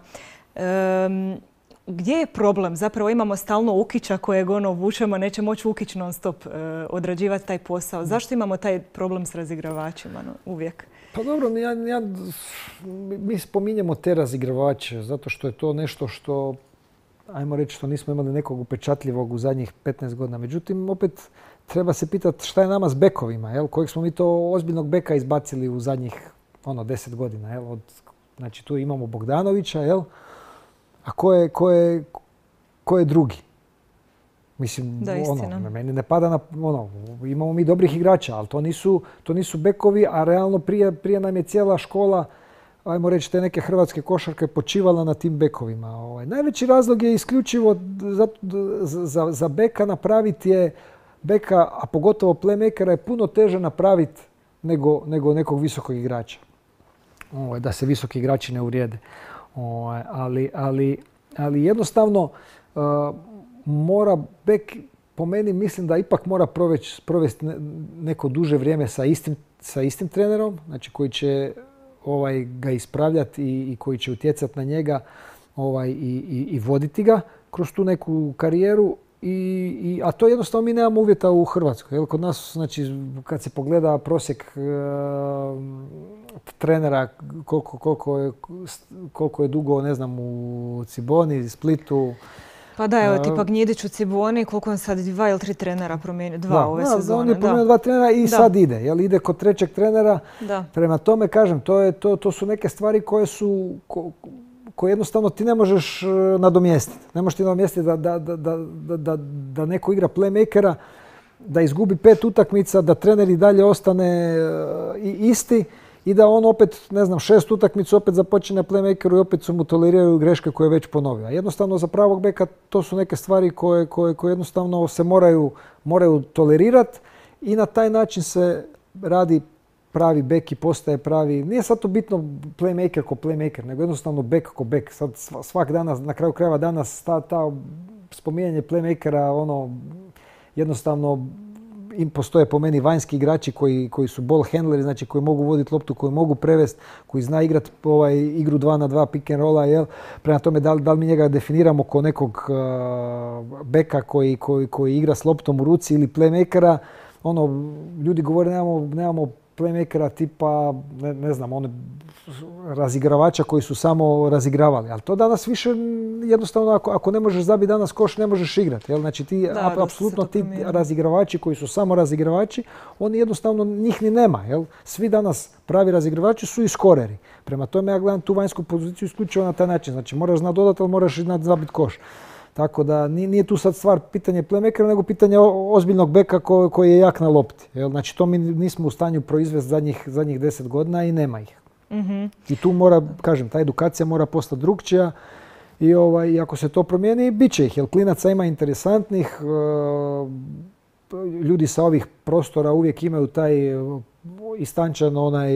[SPEAKER 2] Um, gdje je problem? Zapravo imamo stalno Ukića kojeg ono vučemo, neće moći Ukić non stop uh, odrađivati taj posao. Zašto imamo taj problem s razigravačima no, uvijek?
[SPEAKER 3] Pa dobro, ja, ja, mi spominjemo te razigravače zato što je to nešto što, ajmo reći, što nismo imali nekog upečatljivog u zadnjih petnaest godina. Međutim, opet treba se pitati šta je nama s bekovima, jel? Kojeg smo mi to ozbiljnog beka izbacili u zadnjih ono, deset godina. Jel? Od, znači tu imamo Bogdanovića, jel? A ko je, ko je, ko je drugi? Mislim,
[SPEAKER 2] da,
[SPEAKER 3] ono, meni ne pada na, ono, imamo mi dobrih igrača, ali to nisu, to nisu bekovi, a realno prije, prije nam je cijela škola, ajmo reći, te neke hrvatske košarke počivala na tim bekovima. Ovaj, najveći razlog je isključivo za, za, za beka napraviti je, beka, a pogotovo playmakera je puno teže napraviti nego, nego nekog visokog igrača. Ovaj, da se visoki igrači ne uvrijede. Ovaj, ali, ali, ali jednostavno uh, mora bek, po meni mislim da ipak mora proveć, provesti neko duže vrijeme sa istim, sa istim trenerom, znači koji će ovaj, ga ispravljati i, i koji će utjecati na njega ovaj, i, i, i voditi ga kroz tu neku karijeru. I, i, a to jednostavno mi nemamo uvjeta u Hrvatskoj. Jel, kod nas, znači, kad se pogleda prosjek e, trenera, koliko, koliko, je, koliko je dugo, ne znam, u Ciboni, Splitu.
[SPEAKER 2] Pa da, evo, tipa Gnjidić u Ciboni, koliko on sad dva ili tri trenera promijenio, dva
[SPEAKER 3] da,
[SPEAKER 2] ove
[SPEAKER 3] da,
[SPEAKER 2] sezone.
[SPEAKER 3] On je promijenio dva trenera i da. sad ide. Jel, ide kod trećeg trenera.
[SPEAKER 2] Da. Prema
[SPEAKER 3] tome, kažem, to, je, to, to su neke stvari koje su... Ko, koje jednostavno ti ne možeš nadomjestiti. Ne možeš ti nadomjestiti da, da, da, da, da, da neko igra playmakera, da izgubi pet utakmica, da trener i dalje ostane isti i da on opet, ne znam, šest utakmica opet započne playmakeru i opet su mu toleriraju greške koje je već ponovio. Jednostavno za pravog beka to su neke stvari koje, koje, koje jednostavno se moraju, moraju tolerirati i na taj način se radi pravi bek i postaje pravi, nije sad to bitno playmaker ko playmaker, nego jednostavno bek ko bek. Sad svak danas, na kraju krajeva danas, ta, ta spominjanje playmakera, ono, jednostavno im postoje po meni vanjski igrači koji, koji su ball handleri, znači koji mogu voditi loptu, koji mogu prevesti, koji zna igrati ovaj, igru dva na dva pick and rolla, jel? Prema tome da li, da li mi njega definiramo kao nekog uh, beka koji, koji, koji igra s loptom u ruci ili playmakera, ono, ljudi govore nemamo, nemamo playmakera tipa, ne, ne znam, one razigravača koji su samo razigravali. Ali to danas više jednostavno, ako, ako ne možeš zabiti danas koš, ne možeš igrati. Jel? Znači ti, da, apsolutno ti razigravači koji su samo razigravači, oni jednostavno njih ni nema. Jel? Svi danas pravi razigravači su i skoreri. Prema tome ja gledam tu vanjsku poziciju isključivo na taj način. Znači moraš znati dodati, ali moraš znati zabiti koš. Tako da nije tu sad stvar pitanje playmakera, nego pitanje ozbiljnog beka ko, koji je jak na lopti. Jel? Znači to mi nismo u stanju proizvesti zadnjih, zadnjih deset godina i nema ih.
[SPEAKER 2] Mm-hmm. I
[SPEAKER 3] tu mora, kažem, ta edukacija mora postati drukčija i ovaj, ako se to promijeni, bit će ih. Jer klinaca ima interesantnih, ljudi sa ovih prostora uvijek imaju taj istančan onaj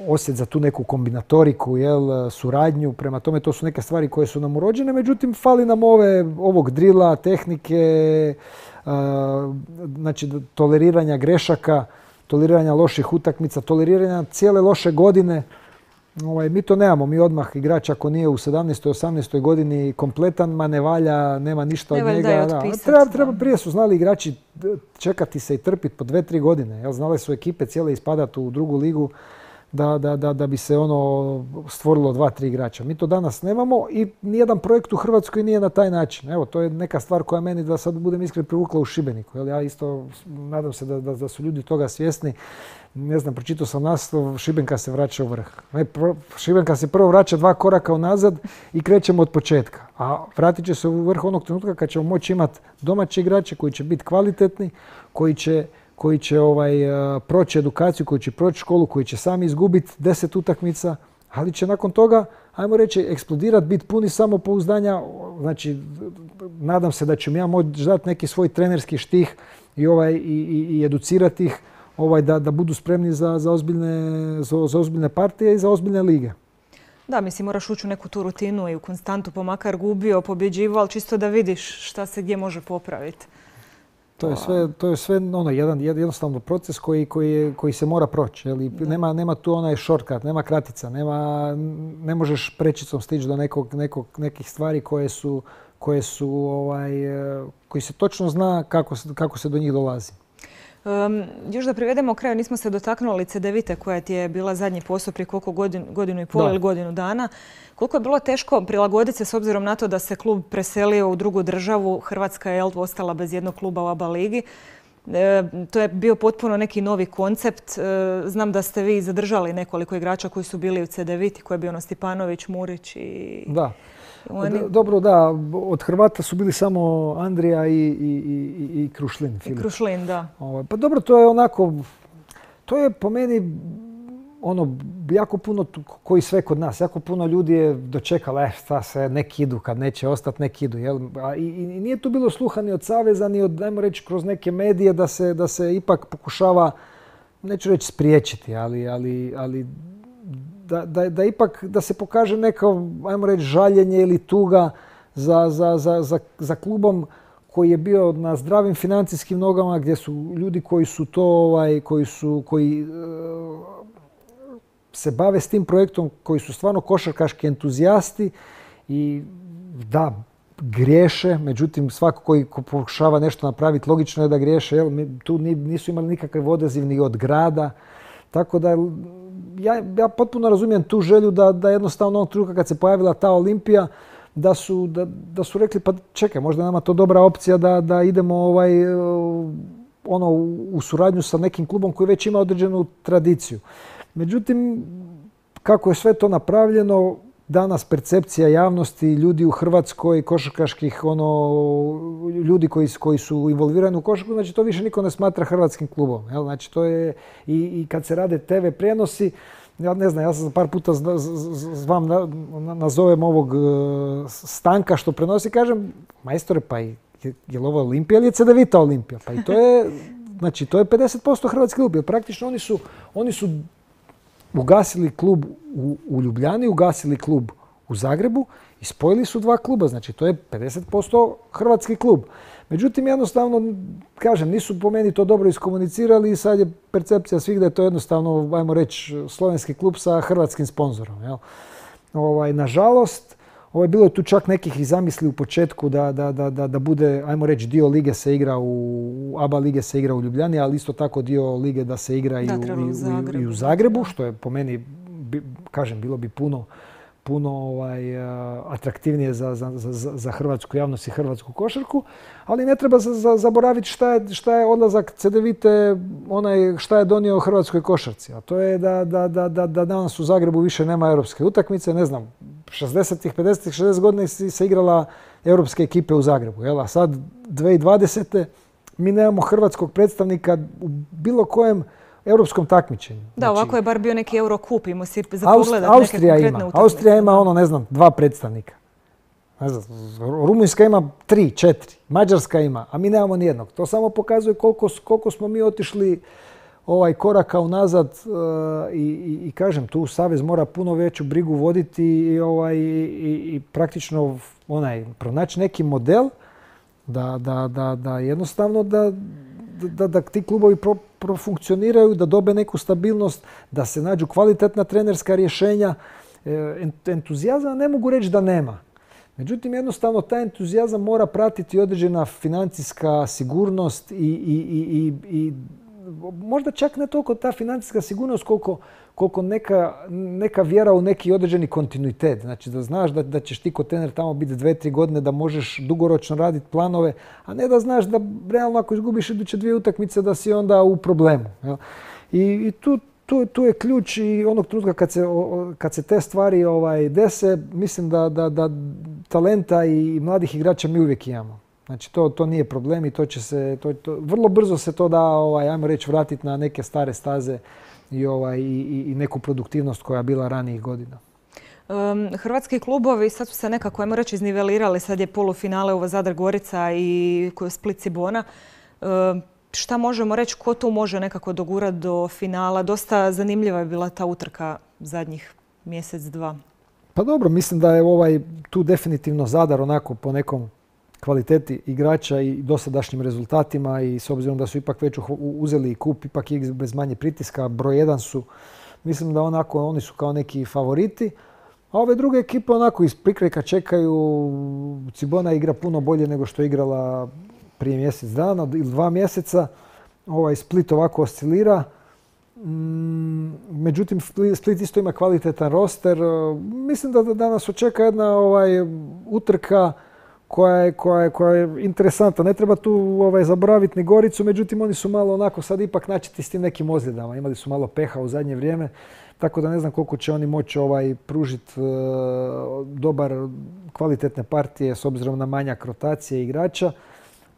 [SPEAKER 3] osjet za tu neku kombinatoriku, jel, suradnju. Prema tome to su neke stvari koje su nam urođene, međutim fali nam ove, ovog drila, tehnike, znači toleriranja grešaka, toleriranja loših utakmica, toleriranja cijele loše godine. Ovaj, mi to nemamo, mi odmah igrač ako nije u sedamnaestoj osamnaestoj godini kompletan, ma ne valja, nema ništa
[SPEAKER 2] ne
[SPEAKER 3] od njega.
[SPEAKER 2] Da,
[SPEAKER 3] treba, treba, prije su znali igrači čekati se i trpiti po dve, tri godine. Jel, znale su ekipe cijele ispadati u drugu ligu da, da, da, da bi se ono stvorilo dva, tri igrača. Mi to danas nemamo i nijedan projekt u Hrvatskoj nije na taj način. Evo, to je neka stvar koja meni, da sad budem iskren, privukla u Šibeniku. Jel, ja isto nadam se da, da, da su ljudi toga svjesni. Ne znam, pročitao sam naslov, Šibenka se vraća u vrh. Ne, pro, Šibenka se prvo vraća dva koraka unazad i krećemo od početka. A vratit će se u vrh onog trenutka kad ćemo moći imati domaće igrače koji će biti kvalitetni, koji će, koji će ovaj, proći edukaciju, koji će proći školu, koji će sami izgubiti deset utakmica, ali će nakon toga, ajmo reći, eksplodirati, biti puni samopouzdanja. Znači, nadam se da ću mi ja moći dati neki svoj trenerski štih i, ovaj, i, i, i educirati ih, Ovaj, da, da budu spremni za, za, ozbiljne, za, za ozbiljne partije i za ozbiljne lige.
[SPEAKER 2] Da, mislim, moraš ući u neku tu rutinu i u konstantu, pa makar gubio, pobjeđivao, ali čisto da vidiš šta se gdje može popraviti.
[SPEAKER 3] To je sve, to je sve ono, jedan jednostavno proces koji, koji, je, koji se mora proći. Jel? Nema, nema tu onaj shortcut, nema kratica, nema, ne možeš prečicom stići do nekog, nekog, nekih stvari koje su, koje su ovaj, koji se točno zna kako, kako se do njih dolazi.
[SPEAKER 2] Um, još da privedemo kraju, nismo se dotaknuli Cedevite koja ti je bila zadnji posao prije koliko godin, godinu i pol ili godinu dana. Koliko je bilo teško prilagoditi se s obzirom na to da se klub preselio u drugu državu, Hrvatska je ostala bez jednog kluba u A B A ligi. E, to je bio potpuno neki novi koncept. E, znam da ste vi zadržali nekoliko igrača koji su bili u Cedeviti, koji je bio ono Stipanović, Murić i...
[SPEAKER 3] Da.
[SPEAKER 2] Oni...
[SPEAKER 3] Dobro, da. Od Hrvata su bili samo Andrija i, i, i, i Krušlin.
[SPEAKER 2] I Krušlin, da.
[SPEAKER 3] Ovaj, pa dobro, to je onako... To je po meni ono, jako puno, koji sve kod nas, jako puno ljudi je dočekalo, eh, šta se, nek idu, kad neće ostati, nek idu. Jel? A, i, I nije tu bilo sluha ni od saveza, ni od, ajmo reći, kroz neke medije da se, da se ipak pokušava, neću reći spriječiti, ali, ali, ali da, da, da ipak da se pokaže neko, ajmo reći, žaljenje ili tuga za, za, za, za, za klubom koji je bio na zdravim financijskim nogama, gdje su ljudi koji su to, ovaj, koji su, koji uh, se bave s tim projektom, koji su stvarno košarkaški entuzijasti i da, griješe, međutim svako koji pokušava nešto napraviti, logično je da griješe, jel? Tu nisu imali nikakav odaziv ni od grada, tako da ja, ja potpuno razumijem tu želju da, da jednostavno onog trenutka kad se pojavila ta Olimpija, da su, da, da su rekli pa čekaj, možda je nama to dobra opcija da, da idemo ovaj, ono, u suradnju sa nekim klubom koji već ima određenu tradiciju. Međutim, kako je sve to napravljeno, danas percepcija javnosti, ljudi u Hrvatskoj, košarkaških ono, ljudi koji, koji su involvirani u košarku, znači to više niko ne smatra hrvatskim klubom. Jel? Znači to je i, i kad se rade te ve prijenosi, ja ne znam, ja sam par puta zvam, nazovem ovog Stanka što prenosi, kažem, majstore, pa je, je li ovo Olimpija ili je Cedevita Olimpija? Pa i to je, znači to je pedeset posto hrvatski klub, jer praktično oni su, oni su ugasili klub u, u Ljubljani, ugasili klub u Zagrebu i spojili su dva kluba, znači to je pedeset posto hrvatski klub. Međutim, jednostavno, kažem, nisu po meni to dobro iskomunicirali i sad je percepcija svih da je to jednostavno, ajmo reći, slovenski klub sa hrvatskim sponzorom. Jel? Ovaj, nažalost, ovaj, bilo je tu čak nekih i zamisli u početku da, da, da, da, da bude, ajmo reći, dio lige se igra u, A B A lige se igra u Ljubljani, ali isto tako dio lige da se igra i,
[SPEAKER 2] da,
[SPEAKER 3] u, i, u,
[SPEAKER 2] Zagrebu.
[SPEAKER 3] i u Zagrebu, što je po meni, kažem, bilo bi puno puno ovaj, atraktivnije za, za, za, za hrvatsku javnost i hrvatsku košarku, ali ne treba za, za, zaboraviti šta je, šta je odlazak Cedevite, onaj šta je donio hrvatskoj košarci. A to je da, da, da, da, da danas u Zagrebu više nema europske utakmice, ne znam, šezdesetih, pedesetih, šezdesetih godina se igrala europske ekipe u Zagrebu. Jel? A sad, dvije tisuće dvadesete mi nemamo hrvatskog predstavnika u bilo kojem europskom takmičenju.
[SPEAKER 2] Da,
[SPEAKER 3] znači,
[SPEAKER 2] ovako je bar bio neki Eurocup, imao si za pogledat
[SPEAKER 3] Austrija
[SPEAKER 2] neke konkretne
[SPEAKER 3] ima.
[SPEAKER 2] utakmice.
[SPEAKER 3] Austrija ima, ono, ne znam, dva predstavnika. Ne znam, Rumunjska ima tri, četiri. Mađarska ima, a mi nemamo nijednog. To samo pokazuje koliko, koliko smo mi otišli ovaj koraka unazad uh, i, i, i kažem, tu Savez mora puno veću brigu voditi i, ovaj, i, i praktično onaj, pronaći neki model da, da, da, da jednostavno da Da, da ti klubovi pro, profunkcioniraju, da dobe neku stabilnost, da se nađu kvalitetna trenerska rješenja. E, entuzijazam ne mogu reći da nema. Međutim, jednostavno taj entuzijazam mora pratiti određena financijska sigurnost i, i, i, i možda čak ne toliko ta financijska sigurnost koliko, koliko neka, neka vjera u neki određeni kontinuitet. Znači da znaš da, da ćeš ti kao trener tamo biti dve, tri godine, da možeš dugoročno raditi planove, a ne da znaš da realno ako izgubiš iduće dvije utakmice da si onda u problemu. Jel? I, i tu, tu, tu je ključ i onog trenutka kad se, kad se te stvari ovaj, dese, mislim da, da, da talenta i mladih igrača mi uvijek imamo. Znači to, to nije problem i to će se, to, to, vrlo brzo se to da, ovaj, ajmo reći, vratiti na neke stare staze i, ovaj, i, i neku produktivnost koja je bila ranijih godina.
[SPEAKER 2] Um, hrvatski klubovi sad su se nekako, ajmo reći, iznivelirali. Sad je polufinale ovo Zadar Gorica i Split Cibona. Um, šta možemo reći, ko tu može nekako dogurati do finala? Dosta zanimljiva je bila ta utrka zadnjih mjesec, dva.
[SPEAKER 3] Pa dobro, mislim da je ovaj tu definitivno Zadar onako po nekom kvaliteti igrača i dosadašnjim rezultatima i s obzirom da su ipak već uzeli i kup, ipak i bez manje pritiska, broj jedan su. Mislim da onako oni su kao neki favoriti. A ove druge ekipe onako iz prikrajka čekaju. Cibona igra puno bolje nego što je igrala prije mjesec dana ili dva mjeseca. Ovaj Split ovako oscilira. Međutim, Split isto ima kvalitetan roster. Mislim da danas očeka jedna ovaj, utrka koja je, koja, je, koja je interesantna. Ne treba tu ovaj, zaboraviti ni Goricu, međutim oni su malo onako sad ipak načeti s tim nekim ozljedama. Imali su malo peha u zadnje vrijeme, tako da ne znam koliko će oni moći ovaj, pružiti uh, dobar, kvalitetne partije s obzirom na manjak rotacije igrača.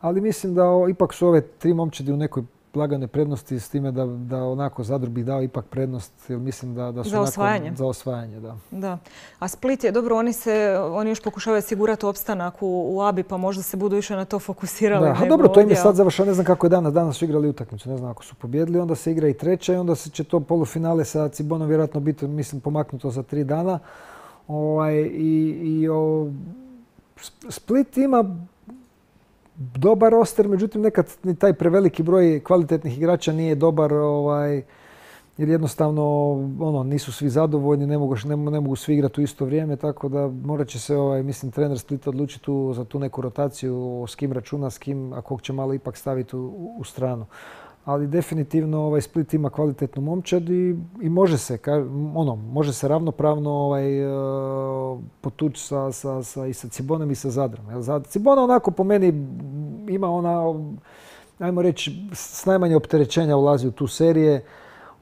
[SPEAKER 3] Ali mislim da o, ipak su ove tri momčadi u nekoj laganoj prednosti s time da, da onako Zadru bi dao ipak prednost, jer mislim da, da su
[SPEAKER 2] za osvajanje.
[SPEAKER 3] Onako, za osvajanje, da.
[SPEAKER 2] Da. A Split je dobro, oni se oni još pokušavaju sigurati opstanak u, u A B I, pa možda se budu više na to fokusirali.
[SPEAKER 3] Da, a dobro, to im je sad završeno, ne znam kako je danas, danas su igrali utakmicu, ne znam ako su pobjedili, onda se igra i treća i onda se će to polufinale sa Cibonom vjerojatno biti, mislim, pomaknuto za tri dana. Ovaj, i, i o, Split ima dobar roster, međutim nekad ni taj preveliki broj kvalitetnih igrača nije dobar, ovaj, jer jednostavno ono, nisu svi zadovoljni, ne mogu, ne, ne mogu svi igrati u isto vrijeme, tako da morat će se, ovaj, mislim, trener Splita odlučiti tu, za tu neku rotaciju, s kim računa, s kim, a kog će malo ipak staviti u, u stranu. Ali definitivno ovaj, Split ima kvalitetnu momčad i, i može se, ka, ono, može se ravnopravno ovaj, uh, potući sa, sa, sa, i sa Cibonom i sa Zadrom. Jel? Cibona onako po meni ima ona, ajmo reći, s najmanje opterećenja ulazi u tu serije.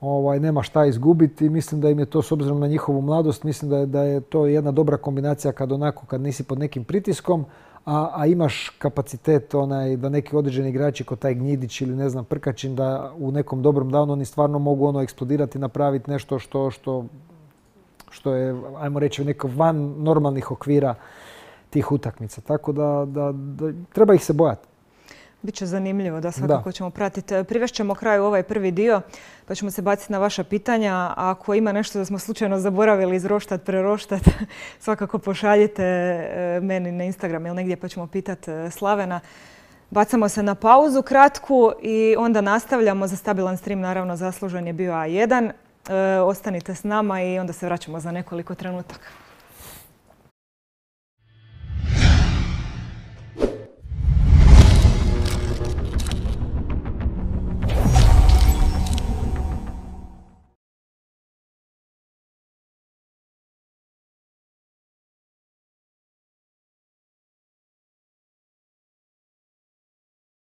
[SPEAKER 3] Ovaj, nema šta izgubiti. Mislim da im je to, s obzirom na njihovu mladost, mislim da je, da je to jedna dobra kombinacija kad onako, kad nisi pod nekim pritiskom, a, a imaš kapacitet onaj, da neki određeni igrači kao taj Gnjidić ili ne znam Prkačin da u nekom dobrom danu oni stvarno mogu ono eksplodirati i napraviti nešto što, što, što je, ajmo reći, neko van normalnih okvira tih utakmica. Tako da, da, da treba ih se bojati.
[SPEAKER 2] Biće zanimljivo, da, svakako ćemo pratiti. Privešćemo kraju ovaj prvi dio, pa ćemo se baciti na vaša pitanja. Ako ima nešto da smo slučajno zaboravili izroštat, preroštat, svakako pošaljite meni na Instagram ili negdje, pa ćemo pitati Slavena. Bacamo se na pauzu kratku i onda nastavljamo. Za stabilan stream naravno zaslužen je bio A jedan. E, ostanite s nama i onda se vraćamo za nekoliko trenutaka.